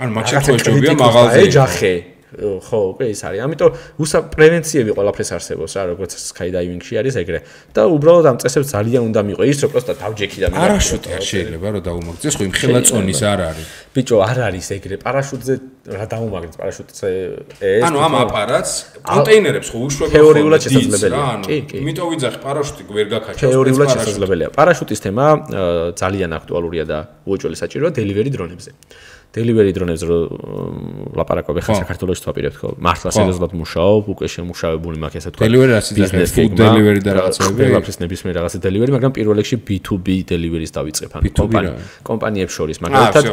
ან მაგ შემთხვევაში ჯობია მაღალზე ეჯახე ხო, უკვე ის არის. ამიტომ უსა პრევენციები ყველაფერს არსებობს რა, როგორც skydiving-ში არის ეგრე. და უბრალოდ ამ წესებს ძალიან უნდა მიყვე ის, რომ პროსტა დავჯექი და მე პარაშუტი არ შეიძლება რომ დაუმაგრდეს, ხო იმ ხელა წონის არ არის. ბიჭო, არ არის ეგრე. პარაშუტზე რა დაუმაგრდეს პარაშუტზე ეს? ანუ ამ აპარატს კონტეინერებს ხო უშვებენ თეორიულად შესაძლებელია. კი, კი. იმიტომ ვიძახი პარაშუტი ვერ გაქაჩავს. თეორიულად შესაძლებელია. პარაშუტის თემა ძალიან აქტუალურია და უეჭველი საჭიროა delivery დრონებზე. delivery დრონებზე რო ლაპარაკობ ხა საქართველოს თვაპირებთ ხო მართლა სერიოზულად მუშაობ უკვე შემუშავებული მაქვს ესე თქვა delivery ასე ძახეს food delivery და რაღაცები ყველაფერს ნებისმიერ რაღაცა delivery მაგრამ პირველ რიგში B two B delivery-ს დავიწყებ ან კომპანია კომპანიებს შორის მაგალითად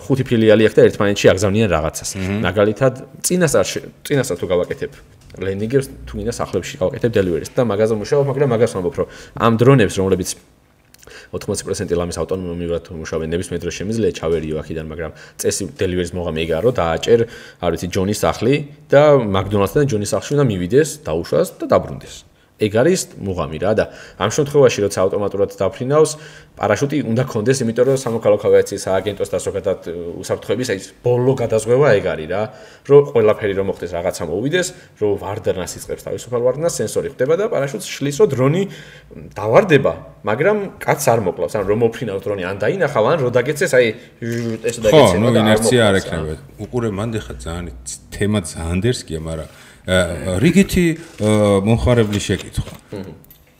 ხუთი ფილიალი აქვს და ერთმანეთში აგზავნიან რაღაცას მაგალითად წინასწარ წინასწარ თუ გავაკეთებ ლენდინგებს თუ გინდა სახლებში გავაკეთებ delivery-ს და მაგაზე მუშაობ მაგრამ მაგას ვამბობ რომ ამ დრონებს რომლებიც ოთხმოცი პროცენტი ლამის ავტონომიურად მუშაობენ ნებისმიერ დროს შემიძლია ჩავერიო აქედან მაგრამ წესი delivery-ს მოღა მეგარო დააჭერ არ ვიცი ჯონის სახლი და მაკდონალდსთან ჯონის სახლში უნდა მივიდეს დაუშვას და დაბრუნდეს ეგ არის მუღამი რა და ამ შემთხვევაში როცა ავტომატურად დაფრინავს პარაშუტი უნდა კონდეს იმიტომ რომ სამოქალაქო ავიაციის სააგენტოს და ზოგადად უსაფრთხოების აი ბოლო გადაზღვევა ეგ არის რა რომ ყველაფერი რომ მოხდეს რაღაცა მოვიდეს რომ ვარდნას იწყებს თავისუფალ ვარდნას სენსორი ხდება და პარაშუტს შლის რომ დრონი დავარდება მაგრამ კაც არ მოკლავს ან რომ მოფრინავს დრონი ან დაინახავ ან რომ დაგეცეს აი ეს დაგეცეს ხო ნუ ინერცია არ ექნება უყურე მანდ ხა ძალიან თემა ძალიან დერსკია მაგრამ რიგითი მომხარებლი შეკითხვა.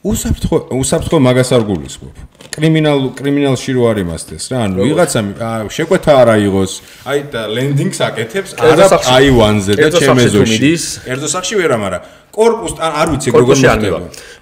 უსაფრთხო უსაფრთხო მაგას არ გულისხმობ. კრიმინალ კრიმინალში რო არ იმასდეს რა, ანუ ვიღაცამ შეკვეთა არ აიღოს, აი და ლენდინგს აკეთებს არა აივანზე და ჩემეზოში. კერძო სახში ვერა, მაგრამ კორპუსს არ ვიცი როგორ მოხდება.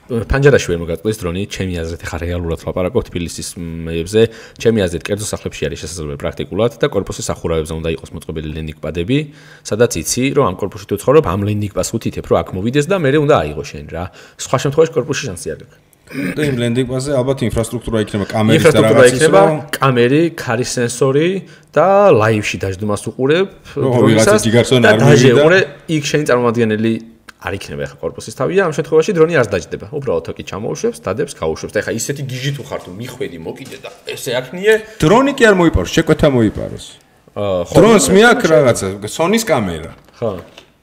ფანჯარაში ვერ მოგაწყვეს დრონი, ჩემი აზრით ხა რეალურად ლაპარაკობ თბილისის მეებზე, ჩემი აზრით კერძო სახლებში არის შესაძლებელი პრაქტიკულად და კორპუსის სახურავებზე უნდა იყოს მოწყობილი ლენდინგ პადები, სადაც იცი, რომ ამ კორპუსში თუ ცხოვრობ, ამ ლენდინგ პადს უთითებ, რომ აქ მოვიდეს და მე უნდა აიღო შენ რა. სხვა შემთხვევაში კორპუსში შანსი არ გაქვს. და იმ ლენდინგ პადზე ალბათ ინფრასტრუქტურა იქნება, კამერის და რაღაცის, რომ კამერი, ქარის სენსორი და ლაივში დაждდმას უყურებ დრონისას და დაჟეურე იქ შენი წარმომადგენელი არ იქნება ხა კორპუსის თავია ამ შემთხვევაში დრონი არ დაждდება უბრალოდ თოკი ჩამოუშვებს დადებს გაუშვებს და ხა ისეთი გიჟი თუ ხარ თუ მიხვედი მოკიდე და ესე აქნიე დრონი კი არ მოიპაროს შეკვეთა მოიპაროს დრონს მიაქ რაღაცა სონის კამერა ხო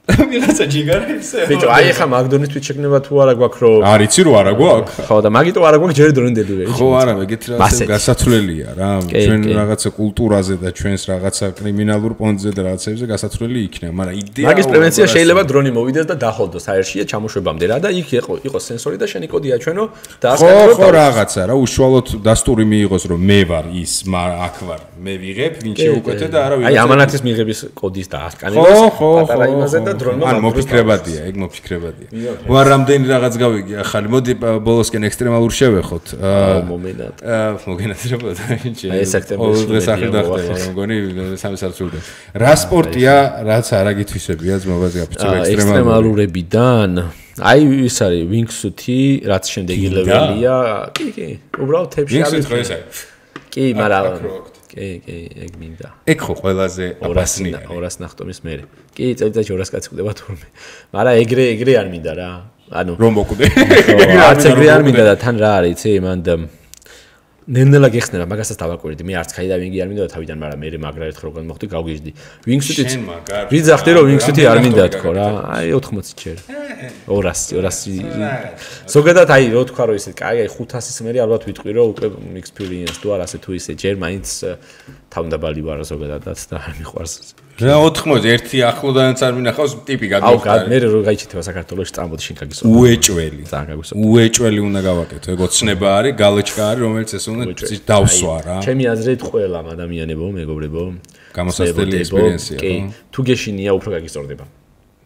ვიღაცა ჯიგარებს ბიჭო აი ხა მაგდონის თვით შეგნება თუ არა გვაქვს რომ არ იცი რომ არა გვაქვს ხო და მაგიტო არა გვაქვს ჯერ დრონი delivery ხო არა ეგეთი რაღაცა გასაცვლელია რა ჩვენ რაღაცა კულტურაზე და ჩვენს რაღაცა კრიმინალურ პონტზე და რაღაცებზე გასაცვლელი იქნება მაგრამ იდეა მაგის პრევენცია შეიძლება დრონი მოვიდეს და დახოლდოს აერშია ჩამოშვებამდე რა და იქ იყოს სენსორი და შენი კოდი აჩვენო და ასკატრო ხო რაღაცა რა უშუალოდ დასტური მიიღოს რომ მე ვარ ის აქ ვარ მე ვიღებ ვინ შეუკვეთე და არა ვიღებ აი ამანათის მიღების კოდის და ასკანებას პატარა იმაზე და ან მოფიქრებადია, ეგ მოფიქრებადია. ვარ რამდენი რაღაც გავიგი ახალი. მოდი ბოლოსკენ ექსტრემალურ შევეხოთ. აა მომენად. აა მოგენაცრებოდა ინჩი. აი სექტემბერში დღეს ახლა დახტება, მგონი სამი საათი. რა სპორტია, რაც არა გითვისებია ძმობაზე გაფიცებ ექსტრემალურებიდან. აი ის არის wingsuit-ი, რაც შემდეგი ლეველია. კი, კი. უბრალოდ თებში არის. wingsuit ხო ეს არის? კი, მაგრამ კი, კი, ეგ მინდა. ეგ ხო ყველაზე აბასნია. ორას ნახტომის მერე. კი, წელიწადში ორას კაცი ხვდება თურმე. მაგრამ ეგრე, ეგრე არ მინდა რა. ანუ რომ მოკვდე. არც ეგრე არ მინდა და თან რა არის, იცი, მანდ ნენელა გეხსნება, მაგასაც დავაკვირდი. მე არც skydiving-ი არ მინდა და თავიდან, მაგრამ მე მაგრა ერთხელ როგორ მოხდი, გავგიჟდი. wingsuit-იც ვიძახდი რომ wingsuit-ი არ მინდა თქო რა. აი ოთხმოცი ჯერ. ორასი, ორასი. ზოგადად აი რო თქვა რომ ისე, კაი, აი ხუთასის მერე ალბათ ვიტყვი რომ უკვე experience თუ არ ასე თუ ისე ჯერ მაინც თავდაბალი ვარ ზოგადადაც და არ მიყვარს. რა ოთხმოცი ერთი ახლოდანაც არ მინახავს ტიპი გადმოხდა. აუ, მე რო გაიჩიტება საქართველოში წამოდი შენ გაგისვა. უეჭველი. ძალიან გაგისვა. უეჭველი უნდა გავაკეთო. ეგ ოცნება არის, გალეჩკა არის, რომელიც ეს უნდა დავსვა რა. ჩემი აზრით ყველა ადამიანებო, მეგობრებო, გამოსასწრელი ექსპერიენსია, ხო? თუ გეშინია, უფრო გაგისწორდება.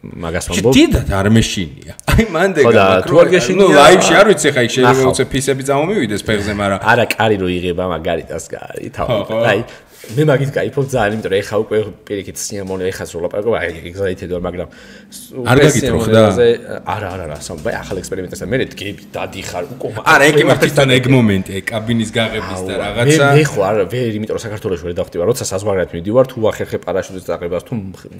მაგას ვამბობ. დიდად არ მეშინია. აი მანდ ეგ თუ არ გეშინია, ნუ ლაივში არ ვიცი ხა იქ შეიძლება უცებ ფისები წამომივიდეს ფეხზე, მაგრამ არა, კარი რო იღება მაგარიტას კარი, თავი. აი მე მაგით кайფობ ძალიან, იმიტომ რომ ეხა უკვე პირიქით სიამოვნე ეხა სრულაპარაკო, აი excited ვარ, მაგრამ არ გაგიტროხდა? არა, არა, არა, სამ, ბაი ახალ ექსპერიმენტებთან მე დგები, დადიხარ, უკო. არა, ეგ მართლიდან ეგ მომენტი, აი კაბინის გაღების და რაღაცა. მე ხო არა, ვერ, იმიტომ რომ საქართველოში ვერ დავხტივა, როცა საზღვარგარეთ მიდივარ, თუ ახერხე პარაშუტის დაყებას, თუ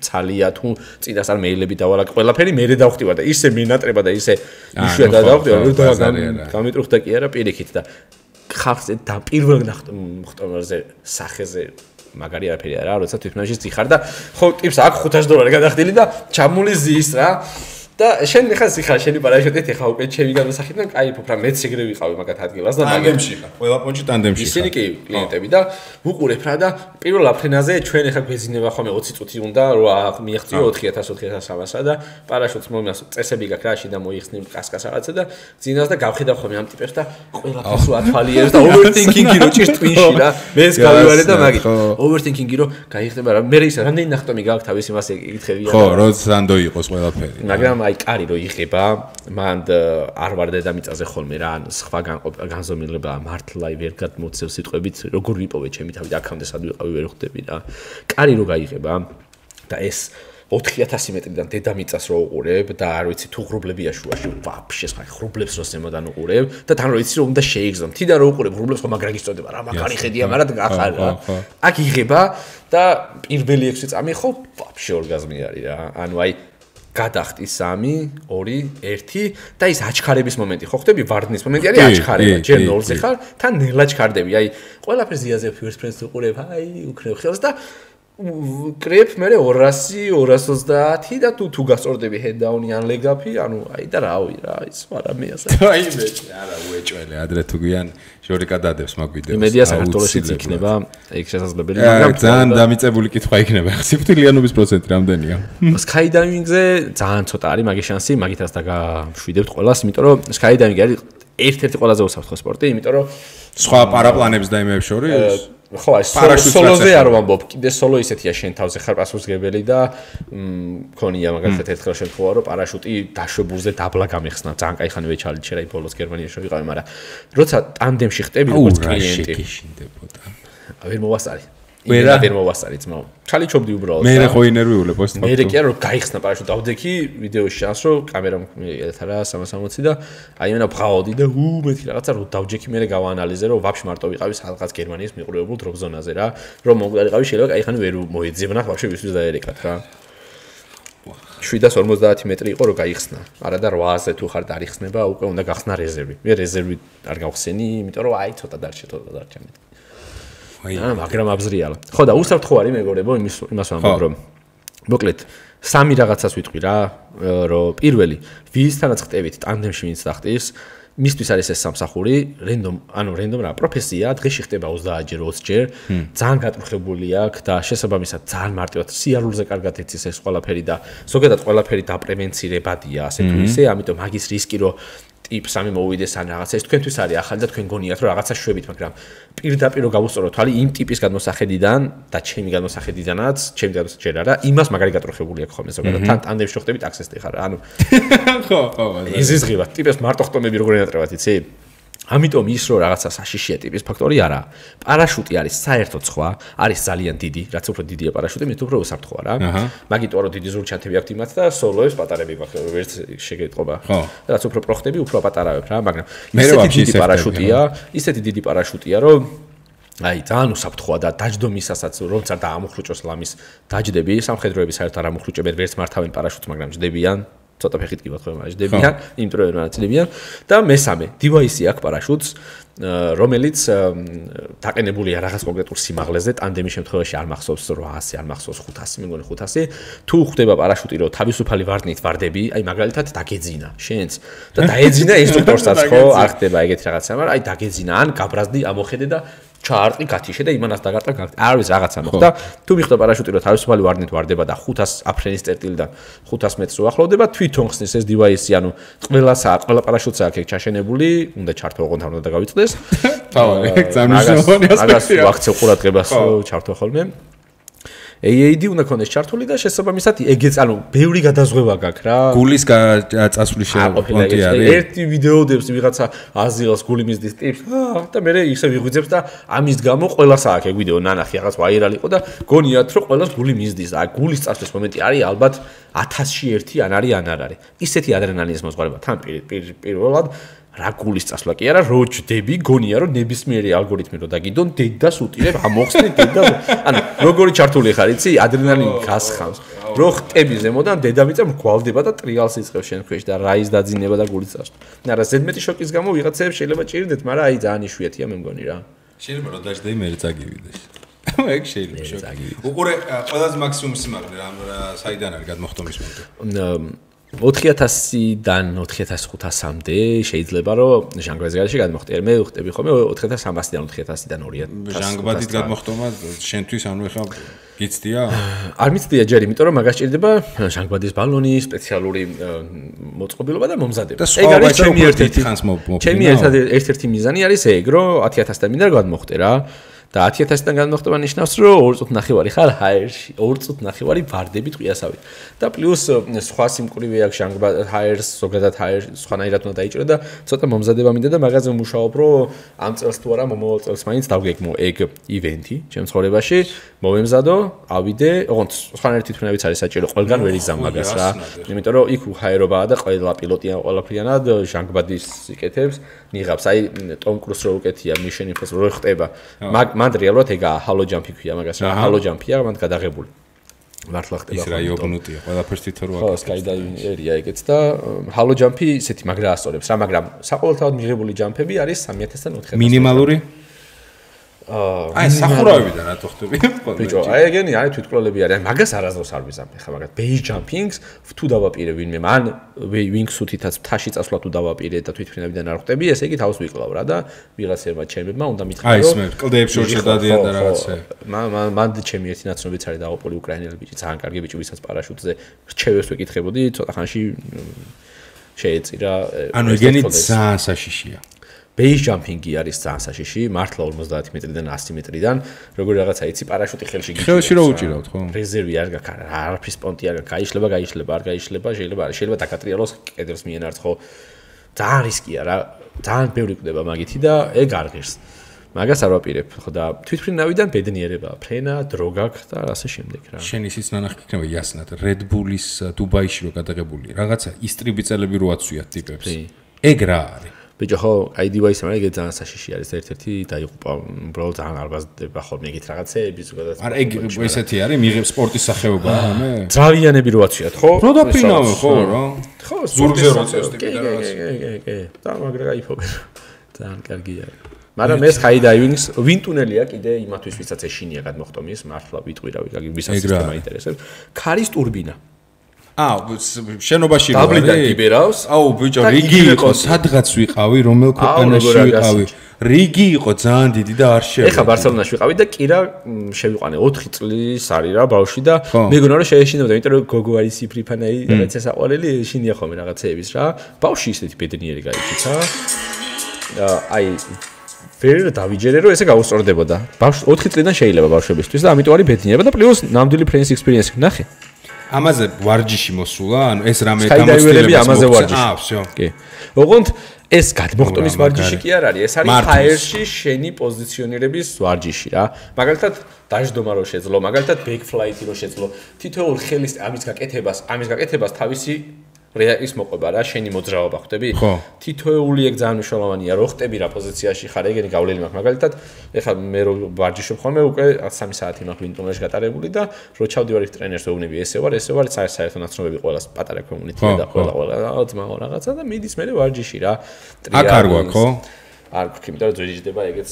ცალია, თუ წინასწარ მეილები დავალაკ, ყველაფერი მე დავხტივა და ისე მინატრება და ისე იშვიათად დავხტივა, რომ გამიტრუხდა კი არა პირიქით და ხალხზე და პირველ ნახტომაზე სახეზე მაგარი არაფერი არა, როცა თვითონში ძიხარ და ხო ტიპს აქ ხუთას დოლარი გადახდილი და ჩამული ზის რა და შენ ხა ზიხარ შენი პარაშუტით ხა უკვე ჩემი განსახიდან кайფობ რა მეც ეგრე ვიყავი მაგათ ადგილას და ტანდემში ხარ, ყველა პონჩი ტანდემში ხარ. ისინი კი კლიენტები და ვუყურებ რა და პირველ აფრენაზე ჩვენ ხა გვეძინება ხოლმე ოცი წუთი უნდა რომ მიაღწიო ოთხი ათას ოთხი ათას სამასა და პარაშუტს მომას წესები გაქვს რა შიდა მოიხსნი კასკას რაღაცა და ძინავს და გავხედავ ხოლმე ამ ტიპებს და ყველაფერს რო ათვალიერებს და overthinking-ი რო ჭირს twin-ში რა მეც გავივარე და მაგით overthinking-ი რო გაიხდება რა მე ის რამდენი ნახტომი გაქვს თავის იმას ეკითხებია ხო როცა სანდო იყოს ყველაფერი მაგრამ აი კარი რო იღება მან არ ვარ დედამიწაზე ხოლმე რა ან სხვა განზომილება მართლა ვერ გადმოცევ სიტყვებით როგორ ვიპოვე ჩემი თავი და აქამდე სად ვიყავი ვერ ხვდები რა კარი რო გაიღება და ეს ოთხი ათასი მეტრიდან დედამიწას რო უყურებ და არ ვიცი თუ ღრუბლებია შუაში ვაფშე სხვა ღრუბლებს რო ზემოდან უყურებ და თან რო იცი რომ უნდა შეიგზო მთიდან რო უყურებ ღრუბლებს ხომ მაგრა გიწოდება რა მაგარი ხედია მაგრამ ახალ რა აქ იღება და პირველი ექვსი წამი ხო ვაფშე ორგაზმი არის რა ანუ აი გადახტი სამი ორი ერთი და ის აჩქარების მომენტი ხო ხდები ვარდნის მომენტი არის აჩქარება ჯერ ნოლზე ხარ თან ნელა ჩქარდები აი ყველაფერს იზიაზე first friends უყურებ აი უკრებ ხელს და კრებ მე ორასი ორას ოცდაათი და თუ თუ გასწორდები head-down-ი ან leg-up-ი ანუ აი და რავი რა ის არა მე ასე აი მე არა უეჭველე ადრე თუ გვიან ჟორიკა დადებს მაგ ვიდეოს მედია საქართველოშიც იქნება ეგ შესაძლებელი მაგრამ ძალიან დამიწებული კითხვა იქნება სიფრთხილიანობის პროცენტი რამდენია skydiving-ზე ძალიან ცოტა არის მაგის შანსი მაგითაც დაგაშვიდებთ ყველას იმიტომ რომ skydiving-ი არის ერთ-ერთი ყველაზე უსაფრთხო სპორტი იმიტომ რომ სხვა პარაპლანებს და იმებს შორის ხო აი სოლოზე არ ვამბობ კიდე სოლო ისეთია შენ თავზე ხარ პასუხისგებელი და მქონია მაგალითად ერთხელ შემთხვევა რომ პარაშუტი დაშვებულზე დაბლა გამიხსნა ძალიან кай ხანი ვეჩალით შეიძლება ბოლოს გერმანიაში ვიყავი მაგრამ როცა ტანდემში ხტები როგორც კლიენტი ვერ მოვასწარი ვერა ვერ მოვასწარი ძმაო ჩალი ჩობდი უბრალოდ მე ხო ინერვიულებ პოსტ მე რეკია რომ გაიხსნა პარაშუტი დავდექი ვიდეოში ჩანს რომ კამერა მიეთა რა სამას სამოცი და აი მენა ბღავდი და უ მეთქი რაღაცა რომ დავჯექი მე გავაანალიზე რომ ვაფშე მარტო ვიყავი სადღაც გერმანიის მიყურებულ დროპ ზონაზე რა რომ მომგარიყავი შეიძლება კაი ხანი ვერ მოეძებნა ვაფშე ვისთვის დაერეკათ რა შვიდას ორმოცდაათი მეტრი იყო რომ გაიხსნა არა და რვაასზე თუ ხარ დაიხსნება უკვე უნდა გახსნა რეზერვი მე რეზერვი არ გავხსენი იმიტომ რომ აი ცოტა დარჩა ცოტა დარჩა მე აა მაგრამ აბზრიალა. ხო და უსაფრთხო არის მეგობრებო იმის იმას ვამბობ რომ მოკლედ სამი რაღაცას ვიტყვი რა რომ პირველი ვისთანაც ხტებით ტანდემში ვინც დახტის მისთვის არის ეს სამსახური რენდომ ანუ რენდომ რა პროფესია დღეში ხტება ოცდაათჯერ ოცჯერ ძალიან გატრუხებული აქვს და შესაბამისად ძალიან მარტივად სიარულზე კარგად იცის ეს ყველაფერი და ზოგადად ყველაფერი დაპრევენცირებადია ასე თუ ისე ამიტომ მაგის რისკი რომ ტიპს ამი მოვიდეს ან რაღაცა ეს თქვენთვის არის ახალი და თქვენ გონიათ რომ რაღაცა შვებით მაგრამ პირდაპირ გავუსწორო თვალი იმ ტიპის გადმოსახედიდან და ჩემი გადმოსახედიდანაც ჩემი გადმოსახედი არა იმას მაგარი გატრუხებული აქვს ხოლმე ზოგადად თან ტანდემში ხტები ტაქსისტი ხარ ანუ ხო ხო იზის ღირა ტიპის მარტო ხტომები როგორ ენატრებათ იცი ამიტომ ის რომ რაღაცა საშიშია ტიპის ფაქტორი არა პარაშუტი არის საერთოდ სხვა არის ძალიან დიდი რაც უფრო დიდია პარაშუტი მით უფრო უსაფრთხოა რა მაგიტო რომ დიდი ზურჩანთები აქვთ იმათ და სოლოებს პატარები გვაქვს ვერც შეგეტყობა რაც უფრო პროხტები უფრო პატარავებ რა მაგრამ ისეთი დიდი პარაშუტია ისეთი დიდი პარაშუტია რომ აი ძალიან უსაფრთხოა და დაჯდომისასაც როცა დაამუხრუჭოს ლამის დაჯდები სამხედროები საერთოდ არ ამუხრუჭებენ ვერც მართავენ პარაშუტს მაგრამ ჯდებიან ცოტა ფეხით კი ვთქვი მაგრამ ჯდებიან იმიტომ რომ მარაცლებიან და მესამე დივაისი აქვს პარაშუტს რომელიც დაყენებულია რაღაც კონკრეტულ სიმაღლეზე ტანდემის შემთხვევაში არ მახსოვს რვაასი არ მახსოვს ხუთასი მე მგონი ხუთასი თუ ხდება პარაშუტი რომ თავისუფალი ვარდნით ვარდები აი მაგალითად დაგეძინა შენს და დაეძინა ინსტრუქტორსაც ხო არ ხდება ეგეთი რაღაცა მაგრამ აი დაგეძინა ან გაბრაზდი ამოხედე და ჩაარტყი გათიშე და იმანას დაგარტყა არ ვიცი რაღაცა მოხდა თუ მიხდა პარაშუტი რომ თავისუფალი ვარდნით ვარდება და ხუთას აფრენის წერტილიდან ხუთას მეტრს უახლოვდება თვითონ ხსნის ეს დივაისი ანუ ყველასაა ყველა პარაშუტს აქვს ეგ ჩაშენებული უნდა ჩართო ოღონდ არ უნდა გავიწყდეს თავი ეგ ძალიან მნიშვნელოვანი ასპექტია მაგას ვაქცევ ყურადღებას ჩართო ხოლმე A A D უნდა ქონდეს ჩართული და შესაბამისად ეგეც ანუ ბევრი გადაზღვევა გაქვს რა. გულის წასვლის პონტი არის. ერთი ვიდეოდებს ვიღაცა აზიელს გული მისდის ტიპს და მე ისე ვიღვიძებს და ამის გამო ყველას აქვს ეგ ვიდეო ნანახი რაღაც ვაირალი იყო და გონიათ რომ ყველას გული მისდის. აი გულის წასვლის მომენტი არის ალბათ ათასში ერთი ან არის ან არ არის. ისეთი ადრენალინის მოძღვარება თან პირველად რა გულის წასვლა კი არა, რო ჯდები, გონია რომ ნებისმიერი ალგორითმი რო დაგიდონ, დედას უტირებ, ამოხსნი დედა. ანუ როგორი ჩართული ხარ, იცი? ადრენალინი გასხამს. რო ხტები ზემოდან დედამიწა მრგვალდება და ტრიალს იწყებს შენ ქვეშ და რაის დაძინება და გულის წასვლა. არა, ზედმეტი შოკის გამო ვიღაცებს შეიძლება ჭირდეთ, მაგრამ აი ძალიან იშვიათია მე მგონი რა. შეიძლება რომ დაждე მე წაგივიდეს. ეგ შეიძლება შოკი. უყურე ყველაზე მაქსიმუმ სიმაღლე რა საიდან არის გადმოხტომის მომენტი? ოთხი ათასიდან ოთხი ათას ხუთასამდე შეიძლება რომ ჟანგბადის გარშე გადმოხტიე. მე ვხტები ხოლმე ოთხი ათას სამასიდან ოთხი ათასიდან ორი ათას. ჟანგბადით გადმოხტომა შენთვის ანუ ეხა გიცდია? არ მიცდია ჯერ, იმიტომ რომ მაგას ჭირდება ჟანგბადის ბალონი, სპეციალური მოწყობილობა და მომზადება. ეგ არის ჩემი ერთ-ერთი ხანს მოფინა. ჩემი ერთ-ერთი მიზანი არის ეგ, რომ ათი ათასთან მინდა გადმოხტე რა. და ათი ათასიდან გადმოხტება ნიშნავს, რომ ორი წუთი ნახევარი ხარ ჰაერში, ორი წუთი ნახევარი ვარდები ტყვიასავით. და პლუს სხვა სიმკვრივე აქვს ჟანგბა ჰაერს, ზოგადად ჰაერს სხვანაირად უნდა დაიჭრა და ცოტა მომზადება მინდა და მაგაზე ვმუშაობ, რომ ამ წელს თუ არა მომავალ წელს მაინც დავგეგმო ეგ ივენთი ჩემ ცხოვრებაში, მოვემზადო, ავიდე, ოღონდ სხვანაირი თვითმფრინავიც არის საჭირო, ყველგან ვერ იზამ მაგას რა. იმიტომ რომ იქ ჰაერობაა და ყველა პილოტია ყველაფრიანად ჟანგბადის იკეთებს, ნიღავს. აი ტომ კრუს რო უკეთია Mission Impossible რო ხტება. მაგ მან რეალურად ეგაა ჰალო ჯამპი ქვია მაგას რა ჰალო ჯამპია მან გადაღებული მართლა ხტება ის რა იოგნუტია ყველაფერს თვითონ რო აკეთებს ხო სკაიდაივინგერია ეგეც და ჰალო ჯამპი ისეთი მაგრა ასწორებს რა მაგრამ საყოველთაოდ მიღებული ჯამპები არის სამი ათასიდან ოთხი ათას მინიმალური აი სახურავებიდან რატო ხტები ბიჭო აი ეგენი არის თვითკვლელები არის მაგას არასდროს არ ვიზამ ხა მაგას ბეის ჯამპინგს თუ დავაპირე ვინმე მან ვინგს უთითაც თაში წასვლა თუ დავაპირე და თვითფრინავიდან არ ხტები ესე იგი თავს ვიკლავ რა და ვიღაცებმა ჩემებმა უნდა მითხრა რომ აი ეს მე კლდეებს შორში დადიან და რაღაცა მან მან ჩემი ერთი ნაცნობიც არის დაღუპული უკრაინელი ბიჭი ძალიან კარგი ბიჭი ვისაც პარაშუტზე რჩევებს ვეკითხებოდი ცოტა ხანში შეეწირა ანუ ეგენი ძალიან საშიშია Base jumping-ი არის ძალიან საშიში, მართლა ორმოცდაათი მეტრიდან ასი მეტრიდან, როგორი რაღაცა იცი პარაშუტი ხელში გიჭირავს. ხელში რო უჭირავთ, ხო? რეზერვი არ გაქვს, არაფრის პონტი არ გაქვს, გაიშლება, გაიშლება, არ გაიშლება, შეიძლება არ შეიძლება დაკატრიალოს კედელს მიენარჩ, ხო? ძალიან რისკია რა, ძალიან ბევრი კვდება მაგითი და ეგ არ ღირს. მაგას არ ვაპირებ, ხო და თვითფრინავიდან ბედნიერებაა, ფრენა, დრო გაქვს და ასე შემდეგ რა. შენ ისიც ნანახი იქნება იასნად, Red Bull-ის დუბაიში რო გადაღებული, რაღაცა ისტრიბი წელები რო აცვიათ ტიპებს. ეგ რა არის? ბიჭო ხო აი დივაისი მაგრამ ეგ ძალიან საშიში არის ერთ-ერთი დაიღუპა უბრალოდ ძალიან არ ბაზდება ხოლმე ეგეთ რაღაცეები ზოგადად არა ეგ ესეთი არის მიიღებს სპორტის სახეობაა რამე ძრავიანები რო აცვიათ ხო რო დაფრინავენ ხო რა ხო ზურგზე რო წევს ტიპი და რაღაც კი კი კი და მაგრა გაიფობენ ძალიან კარგია მაგრამ ეს high diving-ს ვინტუნელია კიდე იმათვის ვისაც ეშინია გადმოხტომის მართლა ვიტყვირავი გაგი ვისაც სისტემა ინტერესებს ქარის ტურბინა აუ შენობაში რა დაბლიდან კიბერავს აუ ბიჭო რიგი იყო სადღაც ვიყავი რომელ ქვეყანაში ვიყავი რიგი იყო ძალიან დიდი და არ შევიდა ეხა ბარსელონაში ვიყავი და კირა შევიყვანე ოთხი წლის არის რა ბავშვი და მეგონა რომ შეეშინებდა იმიტომ რომ გოგო არის სიფრიფანაი რაღაცა საყვარელი ეშინია ხოლმე რაღაცეების რა ბავშვი ისეთი ბედნიერი გაიჩიცა აი ვერ დავიჯერე რომ ესე გაუსწორდებოდა ბავშვი ოთხი წლიდან შეიძლება ბავშვებისთვის და ამიტომ არის ბედნიერება და პლუს ნამდვილი ფრენს ექსპერიენსი ნახე ამაზე ვარჯიში მოსულა, ანუ ეს რამე გამოცდილება ამაზე ვარჯიში. აა, всё. კი. ოღონდ ეს გადმოხტომის ვარჯიში კი არ არის, ეს არის ჰაერში შენი პოზიციონირების ვარჯიში რა. მაგალითად, დაждომა რო შეძლო, მაგალითად, back flight-ი რო შეძლო, თითოეულ ხელის ამის გაკეთებას, ამის გაკეთებას თავისი რეაკის მოყვება რა, შენი მოძრაობა ხვდები? თითოეული ეგ ძალიან მნიშვნელოვანია, რო ხტები რა პოზიციაში ხარ, ეგენი გავლილი მაქვს. მაგალითად, ეხლა მე რო ვარჯიშობ ხოლმე, უკვე სამი საათი მაქვს ვინტუნელში გატარებული და რო ჩავდივარ იქ ტრენერს ვეუბნები, ესე ვარ, ესე ვარ, საერთო ნაცნობები ყველას პატარა კომუნიტია და ყველა ყველა ძმაო რაღაცა და მიდის მე ვარჯიში რა. აქ არ გვაქვს, ხო? არ გვაქვს, იმიტომ რომ ძვირიჯდება ეგეც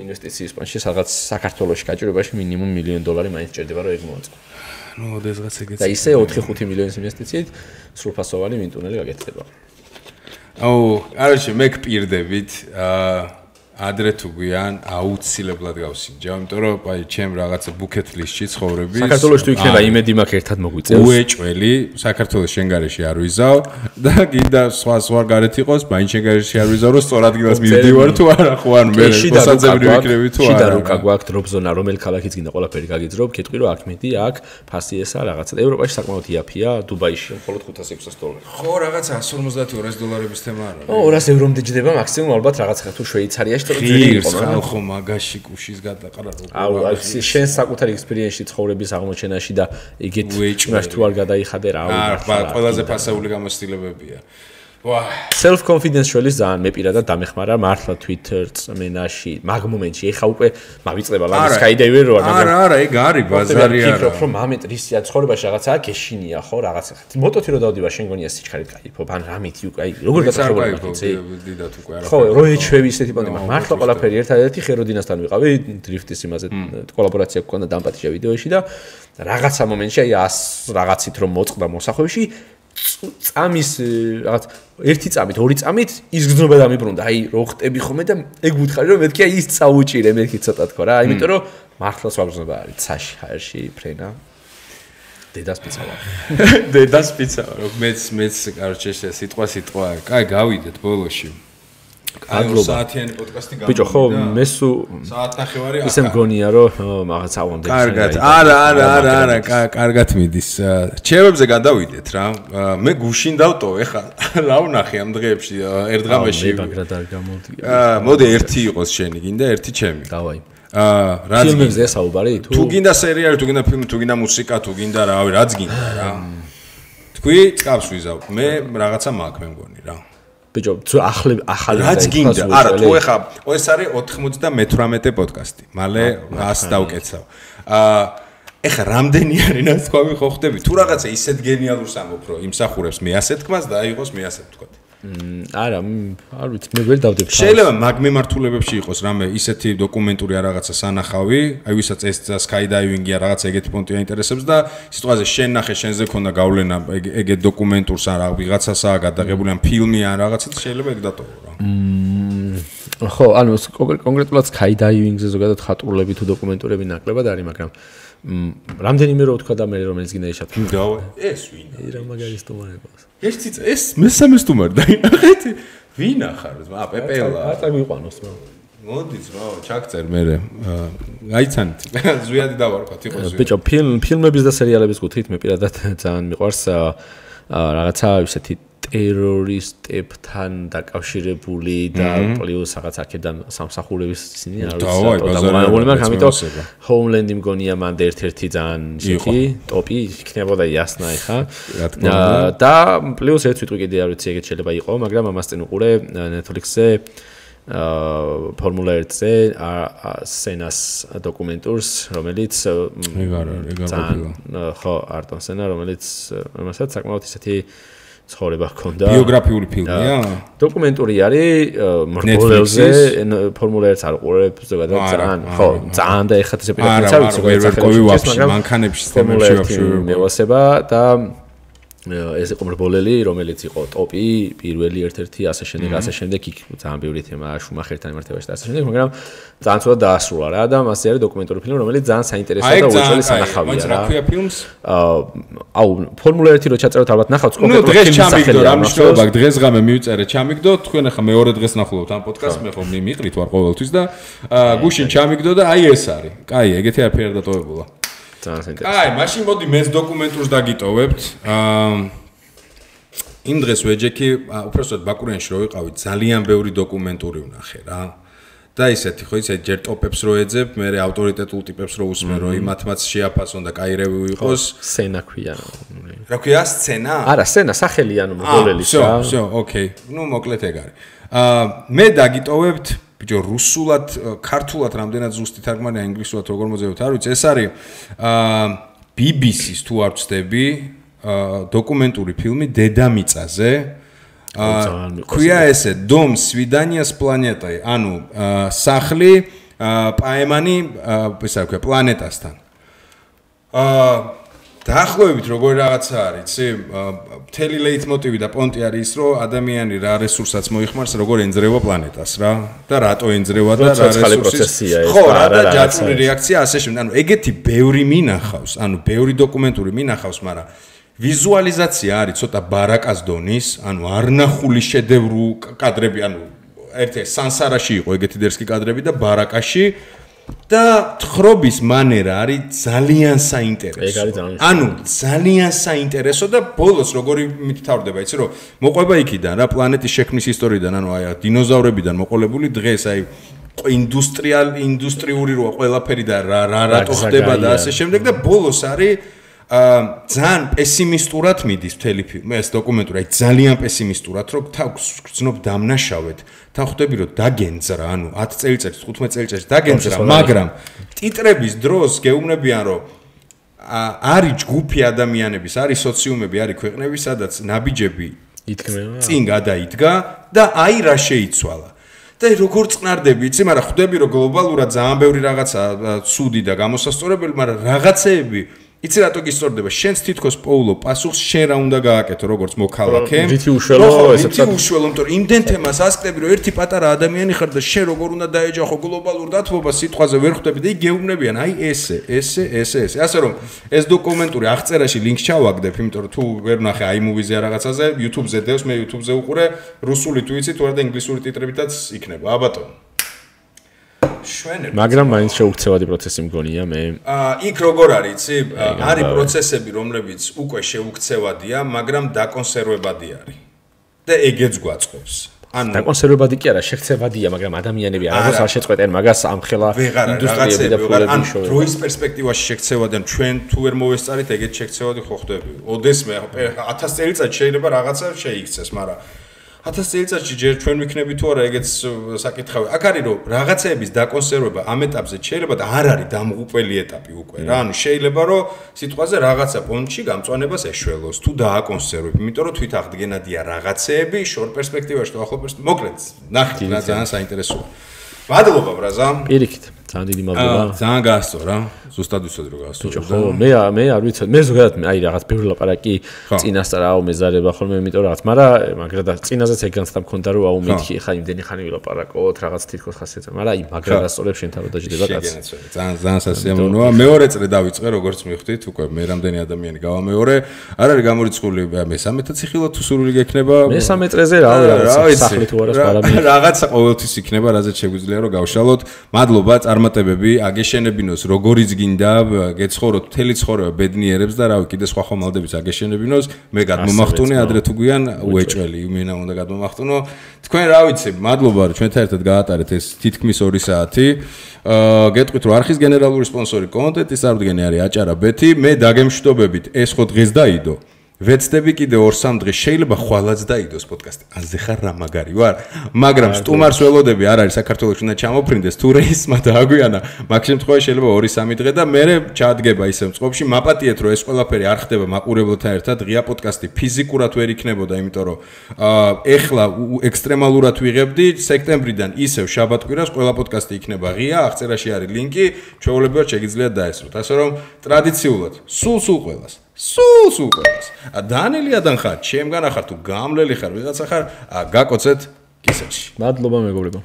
ინვესტიციის პონჩი, სადღაც საქართველოში გაჭირებაში მინიმუმ მილიონი დოლარი მაინც ჭირდება რომ ეგ მოაწყო. ნუ დღესღაც ეგეც და ისე ოთხი ხუთი მილიონის ინვესტიციით სრულფასოვანი ვინტუნელი გაკეთდება. აუ, არაში მე გპირდებით, აა ადრე თუ გვიან აუცილებლად გავსინჯა, იმიტომ რომ აი ჩემ რაღაცა bucket list-ში ცხოვრების საქართველოს თუ იქნება იმედი მაქვს ერთად მოგვიწევს. უეჭველი, საქართველოს შენგარეში არ ვიზავ და გინდა სხვა სხვა გარეთ იყოს, მაინც შენგარეში არ ვიზავ, რომ სწორ ადგილას მივდივარ თუ არა, ხო ან მე მოსაძებრი ვიქნები თუ არა. შიდა რუკა გვაქვს დროპ ზონა, რომელი ქალაქიც გინდა ყველაფერი გაგიძრობ, კეთყვი რომ აქ მეტი, აქ ფასი ესა რაღაცა. ევროპაში საკმაოდ იაფია, დუბაიში მხოლოდ ხუთას ექვსას დოლარი. ხო, რაღაცა εκατს ორმოცდაათი ორასი დოლარების თემა არა. ო, ორას ევრომდე ჯდება მაქსიმუმ ალბათ რაღაცა თუ შვეიცარიაში თუ ძვირი იყო. ხო, მაგაში კუშის გადაყრა როგორ. აუ, შენ საკუთარი ექსპერიენსში ცხოვრების აღმოჩენაში და იგეთ იმაში თუ არ გადაიხადე რა. აა, ყველაზე ფასეული გამოცდილებებია. ვა, self confidence შოლის ძალიან მე პირადად დამეხმარა მართლა Twitter წმენაში, მაგ მომენტში ეხა უკვე მავიწყდება ლავის skydiving რო არა. არა, არა, ეგ არის ბაზარი არა. ფიქრობ რომ მომენტ რისია ცხოვრებაში რაღაცაა გეშინია ხო რაღაცა. მოტოთი რო დავდივა შენ გონია სიჩქარით გაიფობ ან რამითი უკვე აი როგორ გასახობია იცი? დიდათ უკვე არა. ხო, რო ეჩვევი ისეთი პონტი მართლა ყველაფერი ერთადერთი ხეროდინასთან ვიყავი დრიფტის იმაზე კოლაბორაცია გქონდა დამპატიჟა ვიდეოში და რაღაცა მომენტში აი ას რაღაცით რომ მოწყდა მოსახვევში წამის რაღაც ერთი წამით, ორი წამით ის გზნობა დამიბრუნდა. აი, რო ხტები ხომე და ეგ ვუთხარი რომ მეთქი აი ის წაუჭირე, მეთქი ცოტა თქო რა. იმიტომ რომ მართლა სვაგზნობა არის ცაში, ჰაერში, ფრენა. დედას პიცავა. დედას პიცავა. რო მეც მეც კარჩე სიტყვა სიტყვა. კაი, გავიდეთ ბოლოში. გადლობა. საათიანი პოდკასტი გამოვიდა. ბიჭო, ხო, მეს საათ ნახევარი ახლა. ისე მგონია რომ მაგაც ავამდე. კარგად. არა, არა, არა, არა, კარგად მიდის. ჩემებზე გადავიდეთ რა. მე გუშინ დავტოვე ხა. რა ვნახე ამ დღეებში ერთღამეში. მე ბაგრად არ გამოდი. აა, მოდი ერთი იყოს შენი, გინდა ერთი ჩემი. დავაი. აა, რაც ფილმებზე საუბარი თუ? თუ გინდა სერიალი, თუ გინდა ფილმი, თუ გინდა მუსიკა, თუ გინდა რავი, რაც გინდა რა. თქვი, წკავს ვიზავ. მე რაღაცა მაქვს მე მგონი რა. ბიჭო, ახლა ახალი რაც გინდა. არა, თუ ეხა, ეს არის ოთხმოცდამეთვრამეტე პოდკასტი. მალე ას დავკეცავ. აა, ეხა რამდენი არის ნაცვლი ხო ხდები? თუ რაღაცა ისეთ გენიალურს ამბობ, რომ იმსახურებს მე ასეთ თქმას და აიღოს მე ასეთ თქვა. არა, არ ვიცი, მე ვერ დავდებ. შეიძლება მაგ მემართულებებში იყოს რამე ისეთი დოკუმენტური არ რაღაცა სანახავი, აი ვისაც ეს skydiving-ია რაღაცა ეგეთი პონტი აინტერესებს და სიტყვაზე შენ ნახე, შენზე ქონდა გავლენა ეგეთ დოკუმენტურს ან რაღაცასაა გადაღებული ან ფილმი ან რაღაცა შეიძლება ეგ დატოვო რა. ხო, ანუ კონკრეტულად skydiving-ზე ზოგადად ხატურულები თუ დოკუმენტურები ნაკლებად არის, მაგრამ რამდენიმე რო თქვა და მე რომელიც გინდა ეშათ. დავე, ეს ვინ? რა მაგარი სტუმარებას. ერთი ეს მესამე სტუმარი დაინახეთ. ვინ ახარ? ა პეპელა. აწა მიყვანოს რა. მოდი ძმა, ჩაგწერ მე. გაიცანით. ზვიადი დავარქვათ, იყო ზვიადი. ბიჭო, ფილმ ფილმების და სერიალების კუთხით მე პირადად ძალიან მიყვარს რაღაცა ისეთი ტერორისტებთან დაკავშირებული და პლუს რაღაც აქედან სამსახურების ისინი არ ვიცი. ამიტომ Homeland-ი მგონია მანდ ერთ-ერთი ძალიან ისეთი ტოპი იქნებოდა იასნა ეხა. და პლუს ერთ ვიტყვი კიდე არ ვიცი ეგეთ შეიძლება იყო, მაგრამ ამას წინ უყურე Netflix-ზე აა ფორმულა ერთზე სენას დოკუმენტურს, რომელიც ხო, არტონ სენა, რომელიც მასაც საკმაოდ ისეთი ცხოვრება ჰქონდა. ბიოგრაფიული ფილმია? დოკუმენტური არის მრბოლელზე, ფორმულა ერთს არ უყურებ ზოგადად ძალიან. ხო, ძალიან და ეხლა ესე პირადად ვიცი ზოგადად სახელმწიფო მანქანებში სტემებში ვაფშე მევასება და ეს იყო მრბოლელი, რომელიც იყო ტოპი, პირველი ერთ-ერთი ასე შემდეგ, ასე შემდეგ იქ ძალიან ბევრი თემა შუმახერთან იმართებაში და ასე შემდეგ, მაგრამ ძალიან ცუდად დაასრულა რა და მასზე არის დოკუმენტური ფილმი, რომელიც ძალიან საინტერესოა და უეჭველი სანახავია რა. რა ქვია ფილმს? აუ, ფორმულა ერთი რო ჩაწეროთ ალბათ ნახავთ კონკრეტულად ფილმის სახელი. რა მნიშვნელობა აქვს? დღეს ღამე მივწერე, ჩამიგდო, თქვენ ახლა მეორე დღეს ნახულობთ ამ პოდკასტს, მე ხომ მიყრით ვარ ყოველთვის და გუშინ ჩამიგდო და აი ეს არის. კაი, ეგეთი არაფერი არ დატოვებულა. ძალიან საინტერესოა. აი, მაშინ მოდი მეც დოკუმენტურს დაგიტოვებთ. აა იმ დღეს ვეჯექი, უბრალოდ ბაკურიანში რო ვიყავი, ძალიან ბევრი დოკუმენტური ვნახე რა. და ისეთი ხო იცი, ჯერ ტოპებს რო ეძებ, მე ავტორიტეტულ ტიპებს რო უსმენ, რომ იმათმაც შეაფასონ და კაი რევიუ იყოს. სცენა ქვია. რა ქვია სცენა? არა, სცენა სახელი ანუ მოგოლელის რა. всё, всё, ოკეი. ნუ მოკლედ ეგ არის. აა მე დაგიტოვებთ ბიჭო რუსულად, ქართულად რამდენად ზუსტი თარგმანია ინგლისურად როგორ მოძებოთ, არ ვიცი, ეს არის აა ბი ბი სის თუ არ ვცდები, აა დოკუმენტური ფილმი დედამიწაზე. აა ქვია ესე დომ სვიდანია с планетой, ანუ სახლი პაემანი, ესე რა ქვია, პლანეტასთან. აა დაახლოებით როგორი რაღაცა არის, იცი? მთელი ლეიტმოტივი და პონტი არის ის, რომ ადამიანი რა რესურსაც მოიხმარს, როგორ ენძრევა პლანეტას რა და რატო ენძრევა და რა რესურსი. ხო, რა და ჯაჭვური რეაქცია ასე შემდეგ. ანუ ეგეთი ბევრი მინახავს, ანუ ბევრი დოკუმენტური მინახავს, მაგრამ ვიზუალიზაცია არის ცოტა ბარაკას დონის, ანუ არნახული შედევრი კადრები, ანუ ერთი სანსარაში იყო ეგეთი დერსკი კადრები და ბარაკაში და თხრობის მანერა არის ძალიან საინტერესო. ეგ არის ძალიან. ანუ ძალიან საინტერესო და ბოლოს როგორი მითითավորდება, იცი რომ მოყვება იქიდან რა პლანეტის შექმნის ისტორიიდან, ანუ აი დინოზავრებიდან მოყოლებული დღეს აი ინდუსტრიალ ინდუსტრიული როა ყველაფერი და რა რა რატო ხდება და ასე შემდეგ და ბოლოს არის აა ძალიან პესიმისტურად მიდის მთელი ფილმი, ეს დოკუმენტური, აი ძალიან პესიმისტურად, რომ თავს გრძნობ დამნაშავედ, თან ხვდები რომ დაგენძრა, ანუ ათი წელიწადში, თხუთმეტი წელიწადში დაგენძრა, მაგრამ ტიტრების დროს გეუბნებიან, რომ არის ჯგუფი ადამიანების, არის სოციუმები, არის ქვეყნები, სადაც ნაბიჯები იდგმება, წინ გადაიდგა და აი რა შეიცვალა. და როგორ წნარდები, იცი, მაგრამ ხვდები რომ გლობალურად ძალიან ბევრი რაღაცა ცუდი და გამოსასწორებელი, მაგრამ რაღაცეები იცი რატო გისწორდება? შენს თითქოს პოულო პასუხს შენ რა უნდა გააკეთო, როგორც მოქალაქე? რითი უშველო ესეც რითი უშველო, იმიტომ რომ იმდენ თემას ასკდები, რომ ერთი პატარა ადამიანი ხარ და შენ როგორ უნდა დაეჯახო გლობალურ დათბობას სიტყვაზე ვერ ხვდები და იქ გეუბნებიან, აი ესე, ესე, ესე, ესე. ასე რომ ეს დოკუმენტური აღწერაში ლინკს ჩავაგდებ, იმიტომ რომ თუ ვერ ვნახე iMovie-ზე რაღაცაზე, YouTube-ზე დევს, მე YouTube-ზე უყურე, რუსული თუ იცი, თუ არა და ინგლისური ტიტრებითაც იქნება. ა ბატონო. შვენები. მაგრამ მაინც შეუქცევადი პროცესი მგონია მე. აა იქ როგორ არის, იცი? არის პროცესები, რომლებიც უკვე შეუქცევადია, მაგრამ დაკონსერვებადი არის. და ეგეც გვაწყობს. ანუ დაკონსერვებადი კი არა, შექცევადია, მაგრამ ადამიანები არასდროს არ შეწყვეტენ მაგას ამხელა ინდუსტრიები და ფულები შოვა. დროის პერსპექტივაში შექცევადიან, ჩვენ თუ ვერ მოვესწარით, ეგეც შექცევადი ხო ხდები. ოდესმე ათას წელიწად შეიძლება რაღაცა შეიქცეს, მაგრამ ათას წელიწადში ჯერ ჩვენ ვიქნები თუ არა ეგეც საკითხავი. აქ არის რომ რაღაცეების დაკონსერვება ამ ეტაპზე შეიძლება და არ არის დამღუპველი ეტაპი უკვე რა. ანუ შეიძლება რომ სიტყვაზე რაღაცა პონჩი გამწვანებას ეშველოს თუ დააკონსერვებ. იმიტომ რომ თვით აღდგენადია რაღაცეები შორ პერსპექტივაში თუ ახლო პერსპექტივაში. მოკლედ, ნახეთ რა ძალიან საინტერესოა. მადლობა ბრაზა. პირიქით, ძალიან დიდი მადლობა. ძალიან გაასწორა. ზუსტად ვიცოდი რომ გაასწორა. ხო, მე მე არ ვიცოდი. მე ზოგადად აი რაღაც ბევრი ლაპარაკი წინასწარ აუ მეზარება ხოლმე, იმიტომ რაღაც, მაგრამ მაგრა და წინაზეც ეგ განცდა მქონდა რომ აუ მეთქი ხა იმდენი ხანი ვილაპარაკოთ, რაღაც თითქოს ხასიათზე, მაგრამ აი მაგრა დასწორებ შენ თავად დაждდება კაცი. ძალიან ძალიან სასიამოვნოა. მეორე წრე დავიწყე, როგორც მივხვდით, უკვე მე რამდენი ადამიანი გავამეორე. არ არის გამორიცხული მესამეთა ციხილა თუ სურვილი გექნება. მესამე წრეზე რავი რაღაც სახლი თუ არა სპარამი. რაღაცა ყოველთვის იქნება, რაზეც შეგვიძლია რომ გავშალოთ. მადლობა წარმატებები, აგეშენებინოს როგორიც გინდა, გეცხოვროთ მთელი ცხოვრება ბედნიერებს და რავი, კიდე სხვა ხომალდებით აგეშენებინოს, მე გადმომახტუნე ადრე თუ გვიან უეჭველი, იმენა უნდა გადმომახტუნო. თქვენ რა ვიცი, მადლობა რომ ჩვენთან ერთად გაატარეთ ეს თითქმის ორი საათი. აა გეტყვით რომ არხის გენერალური სპონსორი კონტენტის წარდგენი არის აჭარა ბეთი, მე დაგემშვიდობებით, ეს ხო დღეს დაიდო. ვეცდები კიდე ორ სამ დღეს შეიძლება ხვალაც დაიდოს პოდკასტი. აზე ხარ რა მაგარი ვარ, მაგრამ სტუმარს ველოდები არ არის საქართველოში უნდა ჩამოფრინდეს თუ რეისმა დააგვიანა. მაგ შემთხვევაში შეიძლება ორი სამი დღე და მე ჩადგება ისე მწყობში. მაპატიეთ რომ ეს ყველაფერი არ ხდება მაყურებელთან ერთად. ღია პოდკასტი ფიზიკურად ვერ იქნებოდა, იმიტომ რომ აა ეხლა ექსტრემალურად ვიღებდი სექტემბრიდან ისევ შაბათ-კვირას ყველა პოდკასტი იქნება ღია. აღწერაში არის ლინკი, ჩვეულებრივად შეგიძლიათ დაესწროთ. ასე რომ ტრადიციულად სულ სულ ყველას სულ სულ ყველას. დანელიადან ხარ, ჩემგან ახარ თუ გამლელი ხარ, ვიღაცა ხარ, გაკოცეთ კისერში. მადლობა მეგობრებო.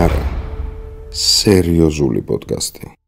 არა. სერიოზული პოდკასტი.